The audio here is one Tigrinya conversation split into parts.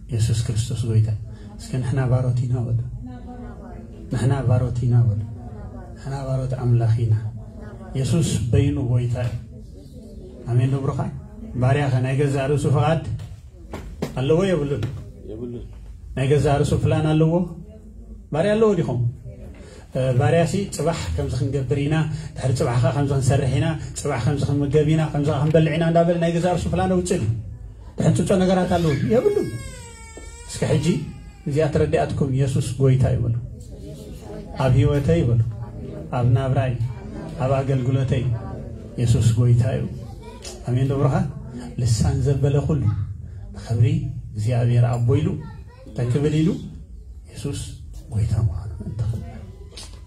የሱስ ክርስቶስ ጎይታ። እስከ ንሕና ባሮት ኢና በሉ። ንሕና ባሮት ኢና በሉ። ንሕና ባሮት ኣምላኽ ኢና። የሱስ በይኑ ጎይታ እዩ። ኣሜን ዶ ብሩኻት? ባርያ ኸ ናይ ገዛእ ርእሱ ፍቓድ ኣለዎ የብሉን? የብሉን። ናይ ገዛእ ርእሱ ፕላን ኣለዎ? ባርያ ኣለዎ ዲኹም? እ፣ ባርያሲ ጽባሕ ከምዚ ክንገብር ኢና፣ ድሕሪ ጽባሕ ኸዓ ከምዚ ክንሰርሕ ኢና፣ ጽባሕ ከምዚ ክንምገብ ኢና፣ ከምዚ ኸዓ ክንበልዕ ኢና እንዳበለ ናይ ገዛእ ርእሱ ፕላን ኣውጽእ ድዩ? ትሕንጽጾ ነገራት ኣለዎ ድዩ? የብሉን። እስከ ሕጂ እዚኣ ተረዲኣትኩም፣ የሱስ ጎይታ እዩ በሉ። ኣብ ህይወተይ በሉ፣ ኣብ ናብራይ፣ ኣብ ኣገልግሎተይ የሱስ ጎይታ እዩ። ኣሜን ዶ ብሩኻት? ልሳን ዘበለ ኩሉ ንኽብሪ እግዚኣብሔር ኣቦ ኢሉ እንታይ ክብል ኢሉ? የሱስ ጎይታ ምዃኑ እንተኽብር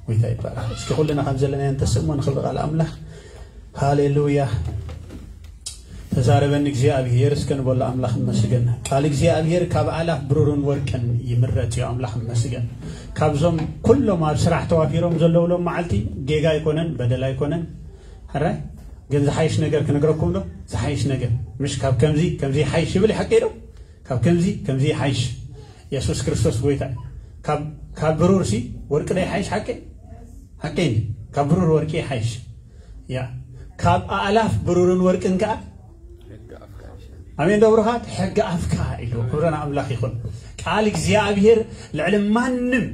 ጎይታ ይባላል። እስኪ ኩልና ከም ዘለናዮ እንተስእሞ ንኽብሪ ቃል ኣምላኽ። ሃሌሉያ። ተዛረበኒ እግዚኣብሔር እስከ ንበሎ ኣምላኽ እመስገን። ቃል እግዚኣብሔር ካብ ኣላፍ ብሩርን ወርቅን ይምረጽ እዩ። ኣምላኽ እመስገን። ካብዞም ኩሎም ኣብ ስራሕ ተዋፊሮም ዘለዉ ሎም መዓልቲ ጌጋ ኣይኮነን፣ በደል ኣይኮነን። ሕራይ ግን ዝሓይሽ ነገር ክነግረኩም ዶ? ዝሓይሽ ነገር ምሽ ካብ ከምዚ ከምዚ ይሓይሽ ይብል ሓቂ ዶ? ካብ ከምዚ ከምዚ ይሓይሽ። የሱስ ክርስቶስ ጎይታ እዩ። ካብ ካብ ብሩር ሲ ወርቂ ዶ ይሓይሽ? ሓቂ ሓቂ እንዲ ካብ ብሩር ወርቂ ይሓይሽ። ያ ካብ ኣእላፍ ብሩርን ወርቅን ከኣ ኣሜን ዶ ብሩኻት? ሕጊ ኣፍካ ኢሉ ክብረን ኣምላኽ ይኹን። ቃል እግዚኣብሔር ልዕሊ ማንም፣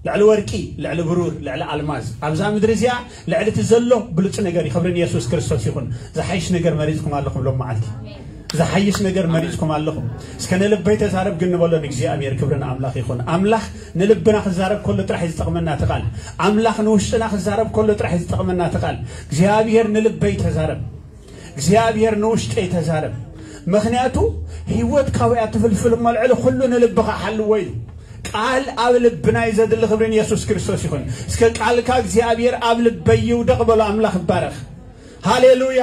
ልዕሊ ወርቂ፣ ልዕሊ ብሩር፣ ልዕሊ ኣልማዝ ኣብዛ ምድሪ እዚኣ ልዕሊ እቲ ዘሎ ብሉጽ ነገር እዩ። ክብሪ ንየሱስ ክርስቶስ ይኹን። ዝሓይሽ ነገር መሪጽኩም ኣለኹም ሎም መዓልቲ። ዝሓይሽ ነገር መሪጽኩም ኣለኹም። እስከ ንልበይ ተዛረብ ግን ንበሎ ንእግዚኣብሔር። ክብሪ ንኣምላኽ ይኹን። ኣምላኽ ንልብና ክዛረብ ከሎ ጥራሕ እዩ ዝጠቕመና እቲ ቃል። ኣምላኽ ንውሽጥና ክዛረብ ከሎ ጥራሕ እዩ ዝጠቕመና እቲ ቃል። እግዚኣብሔር ንልበይ ተዛረብ። እግዚኣብሔር ንውሽጠይ ተዛረብ። ምኽንያቱ ህይወት ካባያ ትፍልፍል እሞ ልዕሊ ኩሉ ንልብኻ ሓልዎ ኢሉ። ቃል ኣብ ልብና እዩ ዘድሊ። ክብሪ ንየሱስ ክርስቶስ ይኹን። እስከ ቃልካ እግዚኣብሔር ኣብ ልበይ ይውደቕ በሎ። ኣምላኽ ይባረኽ። ሃሌሉያ።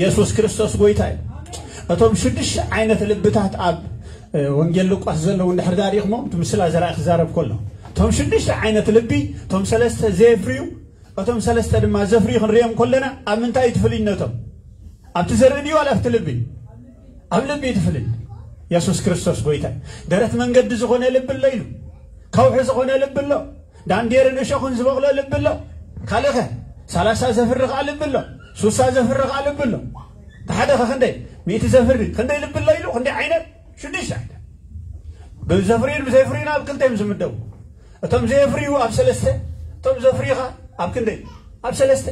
የሱስ ክርስቶስ ጎይታ እዩ። እቶም ሽዱሽተ ዓይነት ልብታት ኣብ እ፣ ወንጌል ሉቃስ ዘለዉ እንድሕር ዳሪኽሞ እቲ ምስላ ዘራኢ ክዛረብ ከሎ እቶም ሽዱሽተ ዓይነት ልቢ፣ እቶም ሰለስተ ዘየፍርዩ፣ እቶም ሰለስተ ድማ ዘፍርዩ ክንሪኦም ከለና ኣብ ምንታይ እዩ ትፍልይነቶም? ኣብቲ ዘርኢ ድዩ ዋላ ኣብቲ ልቢ? ኣብ ልቢ እዩ ትፍልይ። የሱስ ክርስቶስ ጎይታ እዩ። ደረት መንገዲ ዝኾነ ልቢ ኣሎ ኢሉ። ከውሒ ዝኾነ ልቢ ኣሎ። ዳንዴርን እሾኽን ዝበቕሎ ልቢ ኣሎ። ካልእኸ ሰላሳ ዘፍሪ ኸዓ ልቢ ኣሎ። ሱሳ ዘፍሪ ኸዓ ልቢ ኣሎ። እቲ ሓደኸ ክንደይ? ሚእቲ ዘፍሪ ክንደይ ልቢ ኣሎ ኢሉ? ክንደይ ዓይነት? ሽዱሽተ ዓይነት። ብዘፍርዩን ብዘይፍርዩን ኣብ ክልተ እዮም ዝምደቡ። እቶም ዘየፍርዩ ኣብ ሰለስተ፣ እቶም ዘፍርዩ ኸዓ ኣብ ክንደይ? ኣብ ሰለስተ።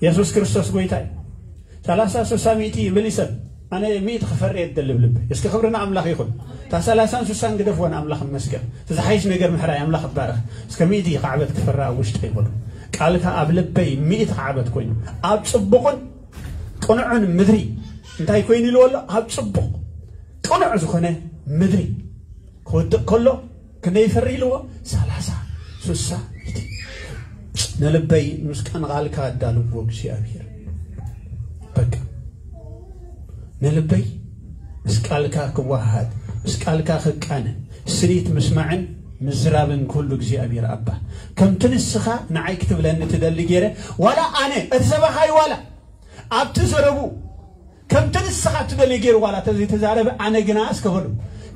የሱስ ክርስቶስ ጎይታ እዩ። ሰላሳ፣ ስሳ፣ ሚእቲ ይብል እዩ ሰብ። ኣነ ሚእቲ ክፈሪ እየ ዝደሊ ብልበይ። እስኪ ክብሪ ንኣምላኽ ይኹን። እታ ሰላሳን ስሳን ግደፍዋ ንኣምላኽ ይመስገን። እቲ ዝሓይሽ ነገር ምሕራይ ኣምላኽ ይባረኽ። እስከ ሚእቲ ክዓበት ክፈሪ ኣብ ውሽጠይ በሉ። ቃልካ ኣብ ልበይ ሚእቲ ክዓበት ኮይኑ ኣብ ጽቡቕን ቅኑዕን ምድሪ እንታይ ኮይኑ ኢልዎ ኣሎ? ኣብ ጽቡቕ ቅኑዕ ዝኾነ ምድሪ ክወድቕ ከሎ ክንደይ ይፈሪ ኢልዎ? ሰላሳ፣ ስሳ፣ ሚእቲ። ንልበይ ምስ ቃል ቃልካ ኣዳልዎ እግዚኣብሔር። በቃ ንልበይ ምስ ቃልካ ክወሃሃድ፣ ምስ ቃልካ ክቃነ፣ ስኒት ምስማዕን ምዝራብን ኩሉ እግዚኣብሔር ኣባ። ከምቲ ንስኻ ንዓይ ክትብለኒ ትደሊ ገይረ፣ ዋላ ኣነ እቲ ሰባኻይ ዋላ ኣብቲ ዘረቡ ከምቲ ንስኻ ትደልዮ ገይሩ ዋላ ተዘይተዛረበ፣ ኣነ ግና እስከ በሉ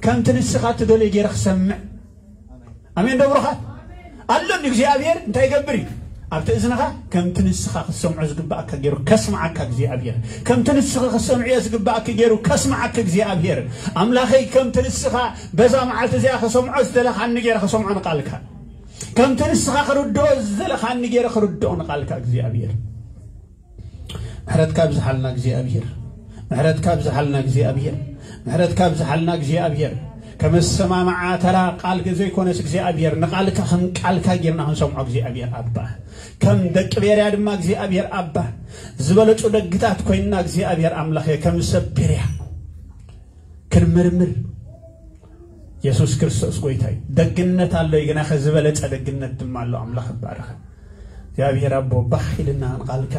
ከምቲ ንስኻ ትደልዮ ገይረ ክሰምዕ። ኣሜን ዶ ብሩኻት? ኣሎ እግዚኣብሔር እንታይ ይገብር እዩ? ኣብቲ እዝንኻ ከምቲ ንስኻ ክትሰምዖ ዝግባኣካ ገይሩ ከስምዓካ እግዚኣብሔር። ከምቲ ንስኻ ክትሰምዕዮ ዝግባኣካ ገይሩ ከስምዓካ እግዚኣብሔር። ኣምላኸይ ከምቲ ንስኻ በዛ መዓልቲ እዚኣ ከሰምዖ ዝደለኻኒ ገይረ ከሰምዖ ንቃልካ። ከምቲ ንስኻ ክርድኦ ዝደለኻኒ ገይረ ክርድኦ ንቃልካ እግዚኣብሔር። ምሕረትካ ኣብዝሓልና እግዚኣብሔር። ምሕረትካ ኣብዝሓልና እግዚኣብሔር። ምሕረትካ ኣብዝሓልና እግዚኣብሔር። ከመሰማምዓ ተራ ቃል ዘይኮነስ እግዚኣብሔር ንቃልካ ከም ቃልካ ጌርና ክንሰምዖ እግዚኣብሔር ኣባ። ከም ደቂ ቤርያ ድማ እግዚኣብሔር ኣባ ዝበለጹ ደግታት ኮይንና እግዚኣብሔር ኣምላኸ ከም ሰብ ቤርያ ክንምርምር የሱስ ክርስቶስ ጎይታ እዩ። ደግነት ኣሎ እዩ፣ ግና ከዚ ዝበለጸ ደግነት ድማ ኣሎ። ኣምላኽ ይባረኽ። እግዚኣብሔር ኣቦ ባህ ኢልና ንቃልካ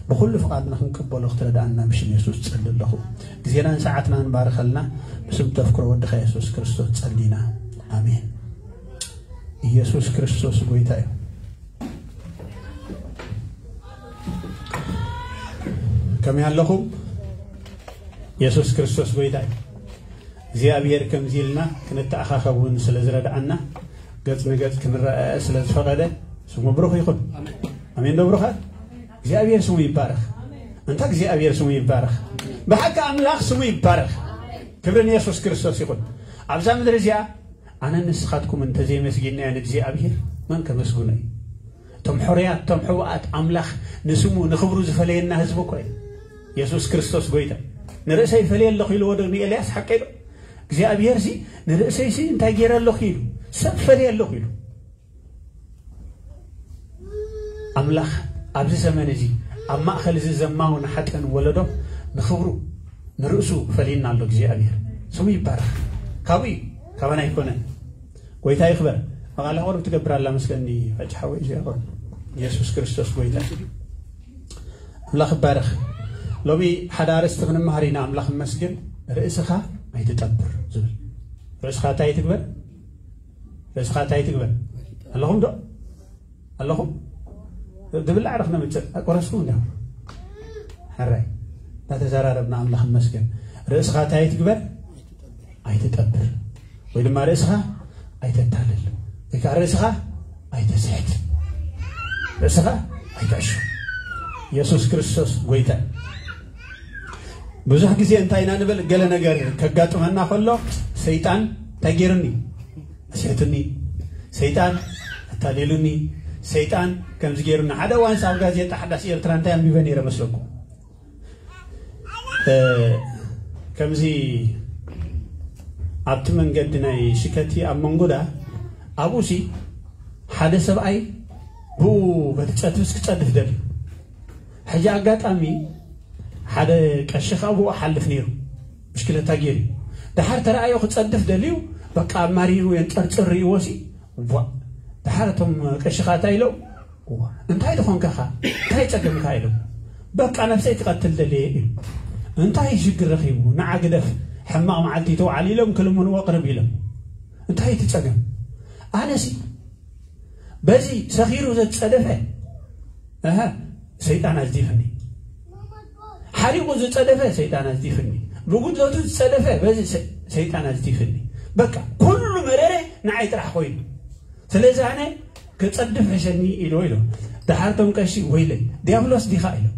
ብኹሉ ፍቓድና ክንቅበሎ ክትረድኣና ብሽም የሱስ ጸሊ ኣለኹ። ግዜናን ሰዓትናን ባርኸልና። ብስም ተፍክሮ ወድኻ የሱስ ክርስቶስ ጸሊና። ኣሜን። ኢየሱስ ክርስቶስ ጎይታ እዩ። ከመይ ኣለኹም? የሱስ ክርስቶስ ጎይታ እዩ። እግዚኣብሔር ከምዚ ኢልና ክንተኣኻኸብ እውን ስለ ዝረድኣና፣ ገጽ ንገጽ ክንረኣእ ስለ ዝፈቐደ፣ ስሙ ብሩኽ ይኹን። ኣሜን ዶ ብሩኻት? እግዚኣብሔር ስሙ ይባረኽ። እንታ እግዚኣብሔር ስሙ ይባረኽ። ብሓቂ ኣምላኽ ስሙ ይባረኽ። ክብሪ ንየሱስ ክርስቶስ ይኹን። ኣብዛ ምድሪ እዚኣ ኣነ ንስኻትኩም እንተዘይመስጊንናዮ ንእግዚኣብሔር መን ከመስግኖ እዩ? እቶም ሕሩያት፣ እቶም ሕቡኣት፣ ኣምላኽ ንስሙ ንኽብሩ ዝፈለየና ህዝቢ እኮ እዩ። የሱስ ክርስቶስ ጎይታ። ንርእሰይ ይፈልየ ኣለኹ ኢልዎ ዶ ንኤልያስ? ሓቀይ ዶ? እግዚኣብሔር ሲ ንርእሰይ ሲ እንታይ ገይረ ኣለኹ ኢሉ፣ ሰብ ፈልየ ኣለኹ ኢሉ። ኣምላኽ ኣብዚ ዘመን እዚ ኣብ ማእከል እዚ ዘማውን ሓጥእን ወለዶ ንኽብሩ ንርእሱ ፈልዩና ኣሎ እግዚኣብሔር። ስሙ ይባረኽ። ካብኡ እዩ፣ ካባና ኣይኮነን። ጎይታ ይኽበር። መቓልሕ ቁሩብ ትገብር ኣላ መስለኒ፣ ሕጂ ሓወይ እዚኣ ኾን። የሱስ ክርስቶስ ጎይታ እዩ። ኣምላኽ ይባረኽ። ሎሚ ሓደ ኣርእስቲ ክንመሃር ኢና። ኣምላኽ ይመስገን። ርእስኻ ኣይትጠብር ዝብል። ርእስኻ እንታይ ትግበር? ርእስኻ እንታይ ትግበር? ኣለኹም ዶ? ኣለኹም? ድብላዕ ዶ ክነምጽእ? ኣይቆረስኩም እንዲኹም? ሕራይ። እናተዘራረብና ኣምላኽ ይመስገን። ርእስኻ እንታይ ትግበር? ኣይትጠብር። ወይ ድማ ርእስኻ ኣይተታልል። ወይ ከዓ ርእስኻ ኣይተስሕት። ርእስኻ ኣይትዕሹ። የሱስ ክርስቶስ ጎይታ እዩ። ብዙሕ ግዜ እንታይ ኢና ንብል? ገለ ነገር ከጋጥመና ከሎ፣ ሰይጣን እንታይ ገይሩኒ? ኣስሕቱኒ። ሰይጣን ኣታሊሉኒ። ሰይጣን ከምዚ ገይሩኒ። ሓደ እዋንስ ኣብ ጋዜጣ ሓዳስ ኤርትራ እንታይ ኣንቢበ ነይረ መስለኩም? እ፣ ከምዚ ኣብቲ መንገዲ ናይ ሽከቲ ኣብ መንጎዳ ኣብኡሲ ሓደ ሰብኣይ ብኡ በቲ ጸድፍስ ክጸድፍ ደልዩ። ሕጂ ኣጋጣሚ ሓደ ቀሺ ኸኣ ብኡ ሓልፍ ነይሩ፣ ብሽክለታ ገይሩ። ደሓር ተረኣዮ ክጸድፍ ደልዩ፣ በቃ ኣማሪሩ የንጸርጽር ርእይዎሲ፣ ቧ። ደሓር እቶም ቀሺ ኸኣ እንታይ ኢሎም? እዋ፣ እንታይ ዝኾንካኻ? እንታይ ጸገምካ? ኢሎም። በቃ ነብሰይ ክቐትል ደልየ ኢሉ። እንታይ ሽግር ረኺቡ? ንዓ ግደፍ፣ ሕማቕ መዓልቲ ተውዓል ኢሎም ክልምንዎ ቅርብ ኢሎም። እንታይ እቲ ጸገም? ኣነሲ በዚ ሰኺሩ ዘጸደፈ፣ ኣሃ፣ ሰይጣን ኣዝዲፍኒ። ሓሪቑ ዝጸደፈ ሰይጣን ኣዝዲፍኒ። ብጉድለቱ ዝጸደፈ በዚ ሰ-፣ ሰይጣን ኣዝዲፍኒ። በቃ ኩሉ መረረ ንዓይ ጥራሕ ኮይኑ። ስለዚ ኣነ ክጸድፍ ሕሸኒ ኢልዎ ኢሎም። ደሓር እቶም ቀሺ፣ "ወይለይ፣ ዲያብሎስ ዲኻ?" ኢሎም።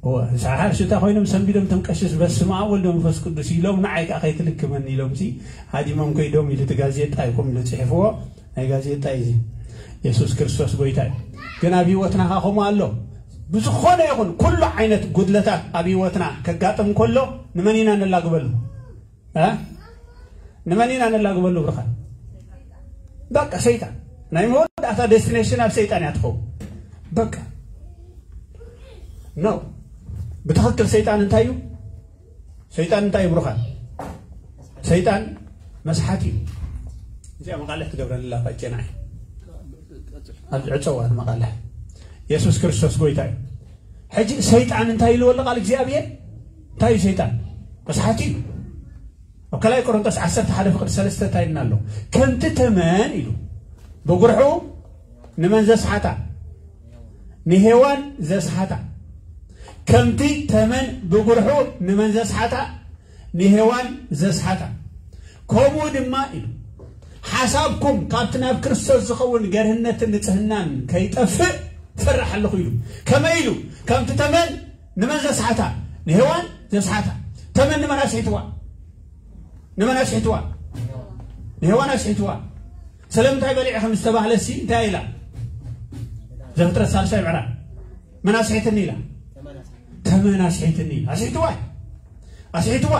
እወ፣ ንስሓ ሓርሽታ ኮይኖም ሰንቢዶም እቶም ቀሽስ፣ "በስመ ኣብ ወልድ መንፈስ ቅዱስ" ኢሎም፣ ንዓይ ከኣ ከይትልክመኒ ኢሎምሲ ሃዲሞም ከይዶም ኢሉ እቲ ጋዜጣ እዩ ከምኡ ኢሉ ጽሒፍዎ። ናይ ጋዜጣ እዩ እዚ። የሱስ ክርስቶስ ጎይታ እዩ። ግን ኣብ ህይወትና ከኣ ከምኡ ኣሎ። ብዝኾነ ይኹን ኩሉ ዓይነት ጉድለታት ኣብ ህይወትና ከጋጥም ከሎ ንመን ኢና ነላግበሉ? እ? ንመን ኢና ነላግበሉ ብርኻን? በቃ ሰይጣን። ናይ መወዳእታ ዴስቲኔሽን ኣብ ሰይጣን እያ ትኸውን። በቃ። ኖ። ብትኽክል ሰይጣን እንታይ እዩ? ሰይጣን እንታይ እዩ ብርኻን? ሰይጣን መስሓት እዩ። እዚኣ መቓልሕ ትገብረኒ ኣላ ፋጨና። ኣብ ዕፀዋት መቓልሕ። የሱስ ክርስቶስ ጎይታ እዩ። ሕጂ ሰይጣን እንታይ ኢልዎ ኣሎ ቃል እግዚኣብሔር? እንታይ እዩ ሰይጣን? መስሓት እዩ። ኣብ ካልኣይ ቆሮንቶስ ዓሰርተ ሓደ ፍቕዲ ሰለስተ እንታይ ኢልና ኣሎ? ከምቲ ተመን ኢሉ ብጉርሑ ንመን ዘስሓታ? ንሄዋን ዘስሓታ። ከምቲ ተመን ብጉርሑ ንመን ዘስሓታ? ንሄዋን ዘስሓታ። ከምኡ ድማ ኢሉ፣ ሓሳብኩም ካብቲ ናብ ክርስቶስ ዝኸውን ገርህነትን ንጽህናን ከይጠፍእ ፈራሕ ኣለኹ ኢሉ። ከመይ ኢሉ? ከምቲ ተመን ንመን ዘስሓታ? ንሄዋን ዘስሓታ። ተመን ንመን ኣስሒትዋ? ንመን ኣስሒትዋ? ንሄዋን ኣስሒትዋ። ስለምንታይ በሊዐ ከም ዝተባህለሲ እንታይ ኢላ? ዘፍጥረት ሳልሳይ ምዕራፍ። መን ኣስሒትኒ ኢላ? ተመን ኣስሒትኒ ኢላ። ኣስሒትዋ። ኣስሒትዋ።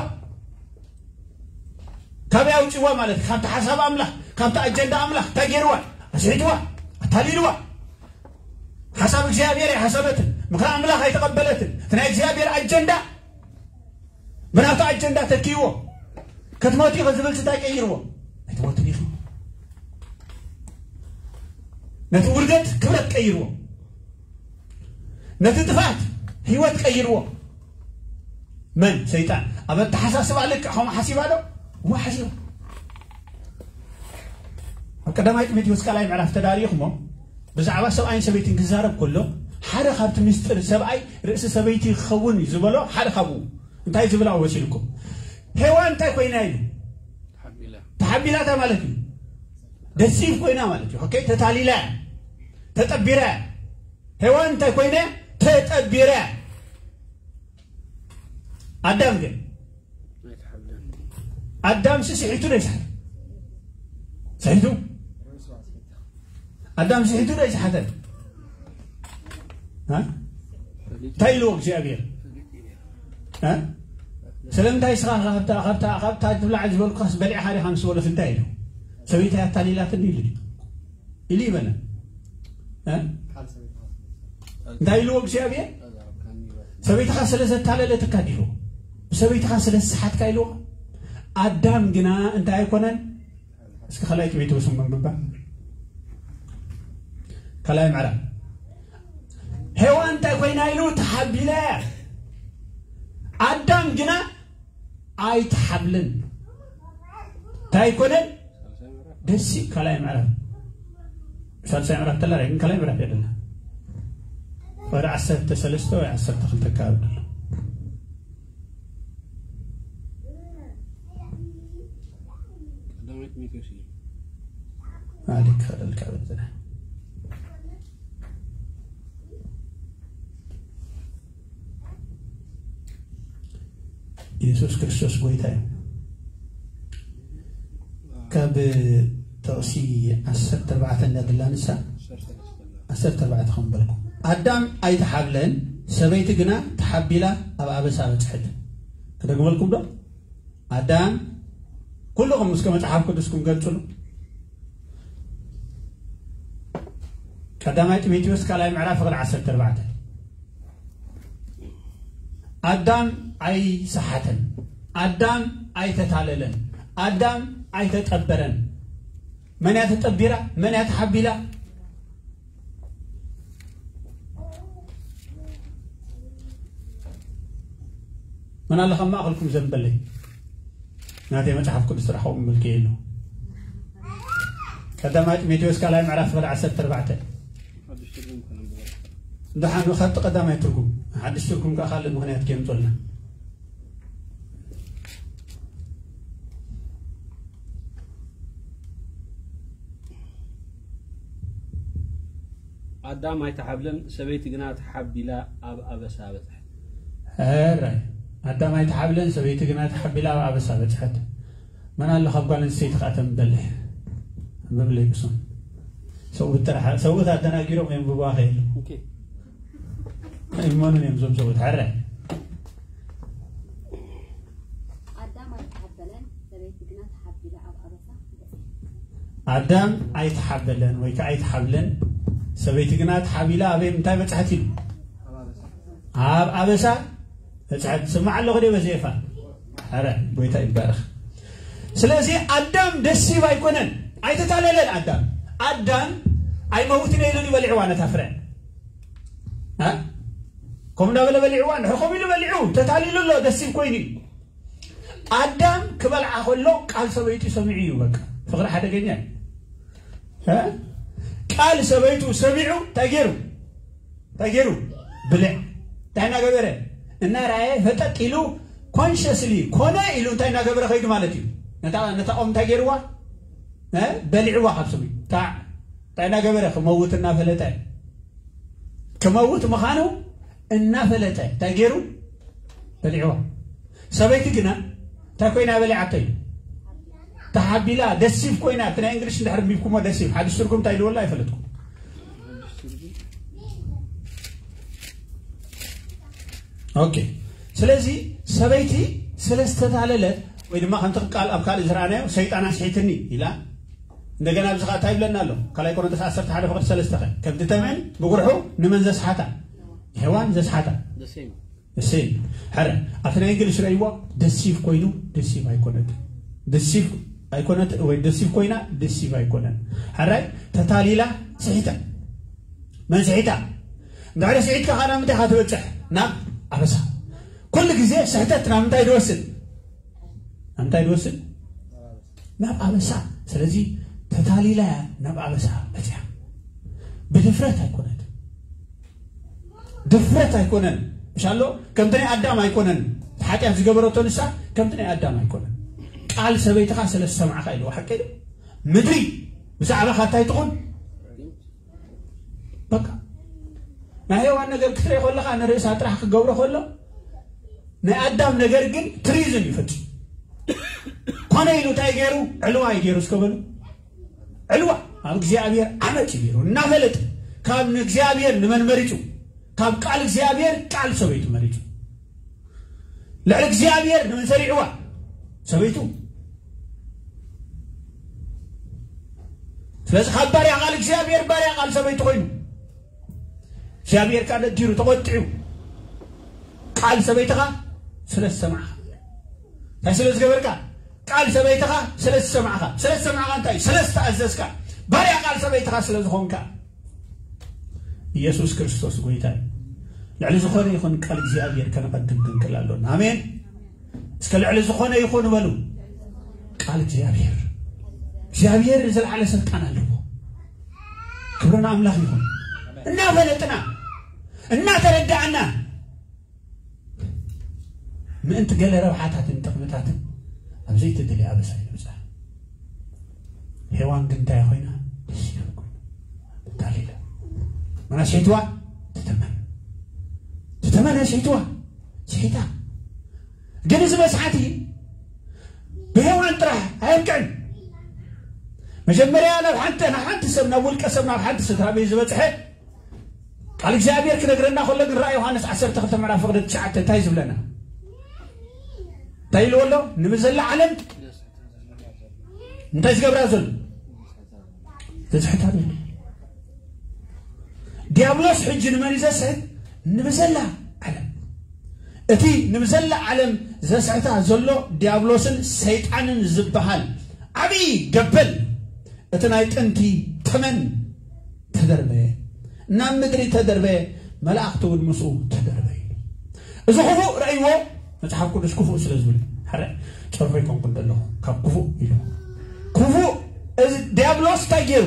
ካበይ ኣውፅዋ ማለት እዩ? ካብቲ ሓሳብ ኣምላኽ፣ ካብቲ ኣጀንዳ ኣምላኽ እንታይ ገይርዋ? ኣስሒትዋ። ኣታሊልዋ። ሓሳብ እግዚኣብሔር ኣይሓሰበትን። ምኽሪ ኣምላኽ ኣይተቐበለትን። እቲ ናይ እግዚኣብሔር ኣጀንዳ ብናቱ ኣጀንዳ ተኪዎ። ክትሞት ኢኺ ዝብል እንታይ ቀይርዎ? ኣይትሞትን ኢኺ። ነቲ ውርደት ክብረት ቀይርዎ። ነቲ ጥፍኣት ህይወት ቀይርዎ። መን? ሰይጣን። ኣብ ኣተሓሳስባ ልክዕ ከምኡ ሓሲባ ዶ? እዋ ሓሲባ። ኣብ ቀዳማይ ጢሞቴዎስ ካልኣይ ምዕራፍ ተዳሪኹሞ ብዛዕባ ሰብኣይን ሰበይትን ክዛረብ ከሎ ሓደ ካብቲ ምስጢር ሰብኣይ ርእሲ ሰበይቲ ክኸውን እዩ ዝበሎ ሓደ ካብኡ እንታይ ዝብል ኣወሲልኩም? ሄዋን እንታይ ኮይና ኢሉ? ተሓቢላታ ማለት እዩ። ደሲቭ ኮይና ማለት እዩ። ኦኬ፣ ተታሊላ፣ ተጠቢራ። ሄዋን እንታይ ኮይነ? ተጠቢራ። ኣዳም ግን ኣዳም ሲ ስሒቱ ዶ ይስሓት? ስሒቱ? ኣዳም ስሒቱ ዶ ይስሓተ? እ? እንታይ ኢልዎ እግዚኣብሔር? እ? ስለምንታይ ስኻ ካብታ ካብታ ካብታ ትብላዕ ዝበልኩኻስ በሊዕኻ ዲኻ ምስ በሎስ እንታይ ኢሉ? ሰበይታይ ኣታሊላትኒ ኢሉ ድዩ? ኢሉ ይበለ። እ? እንታይ ኢልዎ እግዚኣብሔር? ሰበይትኻ ስለ ዘታለለትካ ዲልዎ? ብሰበይትኻ ስለ ዝሰሓትካ ኢልዎ? ኣዳም ግና እንታይ ኣይኮነን? እስኪ ካልኣይ ጢሞቴዎስ መንብባ። ካልኣይ ምዕራፍ። ሄዋን እንታይ ኮይና ኢሉ? ተሓቢላ እያ። ኣዳም ግና ኣይተሓብልን። እንታይ ኣይኮነን? ደሲ ካልኣይ ምዕራፍ። ሳልሳይ ምዕራፍ ተላ ግን ካልኣይ ምዕራፍ የለና። ወደ ዓሰርተ ሰለስተ ወይ ዓሰርተ ክልተ ኣካባቢ ኣሎ። ቀዳማይ ጢሞቴዎስ እዩ። ኣሊክ ከደልካ በልዘና። የሱስ ክርስቶስ ጎይታ እዩ። ካብ ጥቕሲ ዓሰርተ ኣርባዕተ እንዳድላ ንሳ ዓሰርተ ኣርባዕተ ከም በልኩ፣ ኣዳም ኣይተሓብለን፣ ሰበይቲ ግና ተሓቢላ ኣብ ኣበሳ በጽሐት። ክደግመልኩም ዶ? ኣዳም፣ ኩልኹም እስከ መጽሓፍ ቅዱስኩም ገልጽሉ። ቀዳማይ ጢሞቴዎስ ካልኣይ ምዕራፍ ፍቕዲ ዓሰርተ ኣርባዕተ። ኣዳም ኣይሰሓተን፣ ኣዳም ኣይተታለለን፣ ኣዳም ኣይተጠበረን። መን እያ ተጠቢራ? መን እያ ተሓቢላ? መን ኣሎ ካብ ማእኸልኩም ዘንበለይ? ናተይ መጽሓፍ ቅዱስ ጥራሕ ከምኡ ምልክየ ኣሎ። ቀዳማይ ጢሞቴዎስ ካልኣይ ምዕራፍ ፍቕዲ ዓሰርተ ኣርባዕተ። ሓድሽ ትርጉም ከነንብቦ። ደሓን፣ ካብቲ ቀዳማይ ትርጉም፣ ሓድሽ ትርጉም ከኣ ካልእ ምኽንያት ከየምጽኡልና። ኣዳም ኣይተሓብለን፣ ሰበይቲ ግና ተሓቢላ ኣብ ኣበሳ በጽሐት። ሕራይ፣ ኣዳም ኣይተሓብለን፣ ሰበይቲ ግና ተሓቢላ ኣብ ኣበሳ በጽሐት። መን ኣሎ ካብ ጓል ኣንስተይቲ ከኣ ተንበልሕ? ኣንብብለይ ብሶም። ሰብኡት ጥራሕ፣ ሰብኡት ኣደናጊሮም የንብብዋ ከይሉ። ኦኬ። ኣይመኑን እዮም እዞም ሰብኡት። ሕራይ። ኣዳም ኣይተሓበለን፣ ሰበይቲ ግና ተሓቢላ ኣብ ኣበሳ። ኣዳም ኣይተሓበለን ወይ ከዓ ኣይተሓብለን፣ ሰበይቲ ግና ተሓቢላ ኣበይ እንታይ በጽሐት ኢሉ? ኣብ ኣበሳ በጽሐት። ስማዕ ኣለኹ ደ በዚ ኤፋ። ኣረ፣ ጎይታ ይባረኽ። ስለዚ ኣዳም ደሲቭ ኣይኮነን፣ ኣይተታለለን ኣዳም። ኣዳም ኣይመውትን ኢሉ ይበልዕዋ ነታ ፍረ። እ? ከምኡ እንዳበለ በሊዕዋ፣ እንድሕር ከምኡ ኢሉ በሊዑ፣ ተታሊሉ ኣሎ፣ ደሲቭ ኮይኑ እዩ። ኣዳም ክበልዓ ከሎ ቃል ሰበይቱ ሰሚዑ እዩ። በቃ፣ ፍቕሪ ሓደገኛ እዩ። እ? ቃል ሰበይቱ ሰሚዑ እንታይ ገይሩ? እንታይ ገይሩ? ብልዕ። እንታይ እናገበረ? እናረኣየ ፈጠጥ ኢሉ፣ ኮንሸስሊ ኮነ ኢሉ እንታይ እናገበረ ከይዱ ማለት እዩ። ነታ፣ ነታ ኦም እንታይ ገይርዋ? እ? በሊዕዋ ካብ ስሙ። ታዕ፣ እንታይ እናገበረ? ክመውት እናፈለጠ። ክመውት ምዃኑ እናፈለጠ እንታይ ገይሩ? በሊዕዋ። ሰበይቲ ግና እንታይ ኮይና በሊዓቶ እዩ? ተሓቢላ፣ ደሲቭ ኮይና። እቲ ናይ እንግሊሽ እንድሕር ኣንቢብኩሞ፣ ደሲቭ ሓድሽ ትርጉም እንታይ ኢልዎ ኣሎ ኣይፈለጥኩ። ኦኬ። ስለዚ ሰበይቲ ስለ ዝተታለለት፣ ወይ ድማ ከምቲ ቃል ኣብ ካልእ ዝረኣናዮ፣ ሰይጣን ኣስሒትኒ ኢላ፣ እንደገና ኣብዚ ኸዓ እንታይ ይብለና ኣሎ? ካልኣይ ቆሮንቶስ ዓሰርተ ሓደ ፍቕዲ ሰለስተ ኸ? ከምቲ ተመን ብጉርሑ ንመን ዘስሓታ? ሄዋን ዘስሓታ። The same። ሕረ፣ ኣብቲ ናይ እንግሊሽ ረእይዎ፣ ደሲቭ ኮይኑ፣ ደሲቭ ኣይኮነት። ደሲቭ ኣይኮነት ወይ ደሲቭ ኮይና፣ ደሲቭ ኣይኮነን። ሕራይ፣ ተታሊላ፣ ስሒታ። መን ስሒታ? እንድሕሪ ስሒትካ ኸዓ ናብ ምንታይ ኢኻ ትበጽሕ? ናብ ኣበሳ። ኩሉ ግዜ ስሕተት ናብ ምንታይ ድወስድ? ናብ ምንታይ ድወስድ? ናብ ኣበሳ። ስለዚ ተታሊላ እያ ናብ ኣበሳ በጺሓ። ብድፍረት ኣይኮነት። ድፍረት ኣይኮነን። ምሻሎ ከምቲ ናይ ኣዳም ኣይኮነን። እቲ ሓጢኣት ዝገበረቶ ንሳ ከምቲ ናይ ኣዳም ኣይኮነን። ቃል ሰበይትኻ ስለ ዝሰማዕኻ ኢልዎ። ሓቂ ዶ? ምድሪ ብዛዕባኻ እንታይ ትኹን? በቃ ናይ ሄዋን ነገር ክትርኢ ከለኻ ንርእሳ ጥራሕ ክገብሮ ከሎ፣ ናይ ኣዳም ነገር ግን ትሪዝን እዩ ፈጺሙ። ኮነ ኢሉ እንታይ ገይሩ? ዕልዋ እዩ ገይሩ። እስከ በሉ፣ ዕልዋ ኣብ እግዚኣብሔር ዓመፅ እዩ ገይሩ። እናፈለጠ ካብ ንእግዚኣብሔር ንመን መሪጹ? ካብ ቃል እግዚኣብሔር ቃል ሰበይቱ መሪጹ። ልዕሊ እግዚኣብሔር ንመን ሰሪዕዋ? ሰበይቱ። ስለዚ ካብ ባርያ ቃል እግዚኣብሔር ባርያ ቃል ሰበይቱ ኮይኑ፣ እግዚኣብሔር ከዓ ነዲሩ ተቆጢዑ። ቃል ሰበይትኻ ስለ ዝሰማዕኻ፣ እንታይ ስለ ዝገበርካ? ቃል ሰበይትኻ ስለ ዝሰማዕኻ። ስለ ዝሰማዕኻ እንታይ? ስለ ዝተኣዘዝካ። ባርያ ቃል ሰበይትኻ ስለ ዝኾንካ። ኢየሱስ ክርስቶስ ጎይታ እዩ። ልዕሊ ዝኾነ ይኹን ቃል እግዚኣብሔር ከነቐድም ክንክእል ኣሎና። ኣሜን። እስከ ልዕሊ ዝኾነ ይኹን በሉ። ቃል እግዚኣብሔር። እግዚኣብሔር ዝለዓለ ስልጣን ኣለዎ። ክብሪ ንኣምላኽ ይኹን። እናፈለጥና፣ እናተረዳእና፣ ምእንቲ ገለ ረብሓታትን ጥቕምታትን ኣብ ዘይተደልየ ኣበሳ ይብጻሕ። ሄዋን ግን እንታይ ኮይና? ደስ ይብል ኮይኑ። ተታሊላ። መን ኣስሒትዋ? ትተመን። ትተመን ኣስሒትዋ። ስሒታ። ግን እዚ መስሓቲ ብሄዋን ጥራሕ ኣየብቅዕን። መጀመርያ ናብ ሓንቲ፣ ናብ ሓንቲ ሰብ፣ ናብ ውልቀ ሰብ፣ ናብ ሓንቲ ስድራ ቤት ዝበጽሐ ቃል እግዚኣብሔር ክነግረና ከሎ ግን ራእይ ዮሃንስ ዓሰርተ ክልተ ምዕራፍ ፍቕዲ ትሽዓተ እንታይ ዝብለና? እንታይ ኢልዎ ኣሎ? ንብዘላ ዓለም እንታይ ዝገብራ ዘሎ? ዘስሕታ ዘሎ። ዲያብሎስ ሕጂ ንመን እዩ ዘስሕት? ንብዘላ ዓለም። እቲ ንብዘላ ዓለም ዘስሕታ ዘሎ ዲያብሎስን ሰይጣንን ዝበሃል ዓብዪ ገበል፣ እቲ ናይ ጥንቲ ተመን ተደርበየ፣ ናብ ምድሪ ተደርበየ፣ መላእኽቲ እውን ምስኡ ተደርበዩ። እዚ ክፉእ ረእይዎ፣ መጽሓፍ ቅዱስ ክፉእ ስለ ዝብል፣ ሓረ ጸርፎ ይኮንኩን ዘለኹ ካብ ክፉእ ኢሉ። ክፉእ እዚ ዲያብሎስ እንታይ ገይሩ?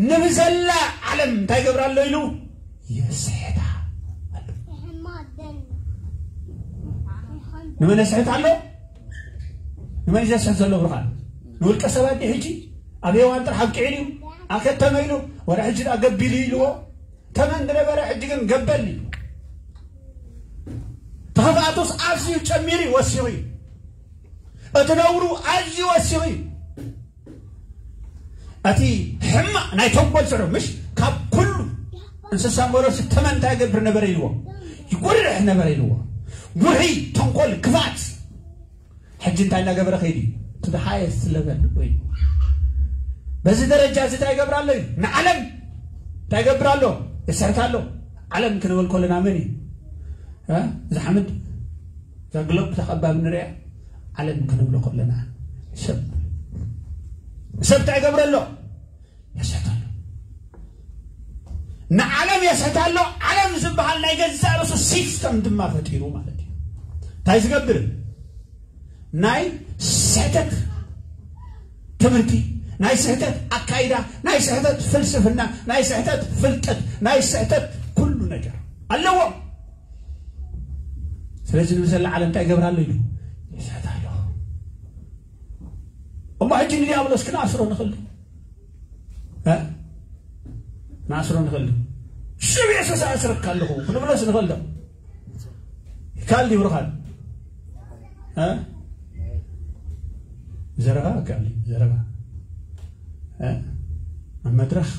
ንብዘላ ዓለም እንታይ ገብራ ኣሎ ኢሉ? የስሕታ ኣሎ። ንመን የስሕት ኣሎ? ንመን እዩ ዘስሕት ዘሎ ብርኻን? ንውልቀ ሰባት ድዩ ሕጂ? ኣብ ሄዋን ጥራሕ ኣብቂዑ ድዩ? ኣከተመ ኢሉ? ወረ ሕጂ ደኣ ገቢሉ ኢልዎ? ተመን ዝነበረ ሕጂ ግን ገበል እዩ። ተኽፍኣቱስ ኣዝዩ ጨሚሩ እዩ፣ ወሲኹ እዩ። እቲ ነውሩ ኣዝዩ ወሲኹ እዩ። እቲ ሕማቕ ናይ ተንኮል ስዑ፣ ምሽ ካብ ኩሉ እንስሳ መሮሲ ተመን እንታይ ይገብር ነበረ ኢልዎ? ይጉርሕ ነበረ ኢልዎ። ጉርሒ፣ ተንኮል፣ ክፋት። ሕጂ እንታይ እናገበረ ከይዱ እዩ? To the highest level ወይ በዚ ደረጃ እዚ እንታይ ይገብር ኣሎ እዩ? ንዓለም እንታይ ይገብር ኣሎ? ይስሕት ኣሎ። ዓለም ክንብል ከለና መን እዩ? እ? እዛ ሓመድ፣ እዛ ግሎብ፣ እዛ ከባቢ ንሪኣ ዓለም ክንብሎ ከለና ሰብ፣ ሰብ እንታይ ይገብር ኣሎ? የስሕት ኣሎ። ንዓለም የስሕት ኣሎ። ዓለም ዝበሃል ናይ ገዛእ ርእሱ ሲስተም ድማ ፈጢሩ ማለት እዩ። እንታይ ዝገብር? ናይ ስሕተት ትምህርቲ፣ ናይ ስሕተት ኣካይዳ፣ ናይ ስሕተት ፍልስፍና፣ ናይ ስሕተት ፍልጠት፣ ናይ ስሕተት ኩሉ ነገር ኣለዎ። ስለዚ ንብዘላ ዓለም እንታይ ይገብር ኣሎ ኢሉ? ይስሕት ኣሎ። እሞ ሕጂ ንዲያብሎስ ክንኣስሮ ንኽእል ዶ? እ? ክንኣስሮ ንኽእል ዶ? ሽም የሱስ ኣስረካ ኣለኹ ክንብሎስ ንኽእል ዶ? ይካል ድዩ ብርኻን? እ? ዘረባ ይካል እዩ፣ ዘረባ። እ? ኣብ መድረኽ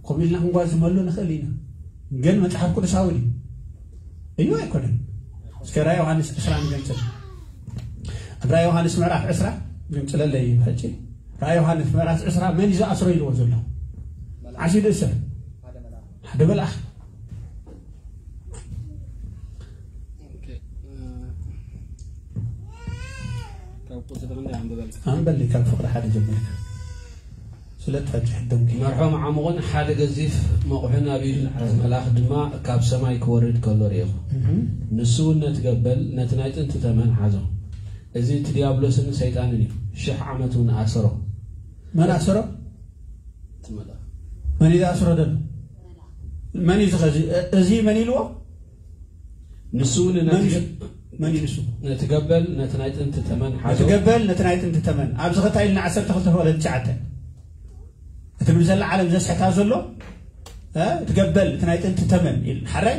ኮም ኢልና ክንጓዝመሉ ንኽእል ኢና። ግን መጽሓፍ ቅዱሳዊ ድዩ? እዩ ኣይኮነን። እስከ ራእይ ዮሃንስ ዕስራ ንገንጽል። ኣብ ራእይ ዮሃንስ ምዕራፍ ዕስራ ገንጽለለይ ሕጂ። ራእይ ዮሃንስ ምዕራፍ ዕስራ መን እዩ ዝኣስሮ ኢልዎ ዘሎ? ዓስዩ ዝእሰር ሓደ መልኣኽ። ኦኬ፣ እ፣ ካብ ቁጽሪ ክንደይ ኣንብበልና? ኣንበሊ ካብ ፍቕሪ ሓደ ጀሚርካ። ስለ ትፈጅሕ ደምኪ። መርሖም ዓሙቕን ሓደ ገዚፍ መቑሕን ኣብ ኢዱ ዝሓዘ መልኣኽ ድማ ካብ ሰማይ ክወርድ ከሎ ርኤኹ። እህ። ንሱ እውን ነቲ ገበል፣ ነቲ ናይ ጥንቲ ተመን ሓዞ። እዚ እቲ ዲያብሎስን ሰይጣንን እዩ። ሽሕ ዓመት እውን ኣሰሮ። መን ኣሰሮ? እቲ መልኣኽ። መን እዩ ኣስሮ ደሎ? መን እዩ ዝኸዚ? እ-፣ እዚ መን ኢልዎ? ንሱ እውን ነቲ መን ገ-፣ መን እዩ ንሱ? ነቲ ገበል ነቲ ናይ ጥንቲ ተመን ሓዞ። ነቲ ገበል ነቲ ናይ ጥንቲ ተመን። ኣብዚ ኸታ ኢልና ዓሰርተ ክልተ ፍቕዲ ትሽዓተ። እቲ ንብዘላ ዓለም ዘስሕታ ዘሎ እ፣ እቲ ገበል እቲ ናይ ጥንቲ ተመን ኢል ሓራይ።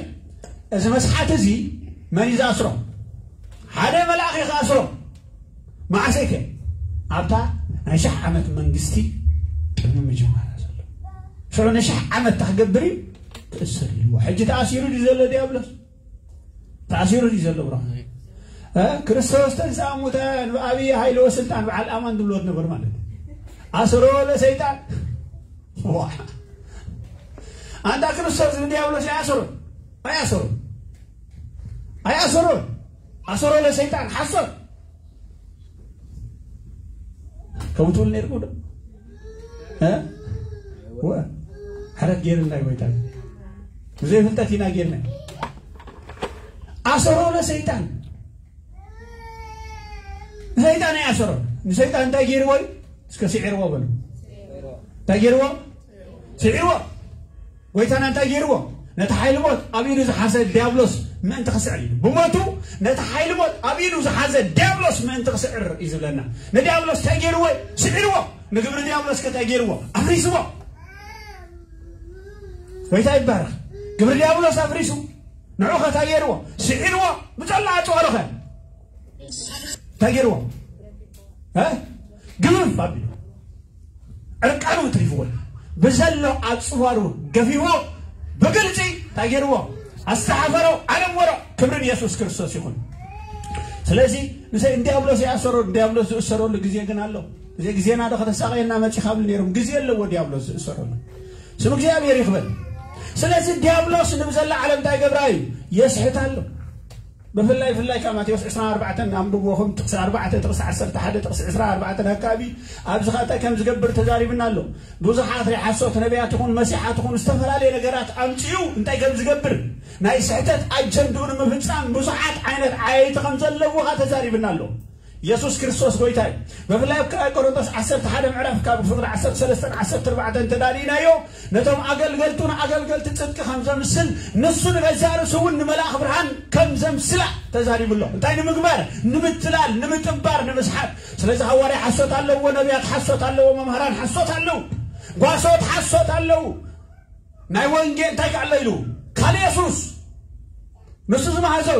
እዚ መስሓት እዚ መን እዩ ዝኣስሮ? ሓደ መልኣኽ እዩ ክኣስሮ። መዓሰይከ? ኣብታ ናይ ሻሕ ዓመት መንግስቲ ቅድሚ ምጅማራ ዘሎ ሽዑ ንሻሕ ዓመት ታክገብር እዩ ትእስር ኢልዎ። ሕጂ ተኣሲሩ ድዩ ዘሎ ዲያብሎስ? ተኣሲሩ ድዩ ዘሎ ብሮ? እ፣ ክርስቶስ ተንሥአ እሙታን ብዓብዪ ኃይሊ ወስልጣን በዓል ኣማን ዝብልዎ ነበሩ ማለት እዩ። ኣስሮ ለሰይጣን። ዋ። ኣንታ ክርስቶስ ንዲያብሎስ ኣይኣሰሮን። ኣይኣሰሮን። ኣይኣሰሮን። ኣስሮ ለሰይጣን ሓሶት። ከምኡ ትብል ነይርኩ ዶ? እ? ወ-፣ ሕረት ገይርና እዩ ጎይታ። ብዘይ ፍልጠት ኢና ገይርና። ኣሰሮ ለሰይጣን። ሰይጣን ኣይኣሰሮ። ንሰይጣን እንታይ ገይርዎ እዩ? እስከ ስዒርዎ በሉ። እንታይ ገይርዎ? ስዒርዎ። ጎይታና እንታይ ገይርዎ? ነቲ ሓይሊ ሞት ኣብ ኢዱ ዝሓዘ ዲያብሎስ ምእንቲ ክስዕር እዩ። ብሞቱ ነቲ ሓይሊ ሞት ኣብ ኢዱ ዝሓዘ ዲያብሎስ ምእንቲ ክስዕር እዩ ዝብለና። ንዲያብሎስ እንታይ ገይርዎ? ስዒርዎ። ንግብሪ ዲያብሎስ ከ እንታይ ገይርዎ? ኣፍሪስዎ። ጎይታ ይባረኽ። ግብሪ ዲያብሎስ ኣፍሪሱ። ንዑ ከ እንታይ ገይርዎ? ስዒርዎ። ብጸላ ኣጽዋሩ ከ እንታይ ገይርዎ? እ? ግብፍ ኣቢሉ። ዕርቃኑ ትሪፍዎ። ብዘሎ ኣጽዋሩ ገፊዎ ብግልጺ እንታይ ገይርዎ? ኣስተሓፈሮ፣ ኣነወሮ። ክብሪ ንየሱስ ክርስቶስ ይኹን። ስለዚ ንሰ-፣ ንዲያብሎስ ይኣሰሮ፣ ንዲያብሎስ ዝእሰረሉ ግዜ ግን ኣሎ። እዚ ግዜና ዶ ከተሳቐየና መጺኻ ብል ነይሮም። ግዜ ኣለዎ ዲያብሎስ ዝእሰረሉ። ስም እግዚኣብሔር ይኽበር። ስለዚ ዲያብሎስ ንብዘላ ዓለም እንታይ ገብራ እዩ? የስሕት ኣሎ። ብፍላይ፣ ብፍላይ ካብ ማቴዎስ ዕስራን ኣርባዕተን ኣንብብዎ፣ ከም ጥቕሲ ኣርባዕተ፣ ጥቕሲ ዓሰርተ ሓደ፣ ጥቕሲ ዕስራን ኣርባዕተን ኣካባቢ ኣብዚ ኸኣ እንታይ ከም ዝገብር ተዛሪብና ኣሎ። ብዙሓት ናይ ሓሶት ነቢያት ይኹን መሲሓት ይኹን ዝተፈላለየ ነገራት ኣምጺኡ እንታይ ከም ዝገብር፣ ናይ ስሕተት ኣጀንድኡ ንምፍጻም ብዙሓት ዓይነት ዓየይቲ ከም ዘለውኻ ተዛሪብና ኣሎ። የሱስ ክርስቶስ ጎይታ እዩ። ብፍላይ ኣብ ካልኣይ ቆሮንቶስ ዓሰርተ ሓደ ምዕራፍ ካብ ፍቕዲ ዓሰርተ ሰለስተን ዓሰርተ ኣርባዕተን እንተዳሊናዮ፣ ነቶም ኣገልገልቱ ንኣገልገልቲ ጽድቂ ከም ዘምስል፣ ንሱ ንገዛእ ርእሱ እውን ንመልኣኽ ብርሃን ከም ዘምስላ ተዛሪቡ ኣሎ። እንታይ ንምግባር? ንምትላል፣ ንምጥባር፣ ንምስሓት። ስለዚ ሃዋርያ ሓሶት ኣለዎ፣ ነቢያት ሓሶት ኣለዎ፣ መምህራን ሓሶት ኣለዉ፣ ጓሶት ሓሶት ኣለዉ። ናይ ወንጌል እንታይ ከ ኣሎ ኢሉ? ካልእ የሱስ። ንሱ ዝመሃዘው፣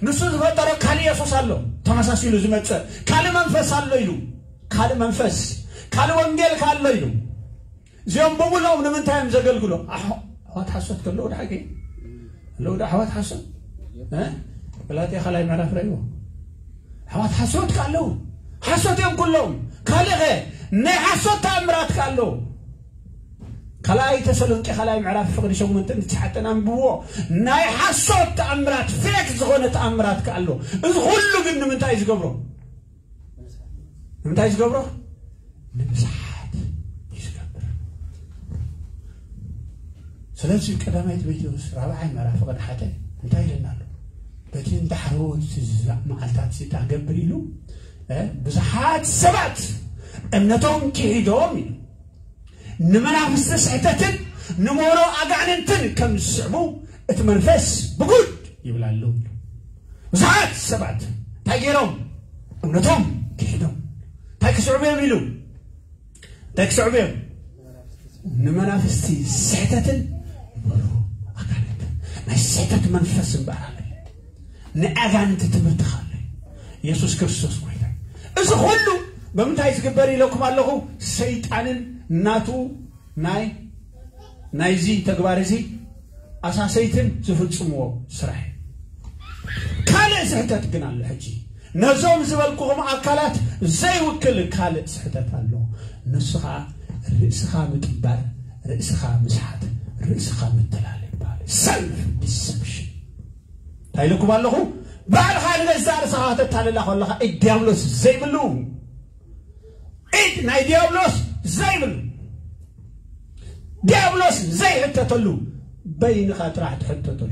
ንሱ ዝፈጠሮ ካልእ የሱስ ኣሎ። ተመሳሲሉ ዝመጽእ ካልእ መንፈስ ኣሎ ኢሉ። ካልእ መንፈስ፣ ካልእ ወንጌል ከ ኣሎ ኢሉ። እዚኦም ብምልኦም ንምንታይ እዮም ዘገልግሎ? ኣሕ-፣ ኣሕዋት ሓሶት ከለዉ ዶ ሓቂ? ኣለዉ ዶ ኣሕዋት ሓሶት? እ? ገላትያ ካልኣይ ምዕራፍ ረእይዎ። ኣሕዋት ሓሶት ከ ኣለዉ። ሓሶት እዮም ኩሎም። ካልእ ኸ? ናይ ሓሶት ተኣምራት ከ ኣለዉ። ካልኣይ ተሰሎንቄ ካልኣይ ምዕራፍ ፍቕዲ ሸሞንተን ትሽዓተን ኣንብብዎ። ናይ ሓሶት ተኣምራት፣ ፌክ ዝኾነ ተኣምራት ከ ኣሎ። እዚ ኩሉ ግን ንምንታይ እዩ ዝገብሮ? ንምንታይ እዩ ዝገብሮ? ንምስሓት እዩ ዝገብር። ስለዚ ቀዳማይ ጢሞቴዎስ ራብዓይ ምዕራፍ ፍቕዲ ሓደ እንታይ ኢለና ኣሎ? በቲ እንዳሕረወት ዝዛእ መዓልታት ሲጣ ገብር ኢሉ፣ እ፣ ብዙሓት ሰባት እምነቶም ክሒዶም ኢሉ፣ ንመናፍስቲ ስሕተትን ንሞሮ ኣጋንንትን ከም ዝስዕቡ እቲ መንፈስ ብጉድ ይብል ኣሎ። ብዙሓት ሰባት እንታይ ገይሮም? እምነቶም ክሒዶም። እንታይ ክስዕቡ እዮም ኢሉ? እንታይ ክስዕቡ እዮም? ንመናፍስቲ ስሕተትን ንሞሮ ኣጋንንትን። ናይ ስሕተት መንፈስ እምበኣር ኣሎ። ናይ ኣጋንንቲ ትምህርቲ ካለ የሱስ ክርስቶስ ጎይታ። እዚ ኩሉ ብምንታይ ዝግበር ኢለኩም ኣለኹ? ሰይጣንን ናቱ ናይ፣ ናይዚ ተግባር እዚ ኣሳሰይትን ዝፍጽምዎ ስራሕ እዩ። ካልእ ስሕተት ግን ኣሎ። ሕጂ ነዞም ዝበልኩኹም ኣካላት ዘይውክል ካልእ ስሕተት ኣሎ። ንሱ ኸኣ ርእስኻ ምጥባር፣ ርእስኻ ምስሓት፣ ርእስኻ ምትላል ይበሃል። ሰልፍ ዲሰፕሽን። እንታይ ኢለኩም ኣለኹ? ባዕልኻ ንገዛእ ርእስኻ ከተታልላ ከለኻ ኢድ ዲያብሎስ ዘይብሉ፣ ኢድ ናይ ዲያብሎስ ዘይብሉ፣ ዲያብሎስ ዘይሕተተሉ፣ በይንኻ ጥራሕ ትሕተተሉ።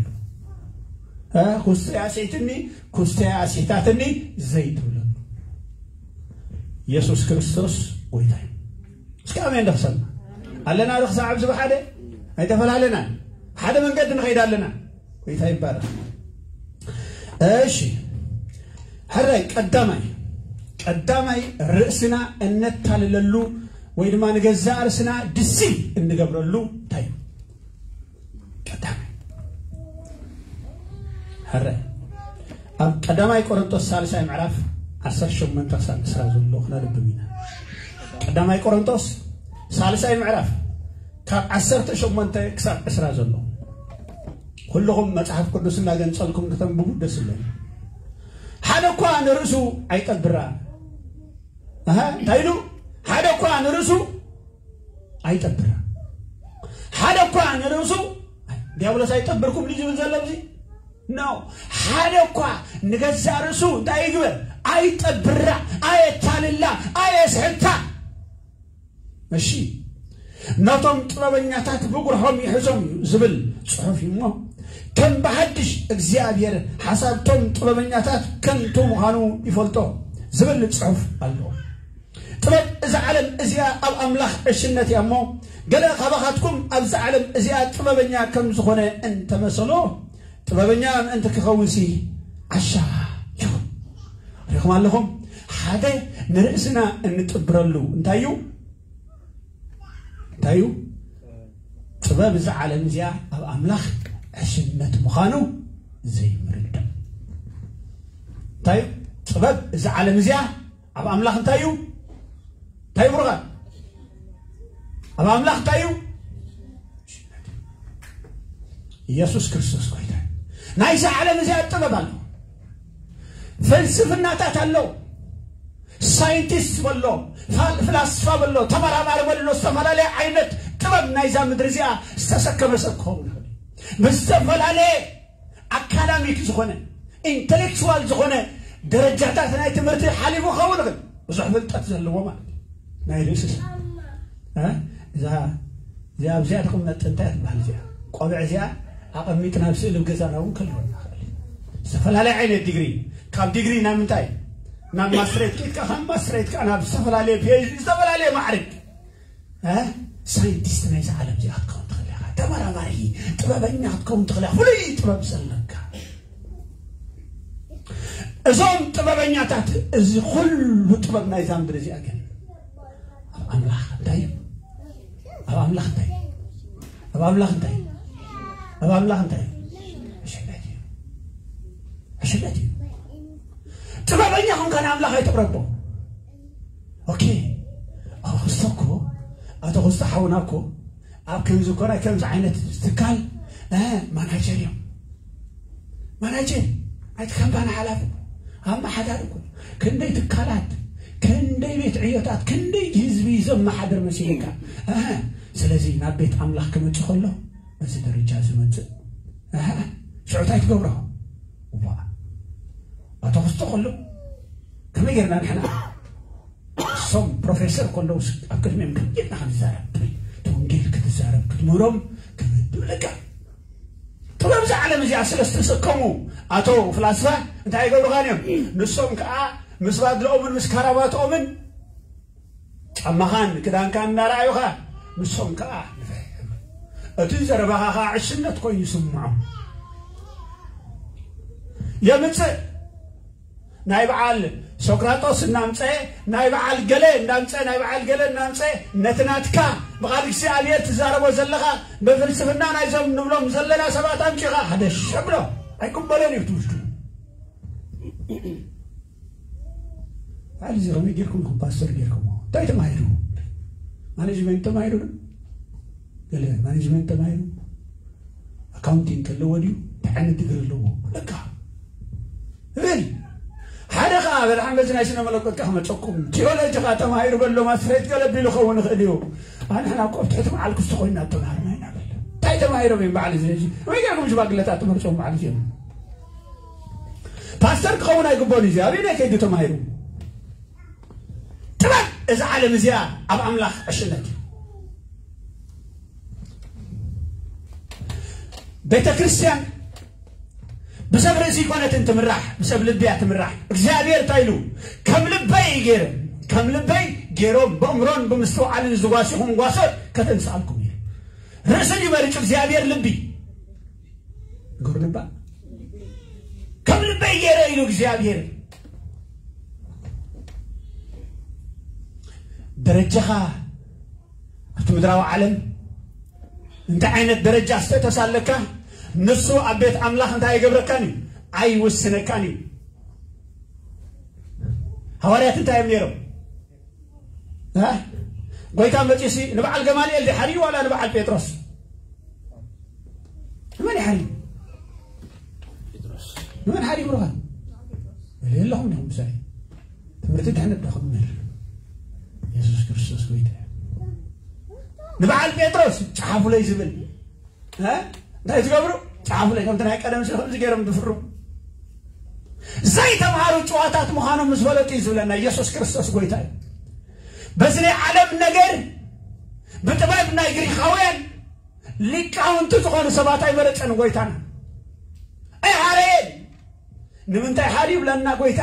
እ፣ ኩስተይ ኣስሒትኒ፣ ኩስተይ ኣስሒታትኒ ዘይትብለሉ። የሱስ ክርስቶስ ጎይታ እዩ። እስኪ ኣሜን ዶ ክሰማ ኣለና ዶ? ክሳዕ ኣብዚ ብሓደ ኣይተፈላለናን። ሓደ መንገዲ ንኸይድ ኣለና። ጎይታ ይባረክ። እሺ፣ ሕራይ ቀዳማይ ቀዳማይ ርእስና እነታልለሉ ወይ ድማ ንገዛእ ርእስና ድሲ እንገብረሉ እንታይ እዩ? ቀዳማይ ሕራይ ኣብ ቀዳማይ ቆሮንቶስ ሳልሳይ ምዕራፍ ዓሰርተ ሸሞንተ ክሳብ ዕስራ ዘሎ ክነንብብ ኢና። ቀዳማይ ቆሮንቶስ ሳልሳይ ምዕራፍ ካብ ዓሰርተ ሸሞንተ ክሳብ ዕስራ ዘሎ። ኩልኹም መጽሓፍ ቅዱስ እናገንጸልኩም ክተንብቡ ደስ ይብለኒ። ሓደ እኳ ንርእሱ ኣይጠብራ። ኣሃ፣ እንታይ ኢሉ? ሓደ እኳ ንርእሱ ኣይጠብራ። ሓደ እኳ ንርእሱ፣ ዲያብሎስ ኣይጠብርኩም ድዩ ዝብል ዘሎ ኣብዚ? ኖ። ሓደ እኳ ንገዛእ ርእሱ እንታይ ይግበር? ኣይጠብራ፣ ኣየታልላ፣ ኣየስሕታ። እሺ፣ ነቶም ጥበበኛታት ብጉርሖም ይሕዞም እዩ ዝብል ጽሑፍ እዩ እሞ፣ ከም ብሓድሽ እግዚኣብሔር ሓሳብቶም ጥበበኛታት ከንቱ ምዃኑ ይፈልጦ ዝብል ጽሑፍ ኣሎ። ጥበብ እዛ ዓለም እዚኣ ኣብ ኣምላኽ ዕሽነት እያ እሞ፣ ገለ ካባኻትኩም ኣብዛ ዓለም እዚኣ ጥበበኛ ከም ዝኾነ እንተመሰሎ፣ ጥበበኛ ምእንቲ ክኸውን ሲ ዓሻ ይኹን። ሪኹም ኣለኹም? ሓደ ንርእስና እንጥብረሉ እንታይ እዩ? እንታይ እዩ? ጥበብ እዛ ዓለም እዚኣ ኣብ ኣምላኽ ዕሽነት ምዃኑ ዘይምርዳእ። እንታይ እዩ? ጥበብ እዛ ዓለም እዚኣ ኣብ ኣምላኽ እንታይ እዩ? እንታይ እዩ ብሩኻት? ኣብ ኣምላኽ እንታይ እዩ? ኢየሱስ ክርስቶስ ጎይታ እዩ። ናይዛ ዓለም እዚኣ ጥበብ ኣሎ። ፍልስፍናታት ኣሎ። ሳይንቲስት በሎ፣ ፋል-፣ ፍላስፋ በሎ፣ ተመራማሪ በሎ፣ ዝተፈላለየ ዓይነት ጥበብ ናይዛ ምድሪ እዚኣ ዝተሰከመ ሰብ ክኸውን ይኽእል እዩ። ብዝተፈላለየ ኣካዳሚክ ዝኾነ፣ ኢንተሌክቹዋል ዝኾነ ደረጃታት ናይ ትምህርቲ ሓሊፉ ክኸውን ይኽእል። ብዙሕ ፍልጠት ዘለዎ ማለት እዩ። ናይ ርእስስ፣ እ? እዛ፣ እዚኣ ኣብዚኣ ትቕመጥ እንታይ ትበሃል? እዚኣ ቆብዕ እዚኣ ኣቐሚጥና ኣብ ስእሊ ኣብ ገዛና እውን ከልወና ይኽእል። ዝተፈላለየ ዓይነት ዲግሪ፣ ካብ ዲግሪ ናብ ምንታይ? ናብ ማስትሬት ኬድካ፣ ካብ ማስትሬት ከኣ ናብ ዝተፈላለየ ፒ ኤች ዲ፣ ዝተፈላለየ ማዕርግ። እ? ሳይንቲስት ናይዛ ዓለም እዚኣ ክትከውን ትኽእል ኢኻ። ተመራማሪ፣ ጥበበኛ ክትከውን ትኽእል ኢኻ። ፍሉይ ጥበብ ዘለካ። እዞም ጥበበኛታት፣ እዚ ኩሉ ጥበብ ናይዛ ምድሪ እዚኣ ግን ኣብ ኣምላኽ እንታይ እዩ? ኣብ ኣምላኽ እንታይ እዩ? ኣብ ኣምላኽ እንታይ እዩ? ኣብ ኣምላኽ እንታይ እዩ? ዕሽነት እዩ። ዕሽነት እዩ። ጥበበኛ ኾንካ ንኣምላኽ ኣይተቕረቦ። ኦኬ። ኣቶ ክስቶ እኮ፣ ኣቶ ክስቶ ሓውና እኮ ኣብ ከምዚ እኮ ናይ ከምዚ ዓይነት ትካል፣ እ፣ ማናጀር እዮም። ማናጀር፣ ናይቲ ካምፓኒ ሓላፊ፣ ኣመሓዳሪ እኮ። ክንደይ ትካላት፣ ክንደይ ቤት ዕዮታት፣ ክንደይ ህዝቢ ዘመሓድር መሲልካ። እ፣ ስለዚ ናብ ቤት ኣምላኽ ክመጽእ ከሎ በዚ ደረጃ ዝመጽእ። እ፣ ሽዑ እንታይ ትገብሮ? እዋ፣ ኣቶ ክስቶ ከሎ ከመይ ጌርና ንሕና እሶም ፕሮፌሰር ከለውስ ኣብ ቅድሚኦም ከይድና ክንዛረብ፣ እቲ ወንጌል ክትዛረብ ክትምህሮም ክብድ ይብለካ። ጥበብ እዛ ዓለም እዚኣ ስለ ዝተሰከሙ ኣቶ ፍላስፋ እንታይ ይገብሩኻን እዮም? ንሶም ከኣ ምስ ባድልኦምን ምስ ካራባትኦምን ጫማኻን ክዳንካን እናረኣዩኻ ንሶም ከኣ ንፍሕ። እቲ ዘረባኻ ከኣ ዕሽነት ኮይኑ ይስምዖም። የምጽእ ናይ በዓል ሶክራጦስ እናምፀ፣ ናይ በዓል ገለ እናምፀ፣ ናይ በዓል ገለ እናምፀ፣ ነቲ ናትካ ብቓል እግዚኣብሔር ትዛረቦ ዘለኻ ብፍልስፍና ናይዞም ንብሎም ዘለና ሰባት ኣምፂኻ ሓደ ሸብሎ ኣይቅበሎን እዩ ትውስዱ። በዓል እዚ ከመይ ጌርኩም ኢኹም ፓስተር ጌርኩሞ? እንታይ ተማሂሩ? ማኔጅመንት ተማሂሩ ዶ? ገለ ማኔጅመንት ተማሂሩ? ኣካውንቲንግ ኣለዎ ድዩ? እንታይ ዓይነት ዲግሪ ኣለዎ? ለካ እብል። ሓደ ኸዓ በድሓን በዚ ናይ ስነ መለኮት ከኣ ክመፀኩም፣ ቲዮሎጂ ኸዓ ተማሂሩ በሎ ማስትሬት ገለ ቢሉ ክኸውን ይኽእል እዩ። ኣንሕና እኮ ኣብ ትሕቲ በዓል ክስቶ ኮይንና ተማሃርና ኢና በለ። እንታይ ተማሂሮም እዮም በዓል እዚ? እዚ ወይ ጌርኩም ሽማግለታት ትመርፅዎም በዓል እዚኦም። ፓስተር ክኸውን ኣይግባኦን እዩ። ኣበየናይ ከይዱ ተማሂሩ? ጥበብ እዛ ዓለም እዚኣ ኣብ ኣምላኽ ዕሽነት እዩ። ቤተ ክርስቲያን ብሰብ ርእሲ ይኮነትን ትምራሕ፣ ብሰብ ልቢ እያ ትምራሕ። እግዚኣብሔር እንታይ ኢሉ? ከም ልበይ ገይረ፣ ከም ልበይ ገይሮም ብእምሮን ብምስትውዓልን ዝጓሲኹም ጓሶት ከተንስኣልኩም እዩ። ርእሲ ድዩ መሪጹ እግዚኣብሔር? ልቢ ግብር ልባ ከም ልበይ ገይረ ኢሉ እግዚኣብሔር። ደረጃኻ ኣብቲ ምድራዊ ዓለም እንታይ ዓይነት ደረጃ ስተተስ ኣለካ፣ ንሱ ኣብ ቤት ኣምላኽ እንታይ ኣይገብረካን እዩ፣ ኣይውስነካን እዩ። ሃዋርያት እንታይ እዮም ነይሮም? እ? ጎይታ መጺሲ ንበዓል ገማልኤል ዲሓሪ ዋላ ንበዓል ጴጥሮስ? ንመን ይሓሪ? ንመን ሓሪ ብሩኻ? የለኹም ዲኹም ምሳይ? ትምህርቲ ድሕነት ዶ ክምር? የሱስ ክርስቶስ ጎይታ እዩ። ንበዓል ጴጥሮስ ጸሓፉለይ ዝብል፣ እ? እንታይ ትገብሩ? ጸሓፉለይ። ከምቲ ናይ ቀደም ስለ ከምዚ ገይሮም ዝፍርሙ። ዘይተምሃሩ ጭዋታት ምዃኖም ምስ ፈለጡ እዩ ዝብለና። የሱስ ክርስቶስ ጎይታ እዩ። በዚ ናይ ዓለም ነገር ብጥበብ ናይ ግሪኻውያን ሊቃውንቲ ዝኾኑ ሰባት ኣይመረጸን ጎይታና። ኣይሓረየን። ንምንታይ ሓር ይብለና ጎይታ?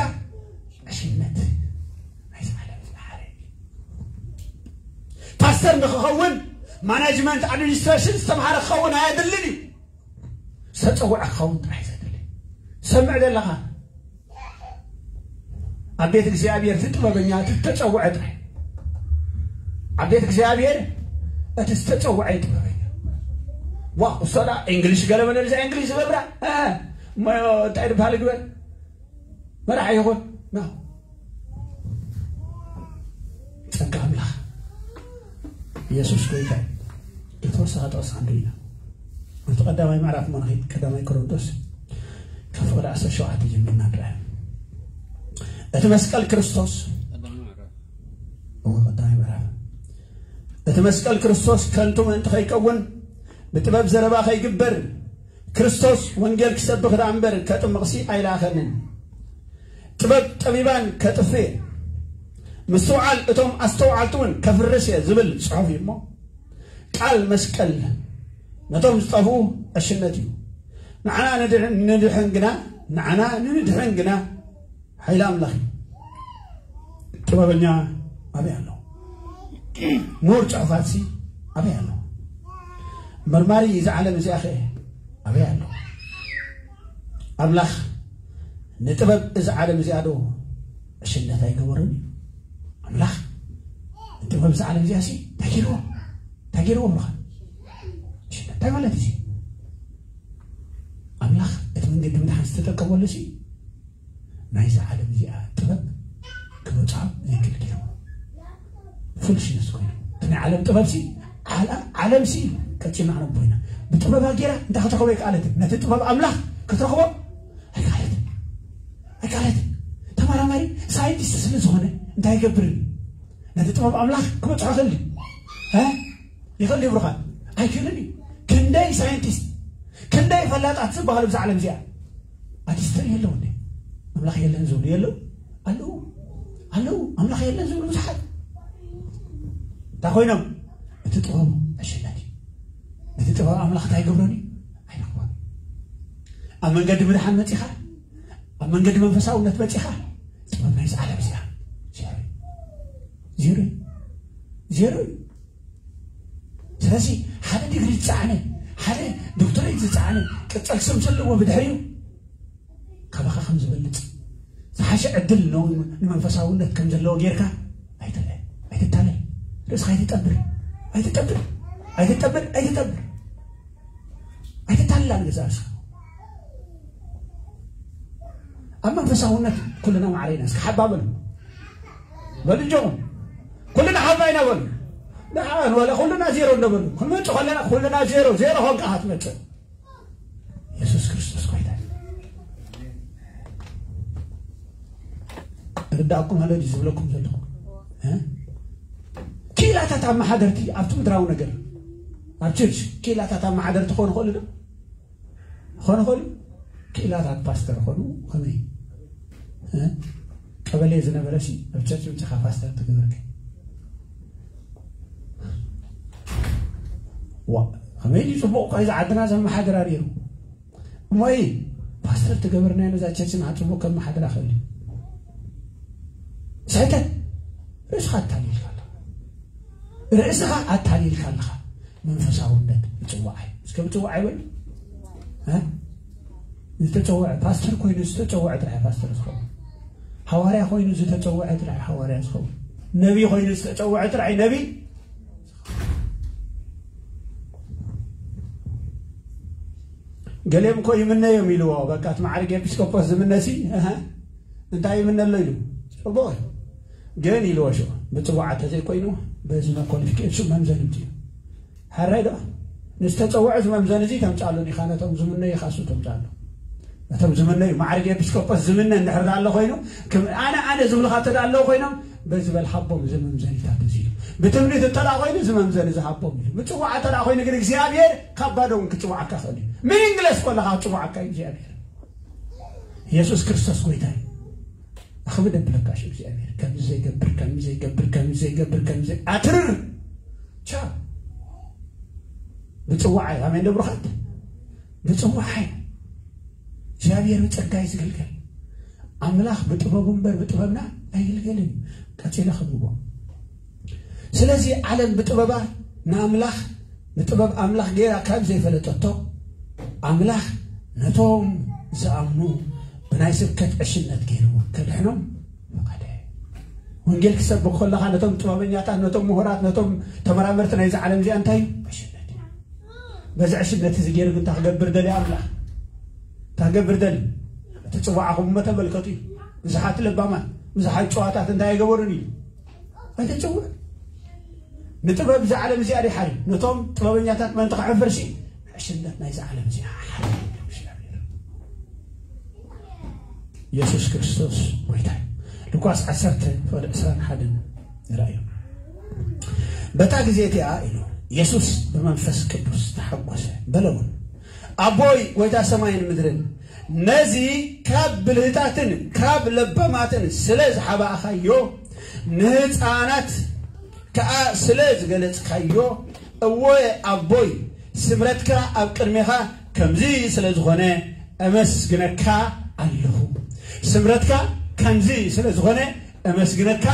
ዕሽነት ናይዚ ዓለም ዝሓረ። ፓስተር ንክኸውን ማናጅመንት ኣድሚኒስትሬሽን ዝተምሃረ ክኸውን ኣየድልን እዩ። ዝተጸውዐ ክኸውን ጥራሕ እዩ ዘድሊ። ሰምዕ ዘለኻ፣ ኣብ ቤት እግዚኣብሔር እቲ ጥበበኛ እቲ ዝተጸውዐ ጥራሕ። ኣብ ቤት እግዚኣብሔር እቲ ዝተጸውዐ እዩ ጥበበኛ። ዋ እሶዳ እንግሊሽ ገለ መለ እዛ እንግሊሽ ዝገብራ፣ እ፣ እሞ እንታይ ድበሃል ግበር መራሕ ይኹን ና። ጸጋ ኣምላኽ የሱስ ጎይታ እዩ። የተወሰነ ጥቕስ ክንርኢ ኢና። እቲ ቀዳማይ ምዕራፍ እሞ ንኸይድ፣ ቀዳማይ ቆሮንቶስ ካብ ፍቕዲ ዓሰርተ ሸውዓተ ጀሚርና ንርኣ። እቲ መስቀል ክርስቶስ፣ እወ፣ ቀዳማይ ምዕራፍ። እቲ መስቀል ክርስቶስ ከንቱ ምእንቲ ከይከውን ብጥበብ ዘረባ ከይግበር፣ ክርስቶስ ወንጌል ክሰብኽ ደኣ እምበር ከጥምቕሲ ኣይለኣኸንን። ጥበብ ጠቢባን ከጥፍእ፣ ምስትውዓል እቶም ኣስተውዓልቲ እውን ከፍርስ እየ ዝብል ጽሑፍ እዩ እሞ፣ ቃል መስቀል ነቶም ዝጠፍኡ ዕሽነት እዩ። ንዓና ንድሕ-፣ ንድሕን ግና፣ ንዓና ንድሕን ግና ሓይሊ ኣምላኽ እዩ። ጥበበኛ ኣበይ ኣሎ? ምሁር ጽሑፋትሲ ኣበይ ኣሎ? መርማሪ እዛ ዓለም እዚኣ ኸ ኣበይ ኣሎ? ኣምላኽ ንጥበብ እዛ ዓለም እዚኣ ዶ ዕሽነት ኣይገበሮን እዩ? ኣምላኽ ንጥበብ እዛ ዓለም እዚኣ ሲ እንታይ ገይርዎ? እንታይ ገይርዎ ብለኻ? ዕሽነት እንታይ ማለት እዩ? ኣምላኽ እቲ መንገዲ ምድሓን ዝተጠቀመሉ ሲ ናይዛ ዓለም እዚኣ ጥበብ ክበጽሖ ዘይክእል ገይሩ። ፉልሽነስ ኮይኑ። እቲ ናይ ዓለም ጥበብ ሲ፣ ዓለ-፣ ዓለም ሲ ቀጺልና ክነብር ኢና። ብጥበባ ገይራ እንታይ ክትረኽቦ ኣይከኣለትን። ነቲ ጥበብ ኣምላኽ ክትረኽቦ ኣይከኣለትን። ኣይከኣለትን። ተመራማሪ ሳይንቲስት ስለ ዝኾነ እንታይ ይገብር? ነቲ ጥበብ ኣምላኽ ክበጽሖ ይኽእል ድዩ? እ? ይኽእል ድዩ ብሩኻት? ኣይክእልን እዩ። ክንደይ ሳይንቲስት፣ ክንደይ ፈላጣት ዝበሃሉ ብዛ ዓለም እዚኣ ኣቲስት የለው እንዴ? ኣምላኽ የለን ዝብሉ የለው? ኣለው። ኣለው። ኣምላኽ የለን ዝብሉ ብዙሓት። እንታይ ኮይኖም? እቲ ጥበቡ ዕሽነት እዩ። ነቲ ጥበብ ኣምላኽ እንታይ ይገብረን እዩ? ኣይረኽቦን። ኣብ መንገዲ ምድሓን መጺኻ፣ ኣብ መንገዲ መንፈሳውነት መጺኻ፣ ጥበብ ናይዚ ዓለም እዚኣ ዜሮ እዩ። ዜሮ እዩ። ዜሮ እዩ። ስለዚ ሓደ ዲግሪ ዝጸዓነ፣ ሓደ ዶክተሬት ዝጸዓነ፣ ቅጽል ስም ዘለዎ ብድሕሪኡ ካባኻ ከም ዝበልጽ፣ ዝሓሸ ዕድል ን-፣ ንመንፈሳውነት ከም ዘለዎ ጌርካ ኣይትርአ፣ ኣይትታለል። ርእስኻ ኣይትጠብር፣ ኣይትጠብር፣ ኣይትጠብር፣ ኣይትጠብር። ኣይትታለል ንገዛእ ርእስኻ። ኣብ መንፈሳውነት ኩልና ማዕረ ኢና። እስኪ ሓባ በሉ። በሉ እንጆኹም። ኩልና ሓባ ኢና በሉ። ደሓን ወላ ኩልና ዜሮ እንዶ በሉ። ክንመጽእ ከለና ኩልና ዜሮ፣ ዜሮ ኾንካ ኢኻ ትመጽእ። የሱስ ክርስቶስ ጎይታ እዩ። ርዳእኩም ኣሎ ድዩ ዝብለኩም ዘለኹ? እ? ክኢላታት ኣመሓደርቲ ኣብቲ ምድራዊ ነገር፣ ኣብ ቸርች ክኢላታት ኣመሓደርቲ ክኾኑ ይኽእሉ ዶ? ክኾኑ ይኽእሉ? ክኢላታት ፓስተር ኾኑ ከመይ? እ? ቀበሌ ዝነበረ ሲ ኣብ ቸርች ምጽኻ ፓስተር ትገብርክ? ዋ፣ ከመይ ድዩ ጽቡቕ እኳ እዩ ዝዓድና ዘመሓድራ ነይሩ። እሞ እዩ ፓስተር ትገብርናዮ ነዛ ቸርች ንዓጽቡቕ ከም መሓድራ ክእል እዩ። ስሕተት። ርእስኻ ኣታሊልካ ኣለኻ። ርእስኻ ኣታሊልካ ኣለኻ። መንፈሳውነት ምጽዋዕ እዩ። እስከ ምጽዋዕ ይበል። እ? ዝተጸውዐ ፓስተር ኮይኑ ዝተጸውዐ ጥራሕ ፓስተር ዝኸውን። ሃዋርያ ኮይኑ ዝተጸውዐ ጥራሕ ሃዋርያ ዝኸውን። ነቢ ኮይኑ ዝተጸውዐ ጥራይ ነቢ። ገሌም እኮ ይምነዮም ኢልዎ። በቃ እቲ ማዕርግ ኤጲስቆጶስ ዝምነሲ፣ እህ፣ እንታይ ይምነሎ ኢሉ? ጽቡቕ እዩ። ግን ኢልዎ ሽዑ፣ ብጽዋዕ እንተዘይኮይኑ፣ በዚ መኮሊፍኬሽን መምዘኒ እዩ። ሕራይ ዶ? ንዝተጸውዐ እዚ መምዘኒ እዚ ተምጻሉ ኢኻ፣ ነቶም ዝምነዩ ኢኻ እሱ ተምጻሉ። ነቶም ዝምነዩ፣ ማዕርግ ኤጲስቆጶስ ዝምነ እንድሕር ደኣ ኣሎ ኮይኑ፣ ከም ኣነ፣ ኣነ ዝብልኻ እንተ ደኣ ኣለዉ ኮይኖም፣ በዚ በል ሃቦም እዚ መምዘኒታት እዚ ኢሉ። ብትምኒት እንተ ደኣ ኮይኑ፣ እዚ መምዘኒ እዚ ሃቦም ኢሉ። ብጽዋዕ እንተ ደኣ ኮይኑ ግን እግዚኣብሔር ካብ ባዶ እውን ክጽውዓካ ይኽእል እዩ። ሚኒንግለስ ከለኻ ክጽውዓካ እዩ እግዚኣብሔር። የሱስ ክርስቶስ ጎይታ እዩ። ኣኽብድ ኣብለካ ሽም እግዚኣብሔር። ከምዚ ዘይገብር፣ ከምዚ ዘይገብር፣ ከምዚ ዘይገብር፣ ከምዚ ዘይ-፣ ኣትርር። ቻ። ብጽዋዓይ፣ ኣሜን ዶ ብሩኻት? ብጽዋዓይ። እግዚኣብሔር ብጸጋይ ዝግልገል። ኣምላኽ ብጥበቡ እምበር ብጥበብና ኣይግልገልን። ቀጺለ ከብዎ። ስለዚ ዓለም ብጥበባ ንኣምላኽ፣ ብጥበብ ኣምላኽ ገይራ ካብ ዘይፈለጠቶ፣ ኣምላኽ ነቶም ዝኣምኑ ብናይ ስብከት ዕሽነት ገይሩ ከድሕኖም ፈቐደ። ወንጌል ክሰብክ ከለኻ ነቶም ጥበበኛታት፣ ነቶም ምሁራት፣ ነቶም ተመራመርቲ ናይዚ ዓለም እዚኣ እንታይ እዩ? ዕሽነት እዩ። በዚ ዕሽነት እዚ ገይሩ ግን እንታይ ክገብር ደልዩ ኣምላኽ? እንታይ ክገብር ደልዩ? እቲ ጽዋዕኹም እሞ ተመልከቱ እዩ። ብዙሓት ለባማት፣ ብዙሓት ጨዋታት እንታይ ኣይገበሩን እዩ? ኣይተጸውዑን። ንጥበብ እዛ ዓለም እዚኣ ድዩ ሓርዩ? ነቶም ጥበበኛታት ምእንቲ ከሕፍር ሲ ዕሽነት ናይዛ ዓለም እዚኣ ሓርዩ። የሱስ ክርስቶስ ጎይታ እዩ። ሉቃስ ዓሰርተ ፍቕዲ ዕስራን ሓደን ንርኣዮ። በታ ግዜ እቲኣ ኢሉ የሱስ ብመንፈስ ቅዱስ ተሓጎሰ፣ በለ እውን፣ ኣቦይ፣ ጎይታ ሰማይን ምድርን፣ ነዚ ካብ ብልህታትን ካብ ለባማትን ስለ ዝሓባእኻዮ፣ ንህፃናት ከኣ ስለ ዝገለጽካዮ፣ እወ ኣቦይ፣ ስምረትካ ኣብ ቅድሜኻ ከምዚ ስለ ዝኾነ፣ እመስግነካ ኣለኹ። ስምረትካ ከምዚ ስለ ዝኾነ፣ እመስግነካ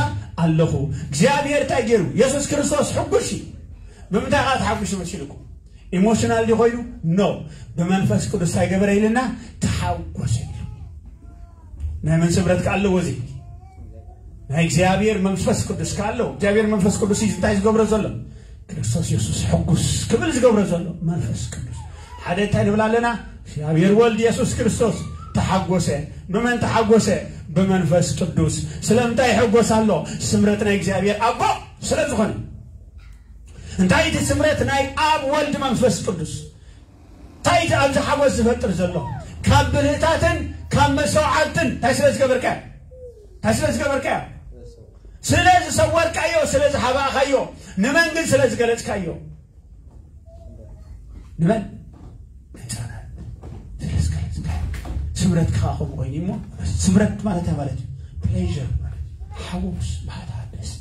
ኣለኹ። እግዚኣብሔር እንታይ ገይሩ? የሱስ ክርስቶስ ሕጉስ እዩ። ብምንታይ ኸዓ ተሓጒሱ መሲልኩም? ኢሞሽናል ድዩ ኮይኑ? ኖ። ብመንፈስ ቅዱስ እንታይ ገበረ ኢልና? ተሓጎሰ ኢሉ። ናይ መን ስምረት ከ ኣለዎ እዚ? ናይ እግዚኣብሔር መንፈስ ቅዱስ ከ ኣለዎ። እግዚኣብሔር መንፈስ ቅዱስ እዩ እንታይ ዝገብሮ ዘሎ? ክርስቶስ የሱስ ሕጉስ ክብል ዝገብሮ ዘሎ መንፈስ ቅዱስ። ሓደ እንታይ ንብል ኣለና? እግዚኣብሔር ወልድ የሱስ ክርስቶስ ተሓጎሰ። ብመን ተሓጎሰ? ብመንፈስ ቅዱስ። ስለምንታይ ይሕጎስ ኣሎ? ስምረት ናይ እግዚኣብሔር ኣቦ ስለ ዝኾነ። እንታይ እቲ ስምረት ናይ ኣብ ወልድ መንፈስ ቅዱስ? እንታይ እቲ ኣብዚ ሓጎስ ዝፈጥር ዘሎ? ካብ ብልህታትን ካብ መስተውዓልትን እንታይ ስለ ዝገበርካዮ? እንታይ ስለ ዝገበርካዮ? ስለ ዝሰወርካዮ፣ ስለ ዝሓባእካዮ፣ ንመን ግን ስለ ዝገለጽካዮ? ንመን? ንህፃናት ስለ ዝገለጽካዮ። ስምረትካ ከምኡ ኮይኑ እሞ፣ ስምረት ማለት እንታይ ማለት እዩ? ፕሌዥር ማለት እዩ። ሓጎስ፣ ባህታ፣ ደስ።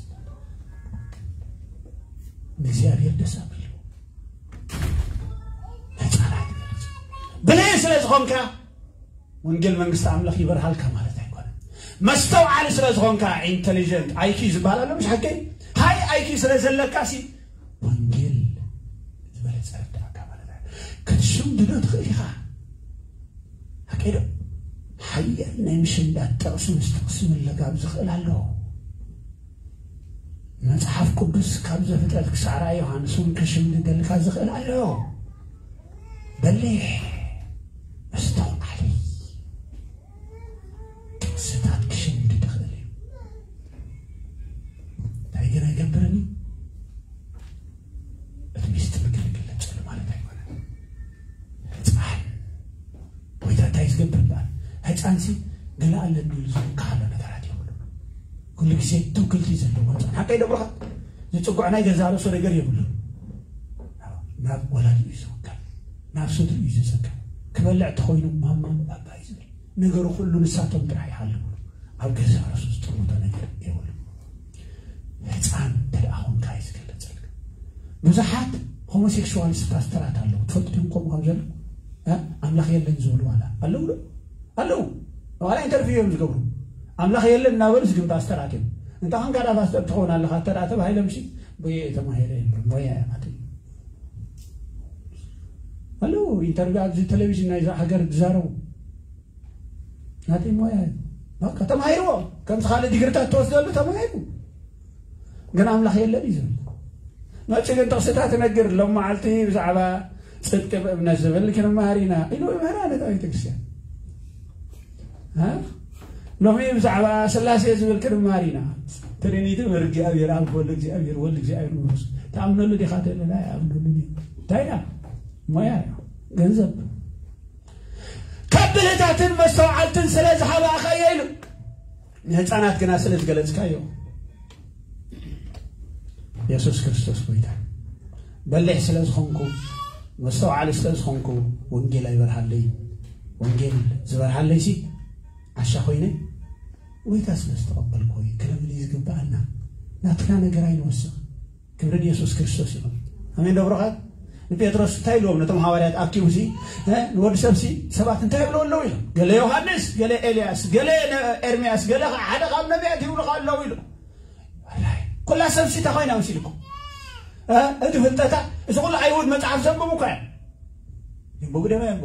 ንእግዚኣብሔር ደስ ኣቢሉ። ህፃናት ይገልጽ። ብልህ ስለ ዝኾንካ ወንጌል መንግስቲ ኣምላኽ ይበርሃልካ ማለት ኣይኮነን። መስተውዓሊ ስለ ዝኾንካ፣ ኢንተሊጀንት፣ ኣይ ኪው ዝበሃል ኣሎ፣ ምሽ ሓቀይ? ሃይ ኣይ ኪው ስለ ዘለካ ሲ ወንጌል ዝበለጸ ርዳእካ ማለት እዩ። ክትሽምድዶ ትኽእል ኢኻ። ሓቀይ ዶ? ሓያል ናይ ምሽምዳድ ጥቕሲ ምስ ጥቕሲ ምልጋብ ዝኽእል ኣሎ። መጽሓፍ ቅዱስ ካብ ዘፍጥረት ክሳዕ ራእይ ዮሃንስ እውን ክሽምድደልካ ዝኽእል ኣሎ። በሊሕ፣ መስተውዓሊ፣ ጥቕስታት ክሽምድድ ይኽእል እዩ። እንታይ ግን ኣይገብርን እዩ? እቲ ሚስጥር ግን ይግለጸሉ ማለት ኣይኮነን። ህፃን ጎይታ እንታይ ዝገብር እምበኣር? ህፃንሲ ገለ ኣለኒ ኢሉ ዝውክሃሎ ነገራት የብሉን። ኩሉ ግዜ ትውክልቲ ዘለዎ ህፃን። ሓቀይ ዶ ብሩኻት? ዝፅጉዕ ናይ ገዛ ርእሱ ነገር የብሉን። ናብ ወላዲኡ እዩ ዝውከል። ናብ ስድርኡ እዩ ዝፅግዕ። ክበልዕ እንተኾይኑ ማማ ባባ እዩ ዝብል። ነገሩ ኩሉ ንሳቶም ጥራሕ ይሃልዉ። ኣብ ገዛ ርእሱ ዝጥምቶ ነገር የብሉን። ህፃን እንተ ደኣ ኾንካ እዩ ዝገለጸልካ። ብዙሓት ሆሞሴክሹዋልስ ፓስተራት ኣለዉ። ትፈልጡ ዲኹም ከምኡ ከም ዘሎ? እ? ኣምላኽ የለን ዝብሉ ዋላ ኣለዉ ዶ? ኣለዉ። ዋላ ኢንተርቪው እዮም ዝገብሩ። ኣምላኽ የለን እናበሉስ ግን ፓስተራት እዮም። እንታይ ኾንካ ደኣ ፓስተር ትኸውን ኣለኻ? እንተ ደኣ ተባሂሎም ሲ፣ ቦየ ተማሂረ እዮም። ሞያ እዮም ኣትዩ። ኣለዉ ኢንተርቪው ኣብዚ ቴሌቪዥን ናይዛ ሃገር ዝዛረቡ። ናተይ ሞያ እዩ። በቃ ተማሂርዎ። ከምዚ ካልእ ዲግሪታት ትወስደሉ ተማሂሩ። ግን ኣምላኽ የለን እዩ ዝብል። መፂ ግን ጥቕስታት ትነግር፣ ሎም መዓልቲ ብዛዕባ ፅድቂ ብእምነት ዝብል ክንመሃር ኢና ኢሉ ይምህራ ነታ ቤተክርስትያን። እ? ሎሚ ብዛዕባ ስላሴ ዝብል ክንመሃር ኢና። ትሪኒቲ፣ እግዚኣብሔር ኣብ፣ ወልድ እግዚኣብሔር፣ ወልድ እግዚኣብሔር መንፈስ። ትኣምነሉ ዲኻ? ተለና ኣይኣምነሉን እዩ። እንታይ ኢና? ሞያ እዩ። ገንዘብ። ካብ ብልህታትን መስተውዓልትን ስለ ዝሃባእኻዮ ኢሉ፣ ንህፃናት ግና ስለ ዝገለጽካዮ። የሱስ ክርስቶስ ጎይታ። በሊሕ ስለ ዝኾንኩ፣ መስተውዓሊ ስለ ዝኾንኩ፣ ወንጌል ኣይበርሃለይ። ወንጌል ዝበርሃለይ ሲ ዓሻ ኮይነ፣ ጎይታ ስለ ዝተቐበልኩ እዩ። ክነምሊ ዝግብኣና፣ ናትና ነገር ኣይንወስኽ። ክብሪ ንየሱስ ክርስቶስ ይኹን። ኣሜን ዶ ብሩኻት? ንጴጥሮስ እንታይ ኢልዎም ነቶም ሃዋርያት ኣኪቡ ሲ፣ እ፣ ንወዲ ሰብ ሲ ሰባት እንታይ ይብልዎ ኣለዉ ኢሎም? ገለ ዮሃንስ፣ ገለ ኤልያስ፣ ገለ ነ-፣ ኤርምያስ፣ ገለ ኸዓ ሓደ ካብ ነቢያት ይብሉኻ ኣለዉ ኢሉ። ወላይ፣ ኩላ ሰብ ሲ እንታይ ኮይና መሲልኩም? እ፣ እቲ ፍልጠታ፣ እዚ ኩሉ ኣይሁድ መጽሓፍ ዘንብቡ እኮ እዮም። የንብቡ ደማ የንብቡ።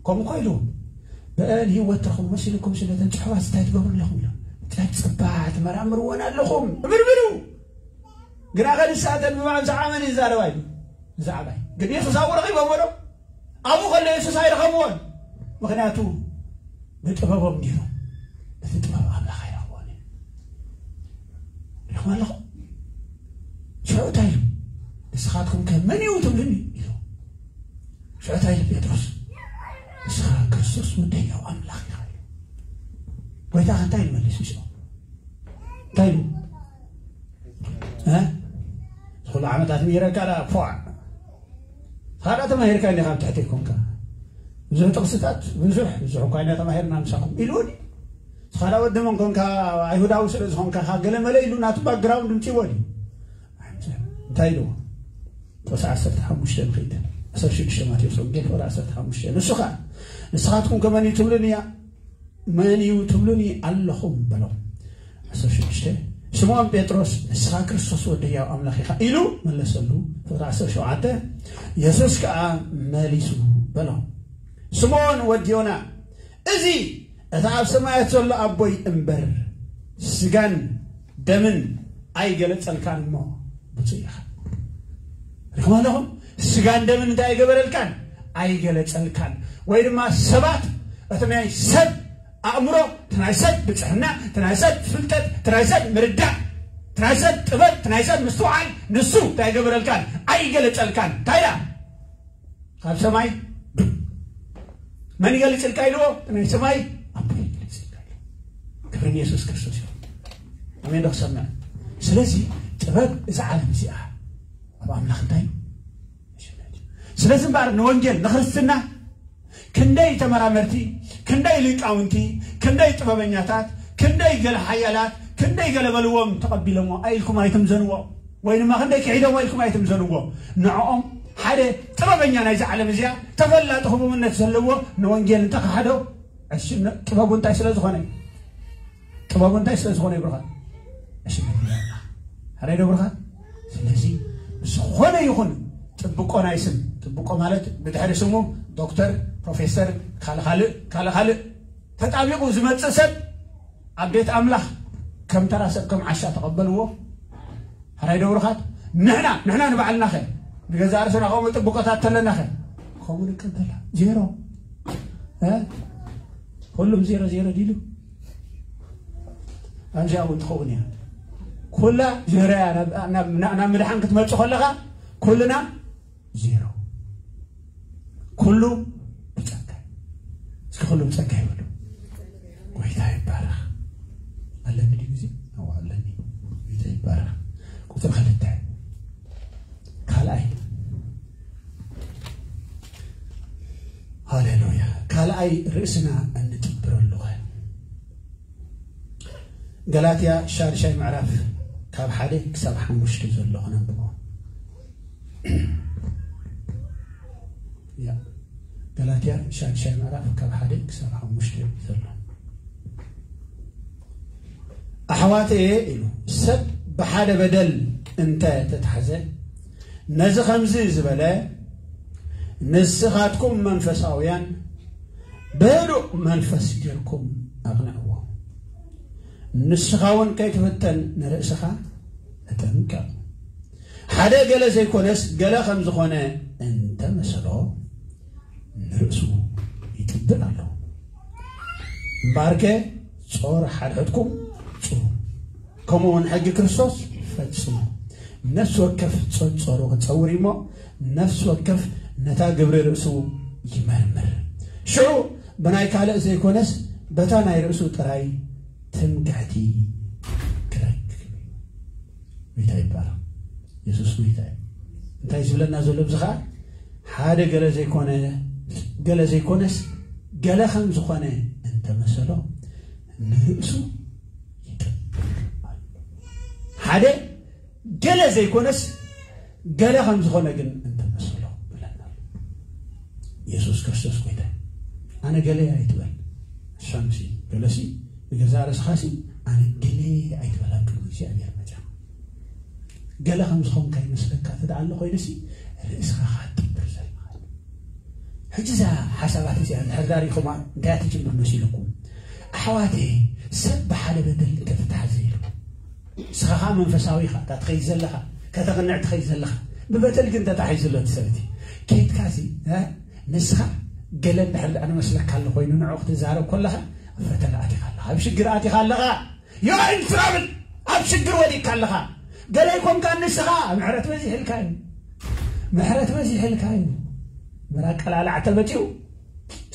ከምኡ እኮ ኢልዎም። ብአን ህይወት ትረኽቡ መሲልኩም ስለ እተን ጽሑፋት እንታይ ትገብሩ ኣለኹም ኢሎም። እንታይ ጽባሕ ትመራምርወን ኣለኹም? እምርምሩ። ግና ከ ንሳተን ብማዕብዛ ዓመን ይዛረባ እዩ። ብዛዕባይ። ግን የሱስ ኣብኡ ረኺቦምዎ ዶ? ኣብኡ ከሎ የሱስ ኣይረኸብዎን። ምኽንያቱ ብጥበቦም ነይሩ። እቲ ጥበብ ኣምላኽ ኣይረኽቦን እዩ። ሪኹም ኣለኹም? ሽዑ እንታይ ኢሉ? ንስኻትኩም ከ መን እዩ ትብሉኒ? ኢሉ። ሽዑ እንታይ ኢሉ ጴጥሮስ? ንስኻ ክርስቶስ ወዲ ህያው ኣምላኽ ኢኻ ኢሉ። ጎይታ ከ እንታይ ኢሉ መሊሱ ሽዑ? እንታይ ኢሉ? እ? ኩሉ ዓመታት ምሂረካ ደኣ፣ ፏዕ። ንስኻ ደኣ ተማሂርካ እንዲኻ ኣብ ትሕቲ ኮንካ። ብዙሕ ጥቕስታት፣ ብዙሕ፣ ብዙሕ እኳ ኢና ተማሂርና ምሳኹም ኢልዎ ድዩ? ንስኻ ደኣ ወዲ መን ኮንካ፣ ኣይሁዳዊ ስለ ዝኾንካ፣ ገለ መለ ኢሉ ናቱ ባክግራውንድ ምጽእዎ ድዩ? እንታይ ኢልዎ? ጥቕሲ ዓሰርተ ሓሙሽተ ንኺድ። ዓሰርተ ሽዱሽተ ማቴዎስ ወንጌል ፍቕዲ ዓሰርተ ሓሙሽተ። ንሱ ኸኣ፣ ንስኻትኩም ከ መን እዩ ትብሉኒ እያ? መን እዩ ትብሉኒ ኣለኹም? በሎም። ዓሰርተ ሽዱሽተ። ስምዖን ጴጥሮስ፣ ንስኻ ክርስቶስ ወዲ ህያው ኣምላኽ ኢኻ ኢሉ መለሰሉ። ፍቕዲ ዓሰርተ ሸውዓተ። የሱስ ከኣ መሊሱ በሎ፣ ስምዖን ወዲ ዮና፣ እዚ እቲ ኣብ ሰማያት ዘሎ ኣቦይ እምበር ስጋን ደምን ኣይገለጸልካን እሞ ብፁዕ ኢኻ። ርኢኹም ኣለኹም? ስጋን ደምን እንታይ ኣይገበረልካን? ኣይገለጸልካን። ወይ ድማ ሰባት እቲ ናይ ሰብ ኣእምሮ፣ እቲ ናይ ሰብ ብጽሕና፣ እቲ ናይ ሰብ ፍልጠት፣ እቲ ናይ ሰብ ምርዳእ፣ እቲ ናይ ሰብ ጥበብ፣ እቲ ናይ ሰብ ምስትውዓል፣ ንሱ እንታይ ኣይገበረልካን? ኣይገለጸልካን። እንታይ ኢላ? ካብ ሰማይ ዱብ። መን ይገልጽልካ ኢልዎ? ናይ ሰማይ ኣቦ ይገልጽልካ ኢልዎ። ክብሪ ንየሱስ ክርስቶስ ይኹን። ኣሜን ዶ ክሰምዕ? ስለዚ ጥበብ እዛ ዓለም እዚኣ ኣብ ኣምላኽ እንታይ እዩ? ስለዚ እምበኣር ንወንጌል ንክርስትና ክንደይ ተመራመርቲ፣ ክንደይ ሊቃውንቲ፣ ክንደይ ጥበበኛታት፣ ክንደይ ገለ ሓያላት፣ ክንደይ ገለ በልዎም ተቐቢሎሞ ኣኢልኩም ኣይትምዘንዎ። ወይ ድማ ክንደይ ክሒዶሞ ኢልኩም ኣይትምዘንዎ። ንዕኦም ሓደ ጥበበኛ ናይዛ ዓለም እዚኣ፣ ተፈላጢ ህቡብነት ዘለዎ ንወንጌል እንተኸሓዶ፣ ዕሽነ-፣ ጥበቡ እንታይ ስለ ዝኾነ? ጥበቡ እንታይ ስለ ዝኾነ ይብርኻ? ዕሽነት ይብርኻ። ሓራይ ዶ ብርኻ? ስለዚ ዝኾነ ይኹን ጥብቆ ናይ ስም፣ ጥብቆ ማለት ብድሕሪ ስሙ ዶክተር፣ ፕሮፌሰር፣ ካልእ ካልእ፣ ካልእ ካልእ ተጣቢቑ ዝመጽእ ሰብ ኣብ ቤት ኣምላኽ ከም ተራ ሰብ፣ ከም ዓሻ ተቐበልዎ። ሕራይ ዶ ብሩኻት? ንሕና፣ ንሕና ንባዕልናኸ? ንገዛእ ርእስና ከምኡ ጥብቆታት ተለናኸ? ከምኡ ንቀበላ። ዜሮ። እ? ሁሉም ዜሮ ዜሮ ዲሉ? ኣብዚኣ እውን ትኸውን እያ። ኩላ ዜሮ እያ። ናብ፣ ናብ፣ ናብ፣ ናብ ምድሓን ክትመጽእ ከለኻ ኩልና ዜሮ። ኩሉ ብጸጋ። እስኪ ኩሉ ብጸጋ ይበሉ። ጎይታ ይባረኽ። ኣለኒ ድዩ ግዜ? ኣዎ ኣለኒ። ጎይታ ይባረኽ። ቁጽሪ ክልተ። ካልኣይ። ሃሌሉያ። ካልኣይ ርእስና እንጥብረሉ ኸ? ገላትያ ሻድሻይ ምዕራፍ ካብ ሓደ ክሳብ ሓሙሽተ ዘሎ ክነንብቦ። ያ፣ ገላትያ ሻድሻይ ምዕራፍ ካብ ሓደ ክሳብ ሓሙሽተ ዘሎ። ኣሕዋተየ ኢሉ፣ ሰብ ብሓደ በደል እንተ ተታሕዘ፣ ነዚ ከምዚ ዝበለ፣ ንስኻትኩም መንፈሳውያን ብህዱእ መንፈስ ጌርኩም ኣቕንዕዎ። ንስኻ እውን ከይትፍተን ንርእስኻ ተጠንቀቕ። ሓደ ገለ ዘይኮነስ ገለ ከም ዝኾነ እንተ መሰሎ ንርእሱ ይጥብር ኣሎ። እምበኣርከ ጾር ሓድሕድኩም ጽሩ፣ ከምኡ እውን ሕጊ ክርስቶስ ፈጽሙ። ነፍሲ ወከፍ ጸንጸሩ ክጸውር እዩ እሞ፣ ነፍሲ ወከፍ ነታ ግብሪ ርእሱ ይመርምር። ሽዑ ብናይ ካልእ ዘይኮነስ በታ ናይ ርእሱ ጥራይ ትምክሕቲ ክረክብ እዩ። ጎይታ ይባረኽ። የሱስ ጎይታ እዩ። እንታይ ዝብለና ዘሎ ኣብዚ ኸዓ፣ ሓደ ገለ ዘይኮነ፣ ገለ ዘይኮነስ ገለ ከም ዝኾነ እንተመሰሎ ንርእሱ ይጥብር ኣሎ። ሓደ ገለ ዘይኮነስ ገለ ከም ዝኾነ ግን እንተመሰሎ ብለና ኣሎ። የሱስ ክርስቶስ ጎይታ እዩ። ኣነ ገለ ኣይትበል። ሻምሲ ገለሲ ንገዛ ርእስኻሲ ኣነ ገለ ኣይትበል ኣብ ቅድሚ እግዚኣብሔር መጻ። ገለ ከም ዝኾንካ ይመስለካ እንተ ደኣ ኣሎ ኮይኑሲ ርእስኻ ኻትጥብር ዘለኻ። ሕጂ እዛ ሓሳባት እዚኣ እንድሕር ዳሪኹማ እንታይ እያ ትጅምር መሲልኩም? ኣሕዋተይ፣ ሰብ ብሓደ በደል እንተተታሕዘ ኢሉ ንስኻ ኸዓ መንፈሳዊ ኢኻ፣ እታ ትኸይድ ዘለኻ፣ ከተቕንዕ ትኸይድ ዘለኻ፣ ብበደል ግን ተታሒዙ ኣሎ እቲ ሰብ እቲ። ኬድካሲ፣ እ፣ ንስኻ ገለ እንድሕር ደኣ ንመስለካ ኣሎ ኮይኑ ንዕኡ ክትዛረብ ከለኻ ኣብ ፈተና ኣቲኻ ኣለኻ፣ ኣብ ሽግር ኣቲኻ ኣለኻ። You're in trouble። ኣብ ሽግር ወዲቕካ ኣለኻ። ገለ ኣይኮንካን ንስኻ፣ ምሕረት በዚሕልካ እዩ። ምሕረት በዚሕልካ እዩ። ምራቅ ቀላልዓ ተመጺኡ፣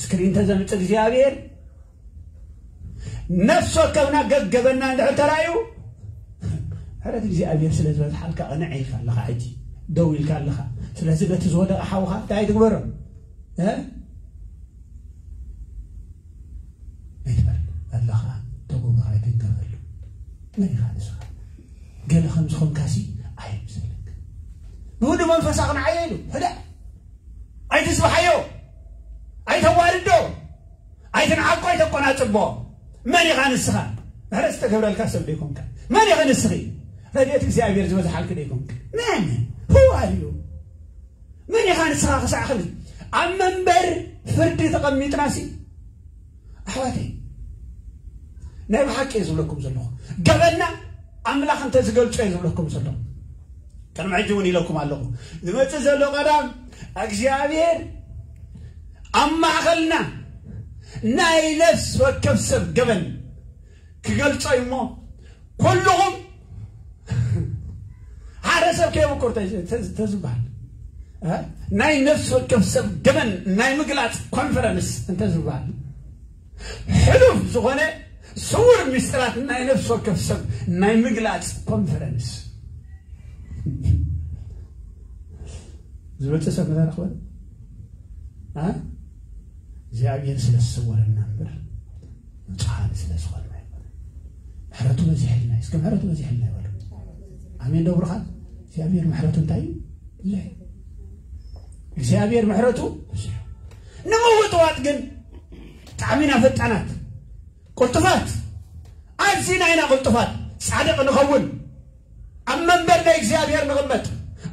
ስክሪን ተዘምጽእ እግዚኣብሔር፣ ነፍሲ ወከፍና ገገበና እንድሕር ተራእዩ፣ ምሕረት እግዚኣብሔር ስለ ዝበዝሓልካ ቅንዕ ኢልካ ኣለኻ። ሕጂ ደው ኢልካ ኣለኻ። ስለዚ በቲ ዝወደቐ ሓውኻ እንታይ ትግበሮ? እ? ኣይትበል ኣለኻ። ተጎግኻ ኣይትንከፈሉ። መን ኢኻ ንስኻ? ገለ ከም ዝኾንካሲ ኣይምሰለካ። ንሁሉ መንፈሳ ቅንዓዮ ኢሉ። ሕደ ኣይትስብሓዮ። ኣይተዋርዶ። ኣይትንዓቆ፣ ኣይተቆናጽቦ። መን ኢኻ ንስኻ? ምሕረት ዝተገብረልካ ሰብ ዶ ይኮንካ? መን ኢኺ ንስኺ? ረድኤት እግዚኣብሔር ዝበዝሓልኪ ዶ ይኮንኪ? መን? Who are you? መን ኢኻ ንስኻ ክሳዕ ክንዲ ኣብ መንበር ፍርዲ ተቐሚጥናሲ? ኣሕዋተይ፣ ናይ ብሓቂ እየ ዝብለኩም ዘለኹ። ገበንና ኣምላኽ እንተ ዝገልጾ እየ ዝብለኩም ዘለኹ። ቅድሚ ሕጂ እውን ኢለኩም ኣለኹ። ዝመጽእ ዘሎ ቀዳም እግዚኣብሔር ኣብ ማእኸልና ናይ ነፍሲ ወከፍ ሰብ ገበን ክገልጾ እዩ እሞ፣ ኩልኹም ሓደ ሰብ ከየምኩር ተ-፣ ተ-፣ ተዝበሃል፣ እ? ናይ ነፍሲ ወከፍ ሰብ ገበን ናይ ምግላጽ ኮንፈረንስ እንተዝበሃል፣ ሕሉፍ ዝኾነ ስውር ምስጢራት ናይ ነፍሲ ወከፍ ሰብ ናይ ምግላጽ ኮንፈረንስ። ዝበጽእ ሰብ መታረኽ በለ? እ? እግዚኣብሔር ስለ ዝሰወረና እምበር፣ ንጹሃን ስለ ዝኾንና ኣይኮነን። ምሕረቱ በዚሕልና እዩ። እስከ ምሕረቱ በዚሕልና ይበሉ። ኣሜን ዶ ብሩኻት? እግዚኣብሔር ምሕረቱ እንታይ እዩ? ብዙሕ እዩ። እግዚኣብሔር ምሕረቱ ብዙሕ እዩ። ንምውጥዋጥ ግን ብጣዕሚ ኢና ፈጣናት፣ ቅልጡፋት፣ ኣዚና ኢና ቅልጡፋት። ጻድቕ ንኸውን፣ ኣብ መንበር ናይ እግዚኣብሔር ንቕመጥ፣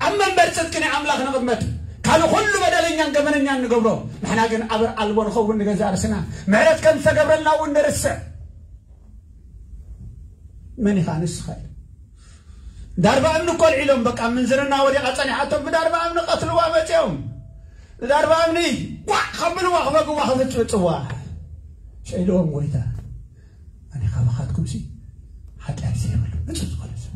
ኣብ መንበር ጽድቂ ናይ ኣምላኽ ንቕመጥ። ካልእ ኩሉ በደለኛን ገበነኛን ንገብሮ፣ ንሕና ግን ኣበር ኣልቦ ንኸውን ንገዛእ ርእስና። ምሕረት ከም ዝተገብረልና እውን ንርስዕ። መን ኢኻ ንስኻ ኢሉ። ዳርባ እምኒ እኮ ኣልዒሎም፣ በቃ ምንዝርና ወዲቓ ጸኒሓቶም፣ ብዳርባ እምኒ ቀትልዋ መጺኦም። ብዳርባ እምኒ ቋዕ ከብልዋ፣ ክበግዋ፣ ክፍጭፍጭዋ። ሸይልዎም ጎይታ። ኣነ ካባኻትኩምሲ ሓጢኣት ዘይብሉ ንጹህ ዝኾነ ሰብ።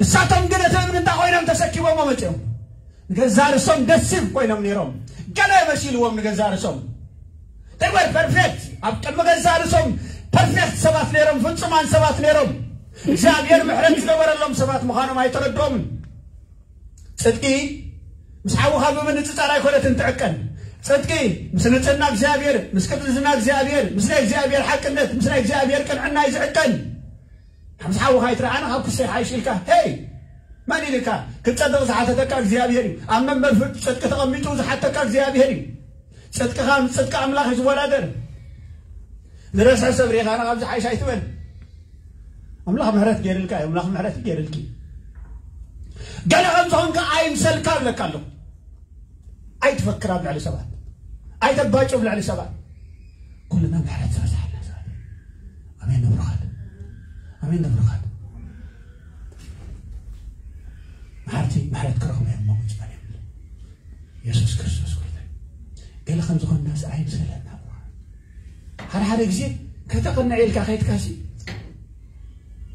እሳቶም ግን እቲ እምኒ እንታይ ኮይኖም ተሰኪሞሞ መጺኦም? ንገዛ ርእሶም ደሲቭ ኮይኖም ነይሮም። ገለ መሲልዎም ንገዛ ርእሶም። They were perfect። ኣብ ቅድሚ ገዛ ርእሶም ፐርፌክት ሰባት ነይሮም፣ ፍጹማን ሰባት ነይሮም። እግዚኣብሔር ምሕረት ዝገበረሎም ሰባት ምዃኖም ኣይተረድኦምን። ጽድቂ ምስ ሓውኻ ብምንጽጻር ኣይኮነትን ትዕቀን። ጽድቂ ምስ ንጽህና እግዚኣብሔር፣ ምስ ቅድስና እግዚኣብሔር፣ ምስ ናይ እግዚኣብሔር ሓቅነት፣ ምስ ናይ እግዚኣብሔር ቅንዕና እዩ ዝዕቀን። ምስ ሓውኻ ኣይትረኣነ፣ ካብ ክሰይ ሓይሽ ኢልካ፣ ሄይ፣ መን ኢልካ? ክትጸድቕ ዝሓተተካ እግዚኣብሔር እዩ። ኣብ መንበር ፍርዲ ጽድቂ ተቐሚጡ ዝሓተካ እግዚኣብሔር እዩ። ጽድቅኻ ምስ ጽድቂ ኣምላኽ እዩ ዝወዳደር። ዝረስሐ ሰብ ርኢኻ፣ "ኣነ ካብዚ ሓይሽ ኣይትበል። ኣምላኽ ምሕረት ገይርልካ እዩ፣ ኣምላኽ ምሕረት እዩ ገይርልኪ። ገለ ከም ዝኾንካ ኣይምሰልካ" እብለካ ኣለኹ። ኣይትፈክር ኣብ ልዕሊ ሰባት፣ ኣይተባጭ ኣብ ልዕሊ ሰባት። ኩልና ምሕረት ዝበዝሓልና ሰባት። ኣሜን ንብሩኻት፣ ኣሜን ንብሩኻት። እቲ ምሕረት ክረኽቡ እዮም መቑጽ ማለት የሱስ ክርስቶስ ጎይታ እዩ። ገለ ከም ዝኾንናስ ኣይምሰለና። ሓደ ሓደ ግዜ ከተቕንዕ ኢልካ ከይድካሲ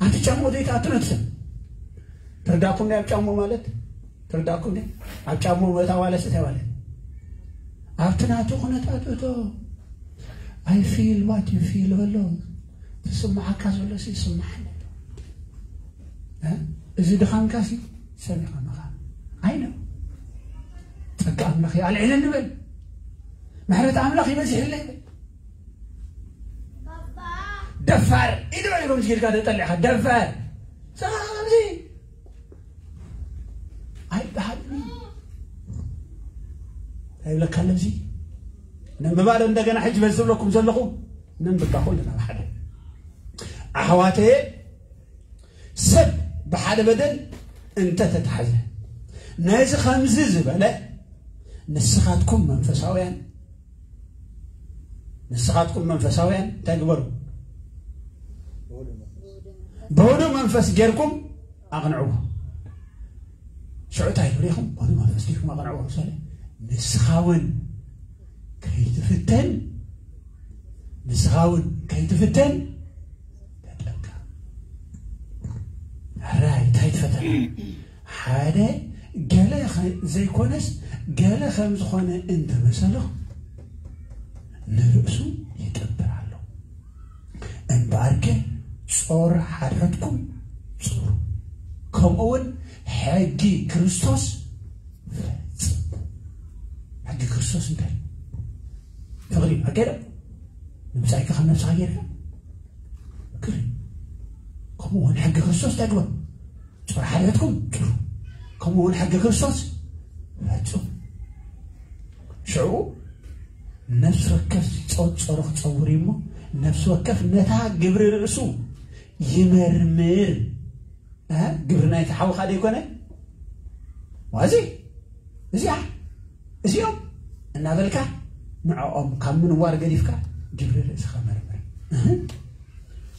ኣብቲ ጫሞ ዘይትኣቱ ነቲ ሰብ ትርዳኩም ናይ ኣብ ጫሞ ማለት ትርዳኩም ናይ ኣብ ጫሞ መእታ ዋለስ እንታይ ማለት ኣብቲ ናቱ ኩነታት እቶ I feel what you feel በሎ ትስማዓካ ዘሎ ሲ ይስማዓኒ። እ? እዚ ድኻምካ ሲ ሰሚኻ መኻ ኣይነ ጸጋ ኣምላኽ ይኣልዕለኒ በል። ምሕረት ኣምላኽ ይበዝሕለይ በል። ደፋር ኢሉ ኢሎም ዝጌድካ ተጠሊዕካ ደፋር ሰኻብዚ ኣይበሃልኒ ኣይብለካ ኣለዚ ነንብባ ዶ እንደገና ሕጂ በዚ ዝብለኩም ዘለኹ ነንብባ ኩልና ብሓደ ኣሕዋተየ ሰብ ብሓደ በደል እንተተታሕዘ ነዚ ከምዚ ዝበለ ንስኻትኩም መንፈሳውያን ንስኻትኩም መንፈሳውያን እንታይ ግበሩ ብህዱ መንፈስ ጌርኩም ኣቕንዕዎ ሽዑ እንታይ ይብሉ ኢኹም ብህዱ መንፈስ ጌርኩም ኣቕንዕዎ ምሳሌ ንስኻ እውን ከይትፍተን ንስኻ እውን ከይትፍተን ተጠንቀቕ ሕራይ እንታይ ትፈተና ሓደ ገለ ዘይኮነስ ገለ ከም ዝኾነ እንተመሰሎ ንርእሱ ይጥብር ኣሎ እምበኣር ግን ጾር ሓድሕድኩም ጹሩ ከምኡ እውን ሕጊ ክርስቶስ ፈጽሙ ሕጊ ክርስቶስ እንታይ ፍቕሪ እዩ ኣገደ ንምጻኢካ ካብ ነብስኻ ጌርካ ፍቅር ከምኡ እውን ሕጊ ክርስቶስ እንታይ ግበር ጾር ሓድሕድኩም ጥሩ ከምኡ እውን ሕጊ ክርስቶስ ፈጹም ሽዑ ነፍሲ ወከፍ ጸጸሮ ክጸውር እዩ እሞ ነፍሲ ወከፍ ነታ ግብሪ ርእሱ ይመርምር ግብሪ ናይቲ ሓውኻ ደይኮነ ዋዚ እዚኣ እዚኦም እናበልካ ንዕኦም ካብ ምንዋር ገዲፍካ ግብሪ ርእስኻ መርምር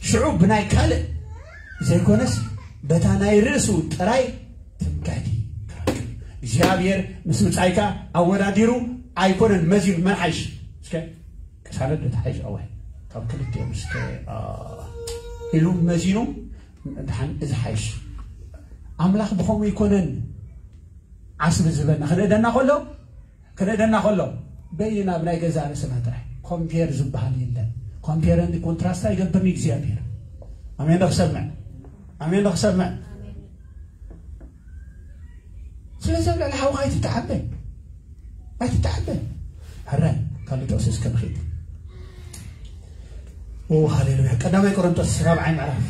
ሽዑ ብናይ ካልእ ዘይኮነስ በታ ናይ ርእሱ ጥራይ ትምክሕቲ እግዚኣብሔር ምስ ምጻይካ ኣወዳዲሩ ኣይኮነን መዚኑ መን ሓይሽ እስከ ቅሳነት ዶ ተሓይሽ ኣዋይ ካብ ክልቲኦም እስከ ኢሉ መዚኑ ድሓን እዚ ሓይሽ ኣምላኽ ብኸምኡ ይኮነን ዓስቢ ዝበና ክንእደና ከሎ ክንእደና ከሎ በይና ብናይ ገዛ ርእስና ጥራይ ኮምፔር ዝበሃል የለን ኮምፔር እንዲ ኮንትራስት ኣይገብርን እግዚኣብሔር ኣሜን ዶ ክሰምዕ ኣሜን ዶ ክሰምዕ ስለዚ ኣብ ልዕሊ ሓውኻ ኣይትተዓበ ኣይትተዓበ ሕራይ ካልእ ጥቕሲ እስከ ንኽእል ሃሌሉያ ቀዳማይ ቆሮንቶስ ራብዓይ ምዕራፍ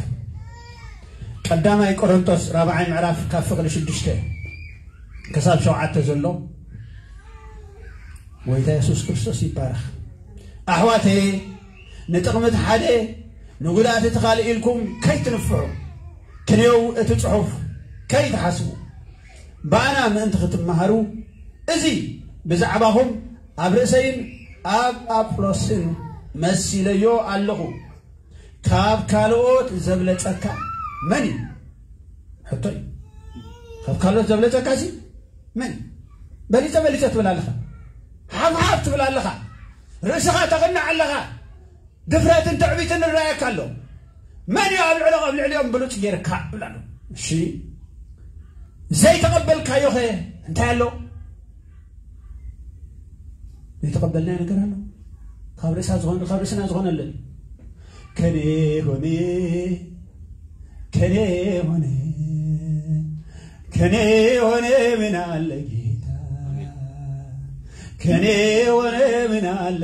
ቀዳማይ ቆሮንቶስ ራብዓይ ምዕራፍ ካብ ፍቕሪ ሽዱሽተ ክሳብ ሸውዓተ ዘሎ ጎይታ የሱስ ክርስቶስ ይባረኽ ኣሕዋተየ ንጥቕሚ እቲ ሓደ ንጉድኣት እቲ ካልእ ኢልኩም ከይትንፍዑ ክንየው እቲ ጽሑፍ ከይትሓስቡ ብኣና ምእንቲ ክትመሃሩ እዚ ብዛዕባኹም ኣብ ርእሰይን ኣብ ኣጵሎስን መሲለዮ ኣለኹ ካብ ካልኦት ዘብለጸካ መን እዩ ሕቶይ ካብ ካልኦት ዘብለጸካ ሲ መን በሊጸ በሊጸ ትብል ኣለኻ ሓፍሓፍ ትብል ኣለኻ ርእስኻ ተቕንዕ ኣለኻ ድፍረትን ትዕቢትን ንረኣየካ ኣሎ መን እዩ ኣብ ልዕሊ ኣብ ልዕሊኦም ብሉጽ ጌርካ ይብል ኣሎ እሺ ዘይተቐበልካዮ ኸ እንታይ ኣሎ ዘይተቐበልናዮ ነገር ኣሎ ካብ ርእሳ ዝኾነ ካብ ርእስና ዝኾነ ኣሎ ከኔ ሆነ ከኔ ሆነ ከኔ ሆነ ምን አለ ጌታ ከኔ ሆነ ምን አለ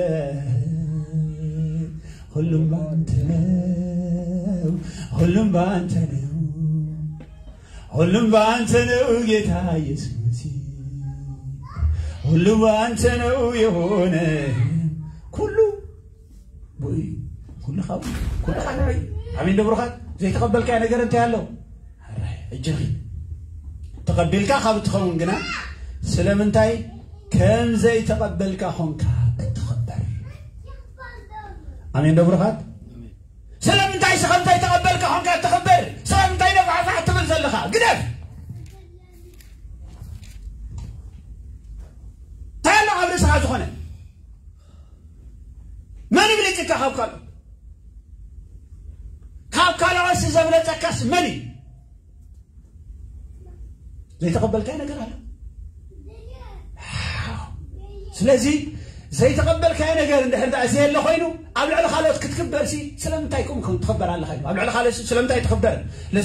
ሁሉም ባንተ ነው ሁሉም ባንተ ነው ሁሉም ባንተ ነው ጌታ ኢየሱስ ሁሉ ባንተ ነው የሆነ ኩሉ ብኡ ኩሉ ካብ ኩሉ ካልእ ኣሜን ዶ ብሩኻት ዘይተቐበልካዮ ነገር እንታይ ኣሎ ሕጂ ተቐቢልካ ካብ እትኸውን ግና ስለምንታይ ከም ዘይተቐበልካ ኾንካ እትኽበር ኣሜን ዶ ብሩኻት ስለምንታይ ስኸ እንታይ ተቐበልካ ኾንካ እትኽበር ስለምንታይ ነፋሕፋሕ ትብል ዘለኻ ግደፍ ዝኾነ መን ይብልጽካ ካብ ካልኦት? ካብ ካልኦት ዘብለጸካስ መን እዩ? ዘይተቐበልካዮ ነገር ኣሎ። ስለዚ ዘይተቐበልካዮ ነገር እንድሕር ደኣ ዘየለ ኮይኑ ኣብ ልዕሊ ካልኦት ክትክበርሲ ስለምንታይ ከምኡ ትኽበር ኣለኻ? ኣብ ልዕሊ ካልኦት ስለምንታይ ትኽበር?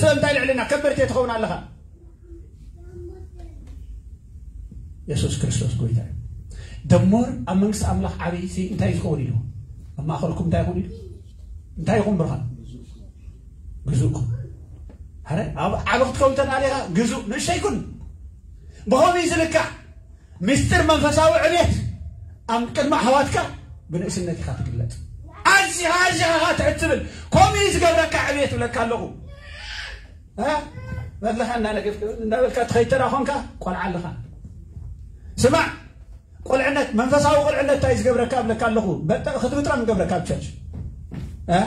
ስለምንታይ ልዕልና ከበርቲ ትኸውን ኣለኻ? የሱስ ክርስቶስ ጎይታ እዩ። ደሞር ኣብ መንግስቲ ኣምላኽ ዓብይ ሲ እንታይ ዝኸውን ኢሉ? ኣብ ማእኸልኩም እንታይ ይኹን ኢሉ? እንታይ ይኹን ብርሃን? ግዙእኩም። ኣረ ኣብ ዓቢ ክትከውን ተዳሊኻ ግዙእ ንእሽተይ ኩን። ብኸመይ ዝልካዕ ምስጢር መንፈሳዊ ዕቤት ኣብ ቅድሚ ኣሕዋትካ ብንእስነት ኢኻ ትግለጽ። ኣዚኻ ኣዚኻ ኢኻ ትሕት ትብል። ከምኡ እዩ ዝገብረካ ዕቤት እብለካ ኣለኹ። እ? መድለኻ እናነገፍክ እናበልካ ትኸይድ ተራ ኾንካ ቆልዓ ኣለኻ። ስማዕ፣ ቁልዕነት፣ መንፈሳዊ ቁልዕነት እንታይ ዝገብረካ እብለካ ኣለኹ። በጣ-፣ ክትምጥራም ይገብረካ ኣብ ቸርች። እ?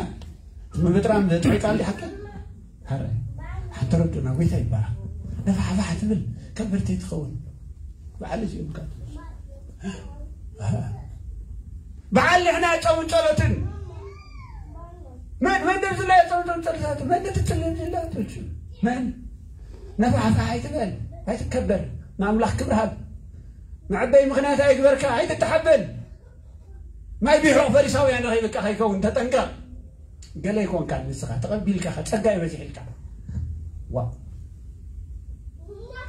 ምምጥራም ጥዑይ ቃል ድዩ ሓቂ? ሀረ፣ ሓንቲ ረዱና ጎይታ ይባረኽ። ነፋሕፋሕ ትብል ከበርቲ ትኸውን። በዓል እዚኦም ካብ በዓል ንሕና ጨውን ጸሎትን መን መን ደብዝላ የጸውቶም ጸሎታት መን ትጽልም ዝላ ትልቹ መን ነፋሕፋሕ ኣይትበል ኣይትከበር ንኣምላኽ ክብሪ ሃብ መዐበይ ምኽንያት ኣይግበርካ ኣይትተሓበል ማይ ቢሖቕ ፈሪሳውያን ረኺብካ ከይከውን ተጠንቀቕ ገለ ይኮንካ ንስኻ ተቐቢልካ ጸጋ ይበዝሕልካ ዋ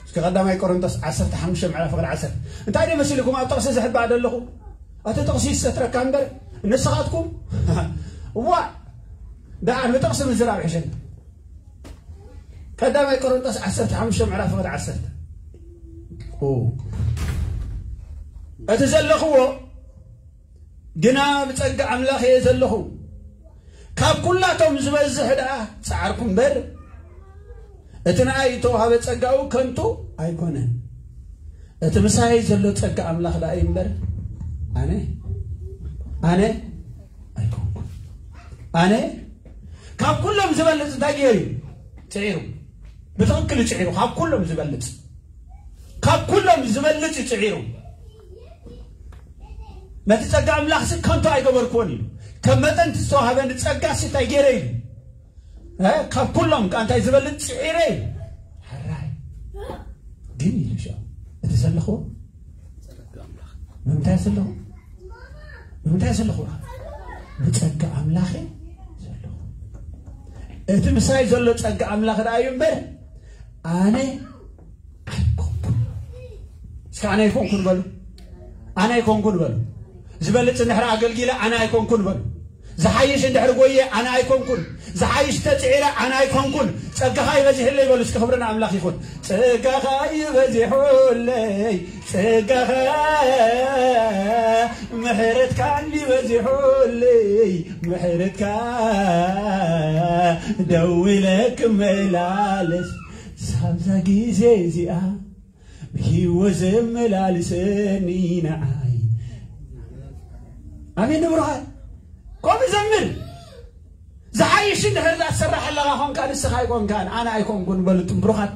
እስከ ቀዳማይ ቆሮንቶስ ዓሰርተ ሓሙሽተ ምዕራፍ ፍቕዲ ዓሰርተ እንታይ ደይ መሲልኩም ኣብ ጥቕሲ ዝሕባእ ዘለኹ እቲ ጥቕሲ ይሰትረካ እምበር ንስኻትኩም ዋ ደኣ ንጥቕሲ ምዝራብ ሕሸኒ ቀዳማይ ቆሮንቶስ ዓሰርተ ሓሙሽተ ምዕራፍ ፍቕዲ ዓሰርተ እቲ ዘለኽዎ ግና ብጸጋ ኣምላኽ እየ ዘለኹ ካብ ኩላቶም ዝበዝሕ ደኣ ጸዓርኩ እምበር እቲ ንኣይ እተዋሃበ ጸጋኡ ከንቱ ኣይኮነን። እቲ ምሳይ ዘሎ ጸጋ ኣምላኽ ደኣ እዩ እምበር ኣነ ኣነ ኣይኮንኩን። ኣነ ካብ ኩሎም ዝበልጽ እንታይ ገይሩ እዩ? ጽዒሩ። ብትኽክል እዩ ጽዒሩ። ካብ ኩሎም ዝበልጽ ካብ ኩሎም ዝበልጽ እዩ ጽዒሩ። ነቲ ጸጋ ኣምላኽሲ ከንቱ ኣይገበርክዎን ኢሉ። ከም መጠን እቲ ዝተዋህበኒ ጸጋሲ እንታይ ገይረ ኢሉ። እ? ካብ ኩሎም ከኣ እንታይ ዝበልጽ ጽዒረ ኢሉ። ሕራይ። ግን ኢሉ ሻ እቲ ዘለኹ ብምንታይ ዘለኹ ብምንታይ ዘለኹ ብጸጋ ኣምላኽ ዘለኹ እቲ ምሳይ ዘሎ ጸጋ ኣምላኽ ደኣ እዩ እምበር ኣነ ኣይኮንኩን እስከ ኣነ ኣይኮንኩን በሉ ኣነ ኣይኮንኩን በሉ ዝበልጽ እንድሕር ኣገልጊለ ኣነ ኣይኮንኩን በሉ ዝሓይሽ እንድሕር ጎየ ኣነ ኣይኮንኩን ዝሓይሽ ተጽዒረ ኣነ ኣይኮንኩን ጸጋኻ ይበዚሕለይ በሉ እስከ ክብሪ ንኣምላኽ ይኹን ጸጋኻ ይበዚሑለይ ጸጋኻ ምሕረትካ እንዲበዚሑለይ ምሕረትካ ደዊለ ክመላለስ ሳብዛ ግዜ እዚኣ ብህይወት ዘመላልሰኒ ንዓይ ኣሜን ንብርሃን ከምኡ ዘምር ዝሓይሽ እንድሕር ዛትሰራሕ ኣለኻ ኾንካ ንስኻ ኣይኮንካን ኣነ ኣይኮንኩን በሉ እቱም ብሩኻት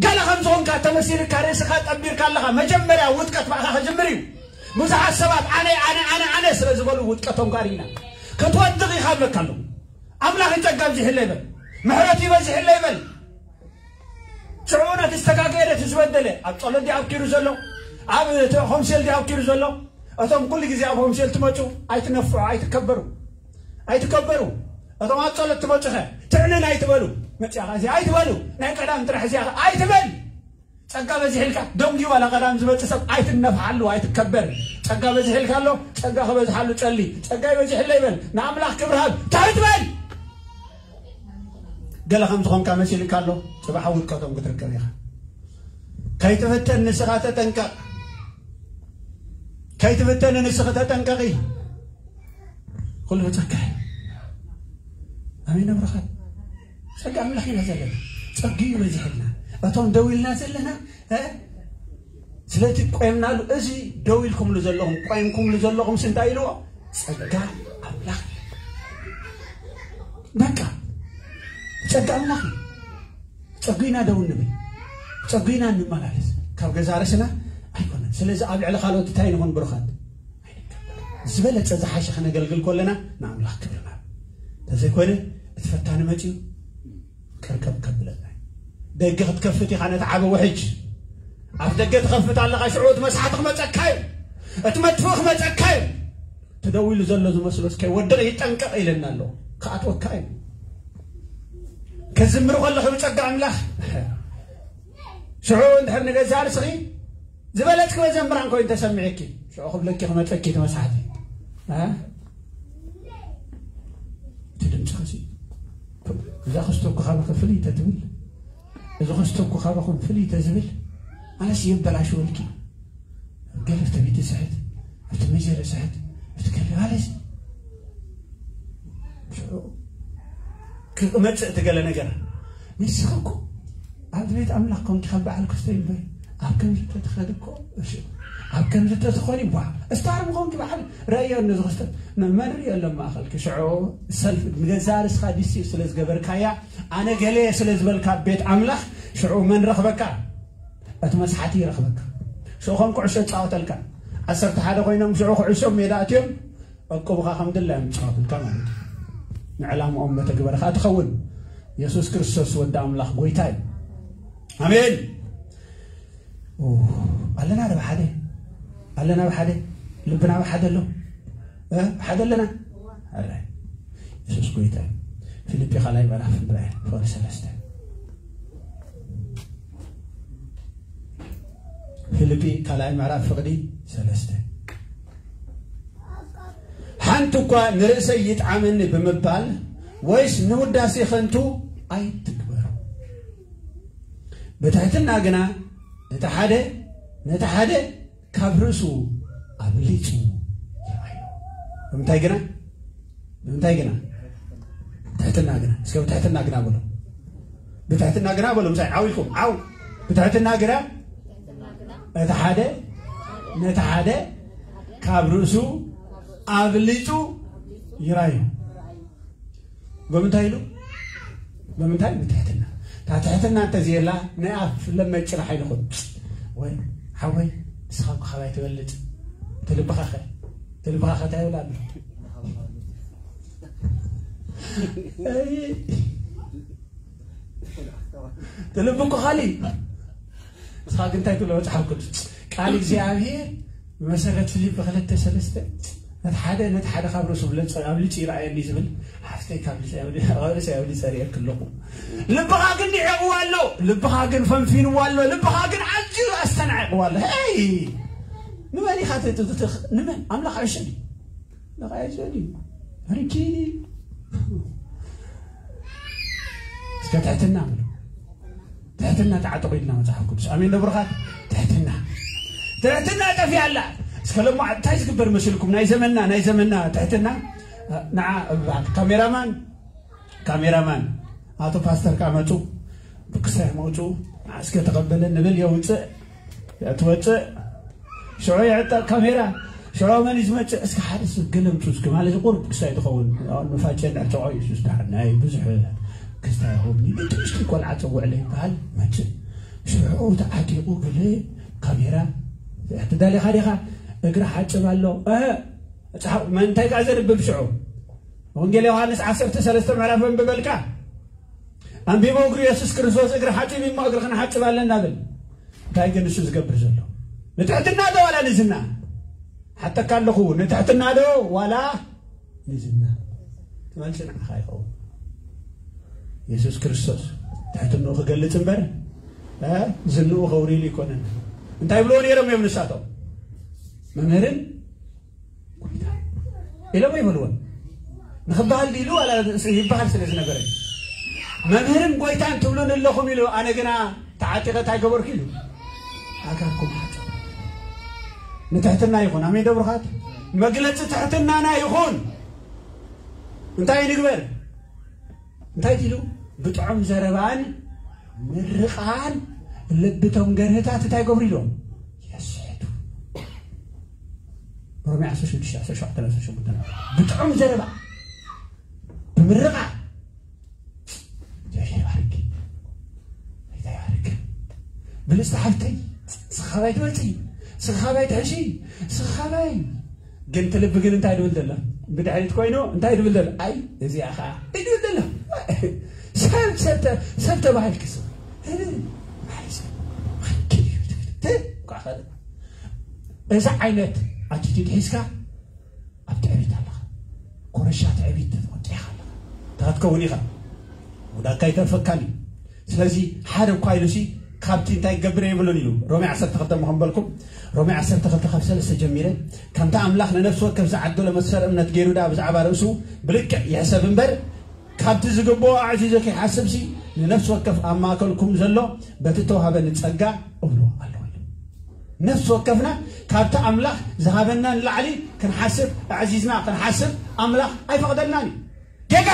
ገለ ከም ዝኾንካ ተመሲልካ ርእስኻ ጠቢርካ ኣለኻ መጀመርያ ውድቀት ባዕኻ ክጅምር እዩ ብዙሓት ሰባት ኣነ ኣነ ኣነ ኣነ ስለ ዝበሉ ውድቀቶም ጋር ኢና ክትወድቕ ኢኻ ብለካ ኣለኹ ኣምላኽ ይጸጋ ኣብዚሕለይ በል ምሕረት ይበዚሕለይ በል ሽዑ ነቲ ዝተጋገየ ነቲ ዝበደለ ኣብ ጸሎት ድዩ ኣብኪሩ ዘሎ ኣብ ሆምሴል ድዩ ኣብኪሩ ዘሎ እቶም ኩሉ ግዜ ኣብ ሆምሴል ትመጹ ኣይትነፍዑ ኣይትከበሩ ኣይትከበሩ እቶም ኣብ ጸሎት ትመጹኸ ትዕንን ኣይትበሉ መጽያኻ እዚ ኣይትበሉ ናይ ቀዳም ጥራሕ እዚያኻ ኣይትበል ጸጋ በዚሕልካ ደንጊ ዋላ ቀዳም ዝመጽእ ሰብ ኣይትነፍሓሉ ኣይትከበር ጸጋ በዚሕልካ ኣሎ ጸጋ ክበዝሓሉ ጸሊ ጸጋ ይበዚሕለ ይበል ንኣምላኽ ክብርሃብ ትሕት በል ገለ ከም ዝኾንካ መሲልካ ኣሎ ጽባሕ ውድቀቶም ክትርከብ ኢኻ ከይትፍተን ንስኻ ተጠንቀቕ ከይትፍተን ንስኺ ተጠንቀቒ ኩሉ ጸጋ ኣሜን ኣብረኻ ጸጋ ኣምላኽ ኢና ዘለና ጸጊ ይበዝሕልና እቶም ደው ኢልና ዘለና ስለቲ ቆይምናሉ እዚ ደው ኢልኩምሉ ዘለኹም ቆይምኩምሉ ዘለኹም እንታይ ኢልዎ ጸጋ ኣምላኽ በቃ ጸጋ ኣምላኽ እዩ ጸጉና ደው ንብል ጸጉና እንመላለስ ካብ ገዛ ርእስና ኣይኮነን ስለዚ ኣብ ልዕሊ ካልኦት እንታይ ንኹን ብሩኻት ዝበለጸ ዝሓሸ ከነገልግል ከለና ንኣምላኽ ክብርና። እንተዘይኮነ እቲ ፈታኒ መጺኡ ቅርቀብ ከብለና እዩ። ደገ ክትከፍት ኢኻ ነቲ ዓቢ ውሕጅ። ኣፍ ደገ ትኸፍት ኣለኻ፣ ሽዑ እቲ መስሓቲ ክመጸካ እዩ። እቲ መጥፍኢ ክመጸካ እዩ። እቲ ደው ኢሉ ዘሎ ዝመስሎ እስከ ወድቕ ይጠንቀቕ ኢለና ኣሎ። ክኣትወካ እዩ። ከዝምር ከለኹ ብጸጋ ኣምላኽ ሽዑ እንድሕር ንገዛእ ርእስኺ ዝበለጽኪ መዘምራን ኮይኑ ተሰሚዕኪ ሽዑ ክብለኪ ክመጸኪ እቲ መስሓቲ። እ? እቲ ድምፅኽሲ እዛ ክስቶ እኮ ካባኹም ፍልይ ተትብል፣ እዚ ክስቶ እኮ ካባኹም ፍልይ ተዝብል፣ ኣነስ የበላሽወልኪ። ገለ ኣብቲ ቤት ስሕት፣ ኣብቲ መጀረ ስሕት፣ ኣብቲ ገለ ማለት ሽዑ ክመጽእ እቲ ገለ ነገር። ንስኺ እኮ ኣብቲ ቤት ኣምላኽ ኮንኪ ካብ በዓል ክስቶ ይንበር ኣብ ከምዚ ተትኸዲ እኮ እሺ፣ ኣብ ከምዚ ተትኾኒ ቧ እስታር ምኾንኪ በዓል ረእዮ ነዚ ክስቶ መመሪ የለን ማእኸልኪ። ሽዑ ሰልፍ ንገዛ ርስኻ ዲሲ ስለ ዝገበርካያ ኣነ ገለ ስለ ዝበልካ ቤት ኣምላኽ ሽዑ መን ረኽበካ? እቲ መስሓቲ ይረኽበካ። ሽዑ ከም ኩዕሾ ይጻወተልካ። ዓሰርተ ሓደ ኮይኖም ሽዑ ኩዕሾ ሜዳ ኣትዮም ዕቁብኻ ከም ድላዮም ይጻወቱልካ ማለት እዩ። ንዕላምኦም መተግበር ኸኣ ትኸውን። የሱስ ክርስቶስ ወዲ ኣምላኽ ጎይታ እዩ። ኣሜን። ኦ፣ ኣለና ዶ ብሓደ? ኣለና ብሓደ? ልብና ብሓደ ኣሎ? እ? ብሓደ ኣለና? ኣረ፣ የሱስ ጎይታ እዩ። ፊልጲ ካልኣይ ምዕራፍ ንርኣይ፣ ፍቕዲ ሰለስተ። ፊልጲ ካልኣይ ምዕራፍ ፍቕዲ ሰለስተ። ሓንቲ እኳ ንርእሰይ ይጥዓመኒ ብምባል ወይስ ንውዳሴ ኸንቱ ኣይትግበሩ። ብትሕትና ግና ነቲ ሓደ፣ ነቲ ሓደ ካብ ርእሱ ኣብሊጹ ይርኣዮ። ብምንታይ ግና? ብምንታይ ግና? ትሕትና ግና። እስከ ብትሕትና ግና በሉ። ብትሕትና ግና በሉ። ምሳይ ዓው ኢልኩም። ዓው። ብትሕትና ግና እቲ ሓደ ነቲ ሓደ ካብ ርእሱ ኣብሊጹ ይራዩ። ብምንታይ ኢሉ? ብምንታይ? ብትሕትና። እታ ትሕትና እንተዘየላ ናይ ኣፍ ለመጭራሕ ኣይንኹን። ወይ ሓወይ ንስኻ እኮ ካባይ ትበልጽ። ትልብኻኸ ትልብኻኸ እንታይ ይብል ኣሎ? ኣይ፣ ትልቢ እኮ ካሊእ። ንስኻ ግን እንታይ ትብሎ መጽሓፍ ቅዱስ? ቃል እግዚኣብሔር ብመሰረት ፊልፒ ክልተ ሰለስተ ነቲ ሓደ ነቲ ሓደ ካብ ርእሱ ብለጸ-፣ ኣብሊጹ ይረኣየኒ ዝብል ሓፍተይ ካብ ርእሰይ ኣብሊ-፣ ካብ ርእሰይ ኣብሊጸ ርእየኪ ኣለኹ። ልብኻ ግን ንዒቕዎ ኣሎ። ልብኻ ግን ፈንፊንዎ ኣሎ። ልብኻ ግን ኣዝዩ ኣስተናዒቕዎ ኣሎ። ሄይ! ንመን ኢኻ ት-፣ ት-፣ ት-፣ ንመን? ኣምላኽ ኣይሸል እዩ። ኣምላኽ ኣይሸል እዩ። ሕርኪ እስከ ትሕትና በሉ። ትሕትና ተዓጠቑ ኢልና መጽሓፍ ቅዱስ። ኣሜን ዶ ብሩኻት? ትሕትና። ትሕትና ጠፊኣ ኣላ። እስከ ሎማ እንታይ ዝግበር መስልኩም? ናይ ዘመንና፣ ናይ ዘመንና ትሕትና። ንዓ እባ ካሜራማን፣ ካሜራማን፣ ኣቶ ፓስተር ከኣ መጹ። ብክሳይ መውጹ። ንዓ እስከ ተቐበለ ንብል የውጽእ። ትወጽእ። ሽዑ የዕጠቕ ካሜራ። ሽዑ መን እዩ ዝመጽእ? እስከ ሓደ ሰብ ገለ ምጹ እስከ ማለት ቁሩብ ክሳይ ትኸውን። ንፋጨ ንዕጠቖ እዩ። ሱስ ዳር ናይ ብዙሕ ክስታይ ይኸውን። ንእሽተይ ቆልዓ ጸውዕለ ይበሃል። መጽእ። ሽዑ ተዓጢቑ ገለ ካሜራ። ትዳሊኻ ዲኻ? እግሪ ሓጽብ ኣሎ። እህ፣ መጽሓፍ፣ መን እንታይ ከኣ ዘንብብ ሽዑ? ወንጌል ዮሃንስ ዓሰርተ ሰለስተ ምዕራፍ ኣንብበልካ። ኣንቢቦ እግሪ የሱስ ክርስቶስ እግሪ ሓጺብ እሞ እግሪ ክንሓጽብ ኣለና ብል። እንታይ ግን እሱ ዝገብር ዘሎ? ንትሕትና ዶ ዋላ ንዝና? ሓተካ ኣለኹ፣ ንትሕትና ዶ ዋላ ንዝና? ትመልሲ ንዓኻ ይኸውን። የሱስ ክርስቶስ ትሕትንኡ ክገልጽ እምበር፣ እ፣ ዝንኡ ከውሪሉ ይኮነን። እንታይ ይብልዎ ነይሮም እዮም ንሳቶም? መምህርን ጎይታ ኢሎም ኣይበልዎን። ንኽበሃል ድኢሉ ዋላ ይበሃል ስለ ዝነበረ፣ መምህርን ጎይታን ትብሉን ኣለኹም ኢሉ፣ ኣነ ግና ተዓጢቐ እንታይ ገበርኩ ኢሉ፣ ኣእጋርኩም ሓጸብኩ። ንትሕትና ይኹን። ኣሜን ዶ ብሩኻት? መግለጺ ትሕትናና ይኹን። እንታይ ንግበር? እንታይ ኢሉ? ብጥዑም ዘረባን ምርቓን ልብቶም ገርህታት እንታይ ገብሩ ኢሎም? የስሕቱ። ሮሜ ዓሰርተ ሽዱሽተ፣ ዓሰርተ ሸውዓተ፣ ዓሰርተ ሸሞንተ። ብጥዑም ዘረባ፣ ብምርቓ። እግዚኣብሔር ይባርክ። ጌታ ይባርክ። ብልጽቲ ሓፍተይ፣ ንስኻ ካባይ ትበልጺ። ስኻ ባይ ትሕሺ፣ ስኻ ባይ። ግን እቲ ልቢ ግን እንታይ ድብል ዘሎ? ብድሕሪት ኮይኑ እንታይ ድብል ዘሎ? ኣይ፣ እዚኣ ኸዓ እዩ ድብል ዘሎ። ሰብ፣ ሰብ ተ-፣ ሰብ ተባሂልክስ። እ፣ ኣይ፣ ሰብ። እ፣ እኳ ኸ-፣ እዚ ዓይነት ኣቲቲዩድ ሒዝካ ኣብ ትዕቢት ኣለኻ። ኮረሻ ትዕቢት ተወጢኻ ኣለኻ። እንታይ ክትከውን ኢኻ? ውዳካ ኣይተርፈካን እዩ። ስለዚ ሓደ እኳ ኢሉሲ ካብቲ እንታይ ክገብር የብሉን ኢሉ። ሮሜ ዓሰርተ ክልተ እሞ ከንበልኩም፣ ሮሜ ዓሰርተ ክልተ ካብ ሰለስተ ጀሚረ፣ ከምቲ ኣምላኽ ንነፍሲ ወከፍ ዝዓደሎ መሰል እምነት ገይሩ ደኣ ብዛዕባ ርእሱ ብልክዕ ይሕሰብ እምበር፣ ካብቲ ዝግብኦ ኣዕዚዙ ከይሓስብሲ ንነፍሲ ወከፍ ኣብ ማእከልኩም ዘሎ በቲ እተዋህበኒ ጸጋ እብሎ ኣለኹ ኢሉ። ነፍሲ ወከፍና ካብቲ ኣምላኽ ዝሃበና ንላዕሊ ክንሓስብ፣ ኣዕዚዝና ክንሓስብ ኣምላኽ ኣይፈቕደልናን እዩ። ጌጋ!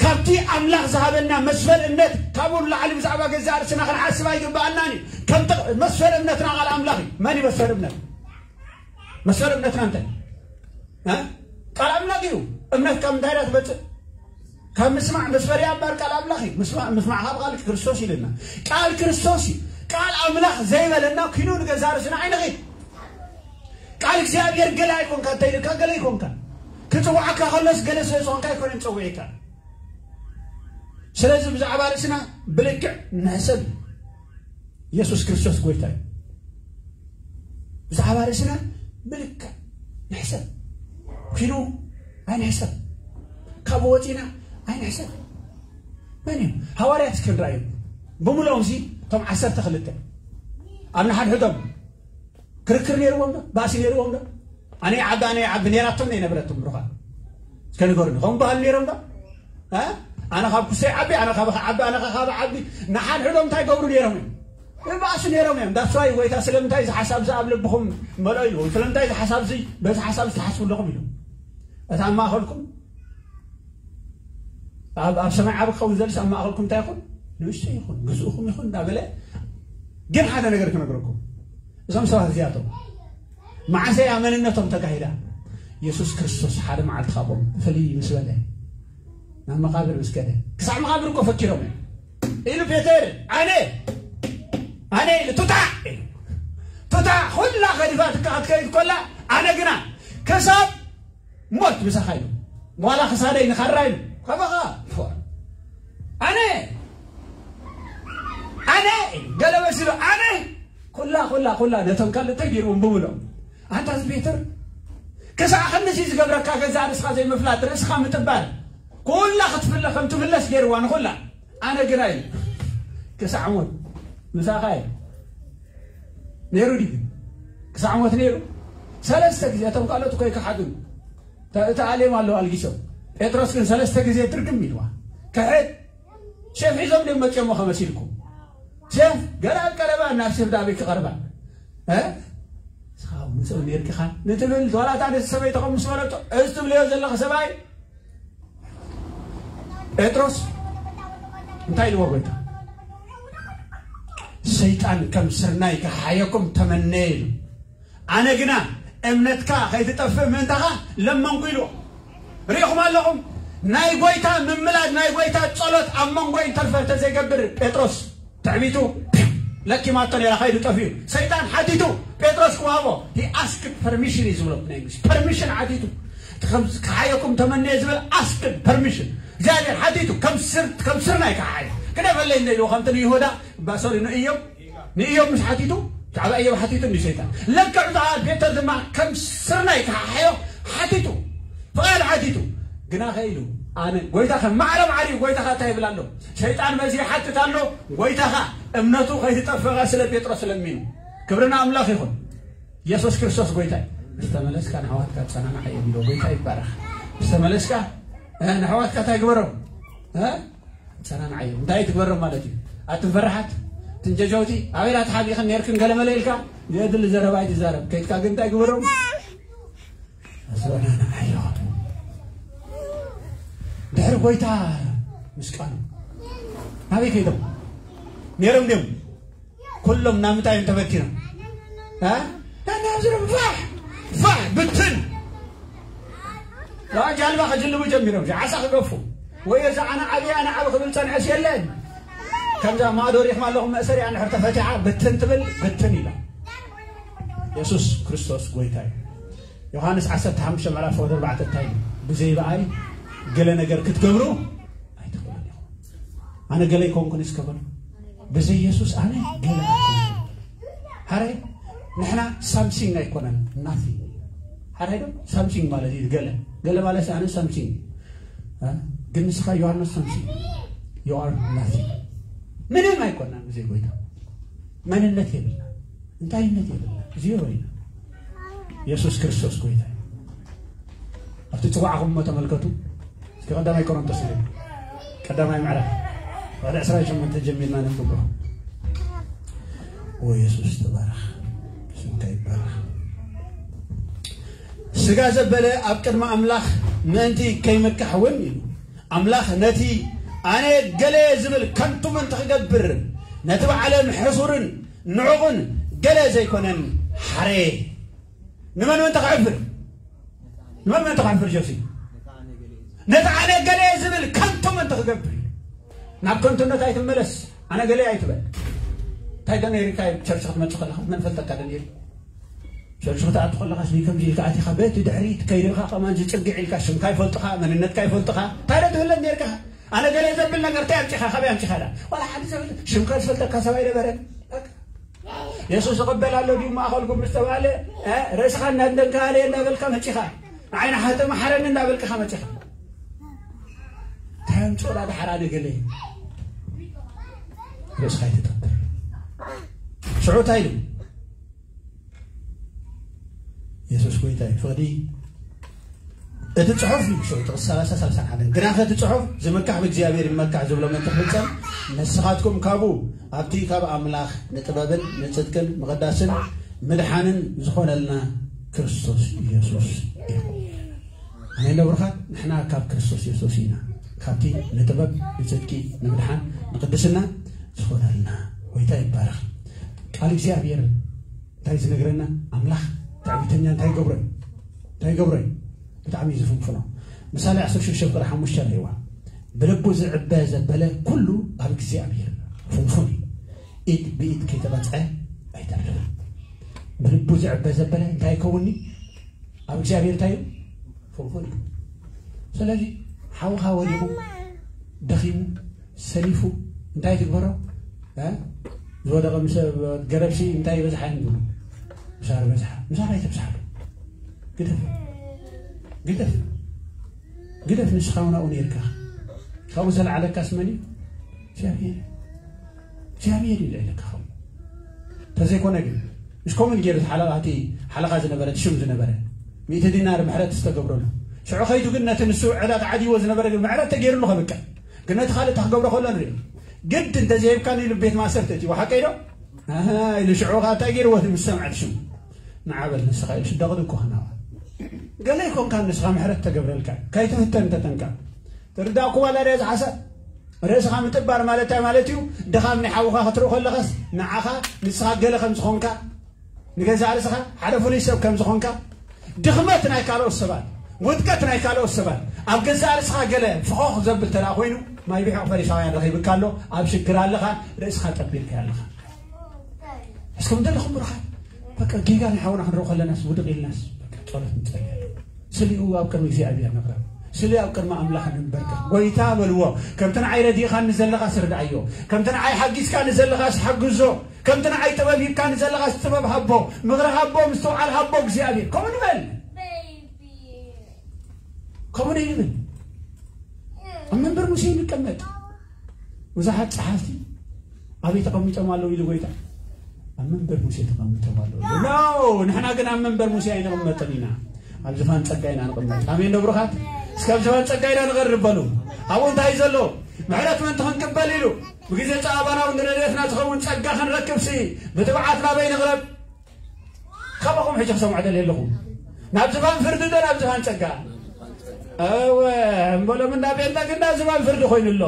ካብቲ ኣምላኽ ዝሃበና መስፈር እምነት፣ ካብኡ ንላዕሊ ብዛዕባ ገዛእ ርእስና ክንሓስብ ኣይግብኣናን እዩ። ከምቲ መስፈር እምነትና ቃል ኣምላኽ እዩ። መን እዩ መስፈር እምነት? መስፈር እምነትና እንታይ? እ? ቃል ኣምላኽ እዩ። እምነት ካብ ምንታይ እያ ትመጽእ? ካብ ምስማዕ። መስፈርያ እምበር ቃል ኣምላኽ እዩ። ምስማዕ፣ ምስማዕ ካብ ቃል ክርስቶስ ኢልና። ቃል ክርስቶስ እዩ። ቃል ኣምላኽ ዘይበለና ኪኑ ንገዛእ ርእስና ኣይንኺድ። ቃል እግዚኣብሔር ገለ ኣይኮንካ፣ እንታይ ኢልካ ገለ ኣይኮንካ። ክጽውዓካ ከሎስ ገለ ስለ ዝኾንካ ኣይኮነን ጸዊዕካ። ስለዚ ብዛዕባ ርእስና ብልክዕ ንሕሰብ። ኢየሱስ ክርስቶስ ጎይታ እዩ። ብዛዕባ ርእስና ብልክዕ ንሕሰብ። ኪኑ ኣይንሕሰብ። ካብኡ ወጺና ኣይንሕሰብ። መን እዩ? ሃዋርያት እስኪ ንረኣዩ። ብምልኦም እዚ እቶም ዓሰርተ ክልተ ኣብ ንሓድሕዶም ክርክር ነይርዎም ዶ? ባእሲ ነይርዎም ዶ? ኣነ ይዓቢ፣ ኣነ ይዓቢ ነይራቶም ዶ ኣይነበረቶም? ብሩኻ እስከ ንገሩኒ። ከምኡ በሃሉ ነይሮም ዶ? እ? ኣነ ካብ ኩሰይ ዓቢ፣ ኣነ ካብ ዓቢ፣ ኣነ ካብ ዓቢ። ንሓድሕዶም እንታይ ገብሩ ነይሮም እዮም? ይባእሱ ነይሮም እዮም። ዳስዋይ ጎይታ ስለምንታይ እዚ ሓሳብ እዚ ኣብ ልብኹም መልኦ ኢሉ? ስለምንታይ እዚ ሓሳብ እዚ፣ በዚ ሓሳብ እዚ ትሓስቡ ኣለኹም ኢሉ? እታ ኣብ ማእኸልኩም ኣብ፣ ኣብ ሰማይ ዓቢ ክኸውን ዘልስ ኣብ ማእኸልኩም እንታይ ይኹን? ንእሽቶ ይኹን፣ ግዝእኹም ይኹን እንዳበለ። ግን ሓደ ነገር ክነግረኩም። እዞም ሰባት እዚኣቶም መዓሰ እያ መንነቶም ተጋሂዳ? የሱስ ክርስቶስ ሓደ መዓልቲ ካብኦም ፍልይ ምስ በለ፣ ናብ መቓብር ምስ ከደ፣ ክሳዕ መቓብር እኮ ፈኪሮም እዮም። ኢሉ ፔተር፣ ኣነ፣ ኣነ ኢሉ፣ ቱታ ኢሉ። ቱታ ኩላ ከዲፋትካ ክትከይድ ኮላ፣ ኣነ ግና ክሳብ ሞት ምሳኻ ኢሉ። ዋላ ክሳደይ ንኻራ ኢሉ። ካባኻ፣ ፎ-፣ ኣነ፣ ኣነ ኢሉ። ገለ መሲሉ፣ ኣነ፣ ኩላ፣ ኩላ፣ ኩላ፣ ነቶም ካልእ እንታይ ገይርዎም ብምሎም። ኣንታ እዚ ፔተር፣ ክሳዕ ክንድዚ ዝገብረካ ገዛእ ርእስኻ ዘይምፍላጥ፣ ርእስኻ ምጥባር፣ ኩላ ክትፍለ-፣ ከም ትፍለስ ገይርዋ ንኹላ። ኣነ ግና ኢሉ፣ ክሳዕ ሞት ምሳኻ ኢሉ። ነይሩ ድዩ ግን? ክሳዕ ሞት ነይሩ። ሰለስተ ግዜ፣ እቶም ካልኦት እኮ ይከሓዱ። ተ-፣ ተኣልዮም ኣለዉ ኣልጊሶም። ጴጥሮስ ግን ሰለስተ ግዜ ድርግም ኢልዋ። ክሕድ ሴፍ ሒዞም ድዮም መጺኦሞ ከመሲልኩም? ሴፍ ገና ኣብ ቀረባ፣ ናብ ሴፍ ዳበይ ክቐርባ? እ? ንስኻ እውን ምስኡ ነይርካ ንትብል፣ ዋላ እታ ነቲ ሰበይቲ ከም ምስ በለቶ፣ እዚ ትብልዮ ዘለኺ ሰብኣይ ጴጥሮስ እንታይ ኢልዎ ጎይታ? ሰይጣን ከም ስርናይ ክሓየኩም ተመነየ ኢሉ። ኣነ ግና እምነትካ ከይትጠፍእ ምእንታኻ ለመንኩ ኢልዎ። ርኢኹም ኣለኹም? ናይ ጎይታ ምምላድ፣ ናይ ጎይታ ጸሎት ኣብ መንጎ ኢንተርፈር ተዘይገብር ጴጥሮስ ትዕቢቱ ለኪማቶ ነይራ፣ ከይዱ ጠፊኡ። ሰይጣን ሓቲቱ ጴጥሮስ ክወሃቦ፣ he asked permission እዩ ዝብሎ ብናይ እንግሊዝ። ፐርሚሽን ሓቲቱ። ከም ክሓየኩም ተመነየ ዝብል asked permission። እግዚኣብሔር ሓቲቱ ከም ስር-፣ ከም ስርናይ ክሓየ። ክደፈለይ እንደ ኢልዎ ከምቲ ንይሁዳ፣ ባ-፣ ሶሪ፣ ንእዮብ፣ ንእዮብ ምስ ሓቲቱ፣ ብዛዕባ እዮብ ሓቲቱ እንዲ ሰይጣን። ለክዕ ብዛዕባ ፔተር ድማ ከም ስርናይ ክሓዮ ሓቲቱ። ፍቓድ ሓቲቱ። ግና ከኢሉ፣ ኣነ፣ ጎይታ ከም ማዕረም ዓርዩ፣ ጎይታኻ እንታይ ይብል ኣሎ? ሰይጣን በዚ ይሓትት ኣሎ፣ ጎይታኻ እምነቱ ከይትጠፍእ ስለ ጴጥሮስ ለሚኑ። ክብሪ ንኣምላኽ ይኹን። ኢየሱስ ክርስቶስ ጎይታ እዩ። ምስ ተመለስካ ንኣሕዋትካ ኣጸናንዓዮም ኢሉ። ጎይታ ይባረኽ። ምስ ተመለስካ፣ እ፣ ንኣሕዋትካ እንታይ ግበሮም? እ? ኣጸናንዓዮም። እንታይ ትግበሮም ማለት እዩ? ኣትን ፈራሓት፣ ትንጀጀውቲ፣ ኣበይ ኢኻ ተሓቢእኽን ነይርክን ገለ መለ ኢልካ፣ ዘየድሊ ዘረባ ኣይትዛረብ። ከይድካ ግን እንታይ ግበሮም? ኣጸናንዓዮም። ድሕሪ ጎይታ ምስቃኑ ናበይ ከይዶም? ነይሮም ድዮም? ኩሎም ናብ ምንታይ እዮም ተበቲኖም? እ? ናብ ዝረብ ፋሕ፣ ፋሕ፣ ብትን። ዋ ጃልባ ከጅልቡ ጀሚሮም፣ ዓሳ ክገፉ። ወይ እዚ ኣነ ዓብየ፣ ኣነ ዓቢ ክብል ጸንሐስ የለን። ከምዛ ማእዶ ሪኽማ ኣለኹም መእሰሪያ እንድሕር ተፈቲሓ ብትን ትብል ብትን ኢላ። የሱስ ክርስቶስ ጎይታ እዩ። ዮሃንስ ዓሰርተ ሓሙሽተ ምዕራፍ ወደ ኣርባዕተ እንታይ እዩ? ብዘይ ብኣይ ገለ ነገር ክትገብሩ ኣይትኽእሉን ኢኹም። ኣነ ገለ ኣይኮንኩን እስከ በሉ። ብዘይ የሱስ ኣነ ገለ ኣይኮንኩን። ሓራይ ንሕና ሳምሲንግ ኣይኮነን ናቲንግ። ሓራይ ዶ ሳምሲንግ ማለት እዩ ገለ ገለ ማለት ኣነ ሳምሲንግ ግን ንስኻ ዮሃንስ ሳምሲንግ you are nothing። ምንም ኣይኮናን ብዘይ ጎይታ መንነት የብልና፣ እንታይነት የብልና፣ ዜሮ ኢና። የሱስ ክርስቶስ ጎይታ እዩ። ኣብቲ ጽዋዕኹም እሞ ተመልከቱ። እስኪ ቀዳማይ ቆሮንቶስ ንብል ቀዳማይ ምዕራፍ ወደ ዕስራን ሸሞንተን ጀሚርና ነንብቦ። ኦ የሱስ ተባረኽ፣ ስምካ ይባረኽ። ስጋ ዘበለ ኣብ ቅድሚ ኣምላኽ ምእንቲ ከይምካሕ እውን ኢሉ ኣምላኽ ነቲ ኣነ ገለ ዝብል ከንቱ ምእንቲ ክገብር ነቲ ብዓለም ሕሱርን ንዑቕን ገለ ዘይኮነን ሓረ። ንመን ምእንቲ ክሕፍር? ንመን ምእንቲ ክሕፍር ጆሲ? ነቲ ኣነ ገለ ዝብል ከንቱ ምእንቲ ክገብር እዩ። ናብ ከንቱነት ኣይትመለስ። ኣነ ገለ ኣይትበል። እንታይ ዶ ነይርካ ቸርች ክትመጽእ ከለኻ መን ፈልጠካ ዶ ነይሩ? ሸርሹ ክትኣቱ ከለኻስ ከምዚ ኢልካ ኣቲኻ በቲ ድሕሪት ከይድኻ ከማን ዝጽግዕ ኢልካ ሽምካ ይፈልጥኻ መንነትካ ይፈልጥኻ እንታይ ዶ ትብለን ነርካ? ኣነ ገለ ዘብል ነገር እንታይ ኣምጺኻ ካበይ ኣምጺኻ ዳ ዋላ ሓደ ሰብ ሽምካ ዝፈልጠካ ሰብ ኣይነበረን። የሱስ ይቕበል ኣሎ ድዩ ማእኸልኩም ምስ ተባለ ርእስኻ እናደንካለ እናበልካ መጺኻ ንዓይ ንሓተ መሓረኒ እናበልካ መጺኻ እንታይ ኣምጽኦ ዳ ድሓር ኣነ ገለ ርእስኻ ይተጠብር ሽዑ እንታይ ኢሉ የሱስ ጎይታ እዩ። ፍቕዲ እቲ ጽሑፍ እዩ። ሸው ጥቕሲ ሰላሳ ሰላሳ ሓደ ግናኸ እቲ ጽሑፍ ዝምካሕ ብእግዚኣብሔር ይመካሕ ዝብሎ መን ክፍጸም ንስኻትኩም ካብኡ ኣብቲ ካብ ኣምላኽ ንጥበብን ንጽድቅን ምቕዳስን ምድሓንን ዝኾነልና ክርስቶስ ኢየሱስ እዩ። ኣሜን ዶ ብሩኻት? ንሕና ካብ ክርስቶስ የሱስ ኢና ካብቲ ንጥበብ ንጽድቂ ንምድሓን ንቅድስና ዝኾነልና። ጎይታ ይባረኽ። ቃል እግዚኣብሔር እንታይ ዝነግረና? ኣምላኽ ትዕቢተኛ እንታይ ይገብሮ እዩ? እንታይ ይገብሮ እዩ? ብጣዕሚ እዩ ዝፍንፍኖ። ምሳሌ ዓሰርተ ሽዱሽተ ቁፅሪ ሓሙሽተ ርእይዋ። ብልቡ ዝዕበ ዘበለ ኩሉ ኣብ እግዚኣብሔር ፍንፉን እዩ። ኢድ ብኢድ ከይተቐፅዐ ኣይተርፍን። ብልቡ ዝዕበ ዘበለ እንታይ ይከውንኒ? ኣብ እግዚኣብሔር እንታይ እዩ? ፍንፉን እዩ። ስለዚ ሓውኻ ወዲቑ ደኺሙ ሰሊፉ እንታይ ትግበሮ? ዝወደቐ ምስ ገረብሲ እንታይ ይበዝሓ እዮም ዝብሉ? ምሳር በዝሓ። ምሳር ኣይተብዝሓሉ። ግደፍ ግደፍ ግደፍ። ንስኻ እውን ኣብኡ ነይርካ። ካብኡ ዘለዓለካስ መን እዩ? እግዚኣብሔር። እግዚኣብሔር እዩ ልዕለካ። ከምኡ እንተዘይኮነ ግን ምስ ከምኡ ገይሩ ሓለቓ እቲ ሓለቓ ዝነበረ እቲ ሽም ዝነበረ ሚእቲ ዲናር ምሕረት ዝተገብረሉ ሽዑ ከይዱ ግን ነቲ ንሱ ዕዳ ተዓዲዎ ዝነበረ ግን ምሕረት ተገይሩሉ ከብቅዕ ግን ነቲ ካልእ እታ ክገብሮ ከሎ ንሪኦ ግድ እንተዘይብካኒ ኢሉ ቤት ማእሰርቲ እቲ ሓቀይ ዶ ኢሉ ሽዑ ከዓ እንታይ ገይርዎ እቲ ምስ ሰምዐ እቲ ሽሙ ንዓበል ንስኻ ኢሉ ሽደቕዲ እኮ ክናዋ ገለ ይኮንካ ንስኻ ምሕረት ተገብረልካ ከይትፍተን ተጠንቀቕ ትርዳእኩ ዋላ ደ ዝሓሰብ ርእስኻ ምጥባር ማለት እንታይ ማለት እዩ? ድኻም ናይ ሓውኻ ክትርኢ ከለኻስ ንዓኻ ንስኻ ገለ ከም ዝኾንካ ንገዛእ ርእስኻ ሓደ ፍሉይ ሰብ ከም ዝኾንካ ድኽመት ናይ ካልኦት ሰባት ውድቀት ናይ ካልኦት ሰባት ኣብ ገዛእ ርእስኻ ገለ ፍኾኽ ዘብል ተደኣ ኮይኑ ማይ ቢሖቕ ፈሪሳውያን ረኺብካ ኣሎ ኣብ ሽግር ኣለኻ ርእስኻ ጠቢርካ ኣለኻ እስኩም ዘለኹም ብሩኻት በቃ ጌጋ ናይ ሓውና ክንርኢ ከለናስ ውድቕ ኢልናስ ጸሎት ንጸልያ ስሊኡ ኣብ ቅድሚ እግዚኣብሔር ንቕረብ ስሊ ኣብ ቅድሚ ኣምላኽ ንንበርከ ጎይታ በልዎ ከምቲ ንዓይ ረዲእኻኒ ዘለኻስ ርድኣዮ ከምቲ ንዓይ ሓጊዝካኒ ዘለኻስ ሓግዞ ከምቲ ንዓይ ጥበብ ሂብካኒ ዘለኻስ ጥበብ ሃቦ ምኽሪ ሃቦ ምስትውዓል ሃቦ እግዚኣብሔር ከምኡ ንበል ከምኡ ንብል ኣብ መንበር ሙሴ ንቀመጥ ብዙሓት ጸሓፍቲ ኣበይ ተቐሚጦም ኣለዉ ኢሉ ጎይታ ኣብ መንበር ሙሴ ተቐሚጦም ኣለዉ ኖ ንሕና ግን ኣብ መንበር ሙሴ ኣይንቕመጥን ኢና ኣብ ዝፋን ጸጋ ኢና ንቕመጥ ኣሜን ዶ ብሩኻት እስከ ኣብ ዝፋን ጸጋ ኢና ንቐርብ በሉ ኣብኡ እንታይ ዘሎ ምሕረት ምእንቲ ክንቅበል ኢሉ ብግዜ ጸባባና እውን ንረድኤትና ዝኸውን ጸጋ ክንረክብሲ ብትብዓት ናበይ ንቕረብ ካባኹም ሕጂ ክሰምዖ ደልየ ኣለኹ ናብ ዝፋን ፍርዲ ዶ ናብ ዝፋን ጸጋ እወ እምበሎም እንዳ ጴንጠ ግን ናብ ዝፋን ፍርዲ ኮይኑ ኣሎ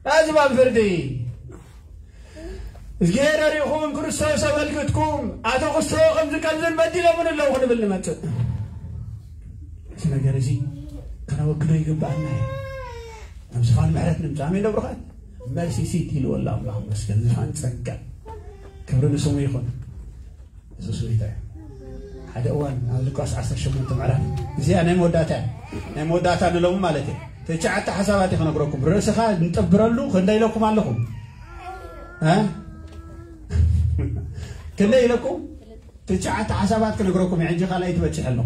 ናብ ዝፋን ፍርዲ እግዚኣብሔር ሪእኹም ክርስቶስ ኣመልክትኩም ኣቶ ክስቶ ከምዚ ከምዝን በዲሎምን ኣለዉ ክንብል ንመጽእ እዚ ነገር እዚ ከነወግዶ ይግብኣና እዩ ናብ ዝፋን ምሕረት ንምጻእ ኣሜን ዶ ብሩኻት መርሲሲት ኢልዎ ኣሎ ኣምላኽ መስገን ዝፋን ጸጋ ክብሪ ንስሙ ይኹን። የሱስ ጎይታ እዩ። ሓደ እዋን ኣብ ሉቃስ ዓሰርተ ሸሞንተ ምዕራፍ እዚኣ ናይ መወዳእታ እያ። ናይ መወዳእታ ንሎሚ ማለት እዩ። ትሽዓተ ሓሳባት እዩ ክነግረኩም። ርእስኻ ንጠብረሉ ክንደይ ኢለኩም ኣለኹም? እ? ክንደይ ኢለኩም? ትሽዓተ ሓሳባት ክነግረኩም እየ። ሕጂ ካልኣይ ትበጽሕ ኣሎ።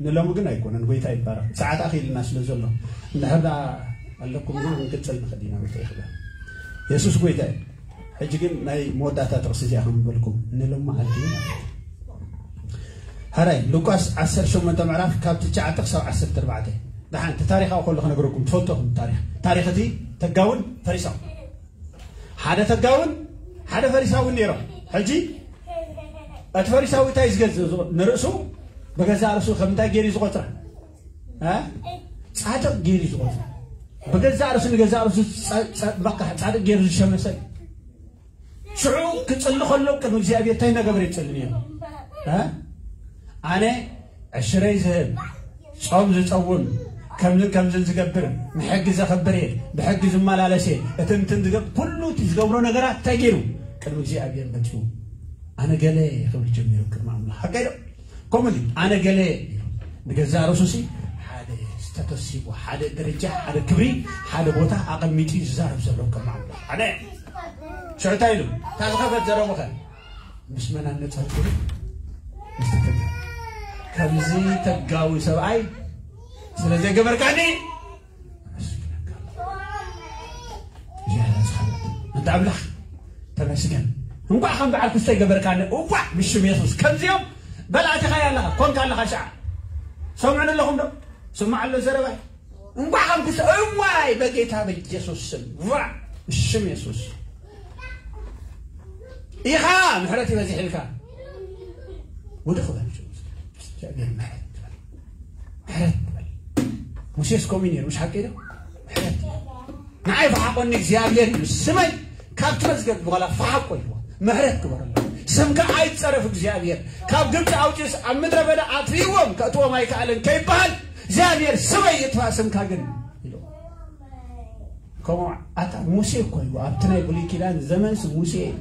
ንሎሚ ግን ኣይኮነን። ጎይታ ይባረኽ። ሰዓት ኣኺልና ስለ ዘሎ እንድሕር ደኣ ኣለኩም ግን ክንቅጽል ንኽእል ኢና። ጎይታ ይኽበር። የሱስ ጎይታ እዩ። ሕጂ ግን ናይ መወዳእታ ጥቕሲ እዚኣ ከም ዝበልኩም ንሎም መዓልቲ እዩ ማለት እዩ። ሕራይ ሉቃስ ዓሰርተ ሸሞንተ ምዕራፍ ካብ ትሽዓተ ክሳብ ዓሰርተ ኣርባዕተ። ደሓን እቲ ታሪኻዊ ከሎ ክነግረኩም ትፈልጡ ኢኹም። ታሪኽ ታሪኽ እቲ ተጋውን ፈሪሳውን ሓደ ተጋውን ሓደ ፈሪሳውን ነይሮም። ሕጂ እቲ ፈሪሳዊ እንታይ ዝገዝእ ዝቆ- ንርእሱ ብገዛእ ርእሱ ከም እንታይ ገይሩ እዩ ዝቆጽራ? እ? ጻድቕ ገይሩ እዩ ዝቆጽራ። ብገዛእ ርእሱ ንገዛእ ርእሱ ጸ- ጸ- በቃ ጻድቕ ገይሩ ዝሸመሰ እዩ። ሽዑ ክጽሊ ከሎ ቅድሚ እግዚኣብሔር እንታይ እናገበረ ይጽሊ ነይሩ? እ? ኣነ ዕሽረይ ዝህብ ጾም ዝጸውም ከምዝን ከምዝን ዝገብር ንሕጊ ዘኽብር እየ፣ ብሕጊ ዝመላለስ እየ፣ እቲ እንትን ዝገብ ኩሉ እቲ ዝገብሮ ነገራት እንታይ ገይሩ ቅድሚ እግዚኣብሔር መጺኡ ኣነ ገለ ክብል ጀሚሩ ቅድሚ ኣምላኽ ሓቀይ ዶ ከምኡ ድዩ ኣነ ገለ ኢሉ ንገዛእ ርእሱ ሲ ሓደ ስተተሲቡ ሓደ ደረጃ ሓደ ክብሪ ሓደ ቦታ ኣቐሚጡ እዩ ዝዛረብ ዘሎ ቅድሚ ኣምላኽ ኣነ ሽዑ እንታይ ኢሉ እታ ዝኸፈት ዘረቡኸ ምስ መን ኣነጻጽሩ? ምስ ተጋ ከምዚ ተጋዊ ሰብኣይ ስለ ዘይገበርካኒ ኣመስግነካ ኣለኹ። እግዚኣብሔር ዝሓለት ኣንታ ኣምላኽ ተመስገን። እንኳዕ ከም በዓል ክስተ ይገበርካኒ። እዋዕ ብሽም የሱስ ከምዚኦም በላዕትኻ ኣለኻ ኮንካ ኣለኻ ሻዓ ሰምዑኒ ኣለኹም ዶ? ስማዕ ኣሎ ዘረባይ እንኳዕ ከም ክስተ እዋይ በጌታ በኢየሱስ ስም ዋ ብሽም የሱስ ኢኻ ምሕረት ይበዚሕልካ ውድቕ በል እግዚኣብሔር ምሕረት ትበል ምሕረት ትበል ሙሴስ ከምኡ ነይሩ ምሽ ሓቂ ዶ ምሕረት ንዓይ ፈሓቆኒ እግዚኣብሔር እዩ ስመይ ካብቲ መዝገብ በኋላ ፈሓቆ ኢልዎ ምሕረት ግበረሎ ስምካ ኣይጸረፍ እግዚኣብሔር ካብ ግብፂ ኣውፂኡስ ኣብ ምድረ በዳ ኣትሪዎም ከእትዎም ኣይከኣለን ከይበሃል እግዚኣብሔር ስመይ ይጥፋእ ስምካ ግን ኢልዎ ከምኡ ኣታ ሙሴ እኮ እዩ ኣብቲ ናይ ብሉይ ኪዳን ዘመንስ ሙሴ እዩ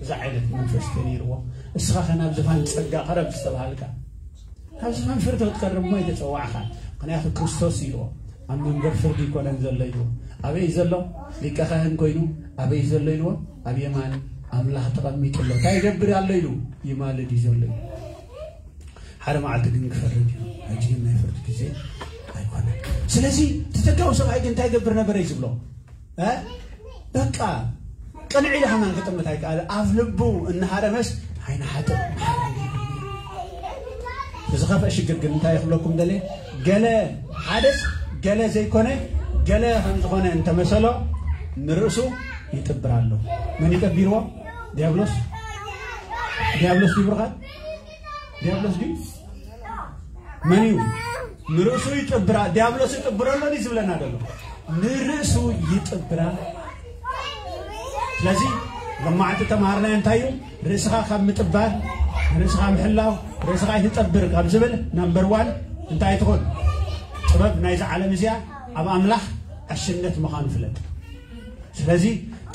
እዛ ዓይነት መንፈስ ተነይርዎ እስኻ ከ ናብ ዝፋን ጸጋ ቀረብ ዝተባሃልካ ካብ ዝፋን ፍርዲ ክትቀርብ እሞ ኣይተጸዋዕኻን ምኽንያቱ ክርስቶስ ኢልዎ ኣብ መንበር ፍርዲ ይኮነን ዘሎ ኢልዎ ኣበይ ዘሎ ሊቀ ካህን ኮይኑ ኣበይ ዘሎ ኢልዎ ኣብ የማን ኣምላኽ ተቐሚጡ ኣሎ እንታይ ይገብር ኣሎ ኢሉ ይማልድ እዩ ዘሎ ኢሉ ሓደ መዓልቲ ግን ክፈርድ እዩ ሕጂ ግን ናይ ፍርዲ ግዜ ኣይኮነን ስለዚ ተተጋው ሰብኣይ ግን እንታይ ገብር ነበረ እዩ ዝብሎ በቃ ቅንዒ ኢለ ከማን ክጥምት ኣይከኣለ ኣብ ልቡ እናሃረመስ ዓይኒ ሓጥእ ዝኸፍአ ሽግር ግን እንታይ ክብለኩም ደለ ገለ ሓደስ ገለ ዘይኮነ ገለ ከም ዝኾነ እንተመሰሎ ንርእሱ ይጥብር ኣሎ መን ይጠቢርዎ ዲያብሎስ ዲያብሎስ ይብርኻል ዲያብሎስ ግን መን እዩ ንርእሱ ይጥብራ ዲያብሎስ ይጥብረሎ ዝብለና ዘሎ ንርእሱ ይጥብራ ስለዚ መማዕቲ ተማሃርናዮ እንታይ እዩ ርእስኻ ካብ ምጥባር ርእስኻ ምሕላው ርእስኻ ይትጠብር ካብ ዝብል ናምበር ዋን እንታይ ትኾን ጥበብ ናይዚ ዓለም እዚኣ ኣብ ኣምላኽ ዕሽነት ምዃኑ ፍለጥ ስለዚ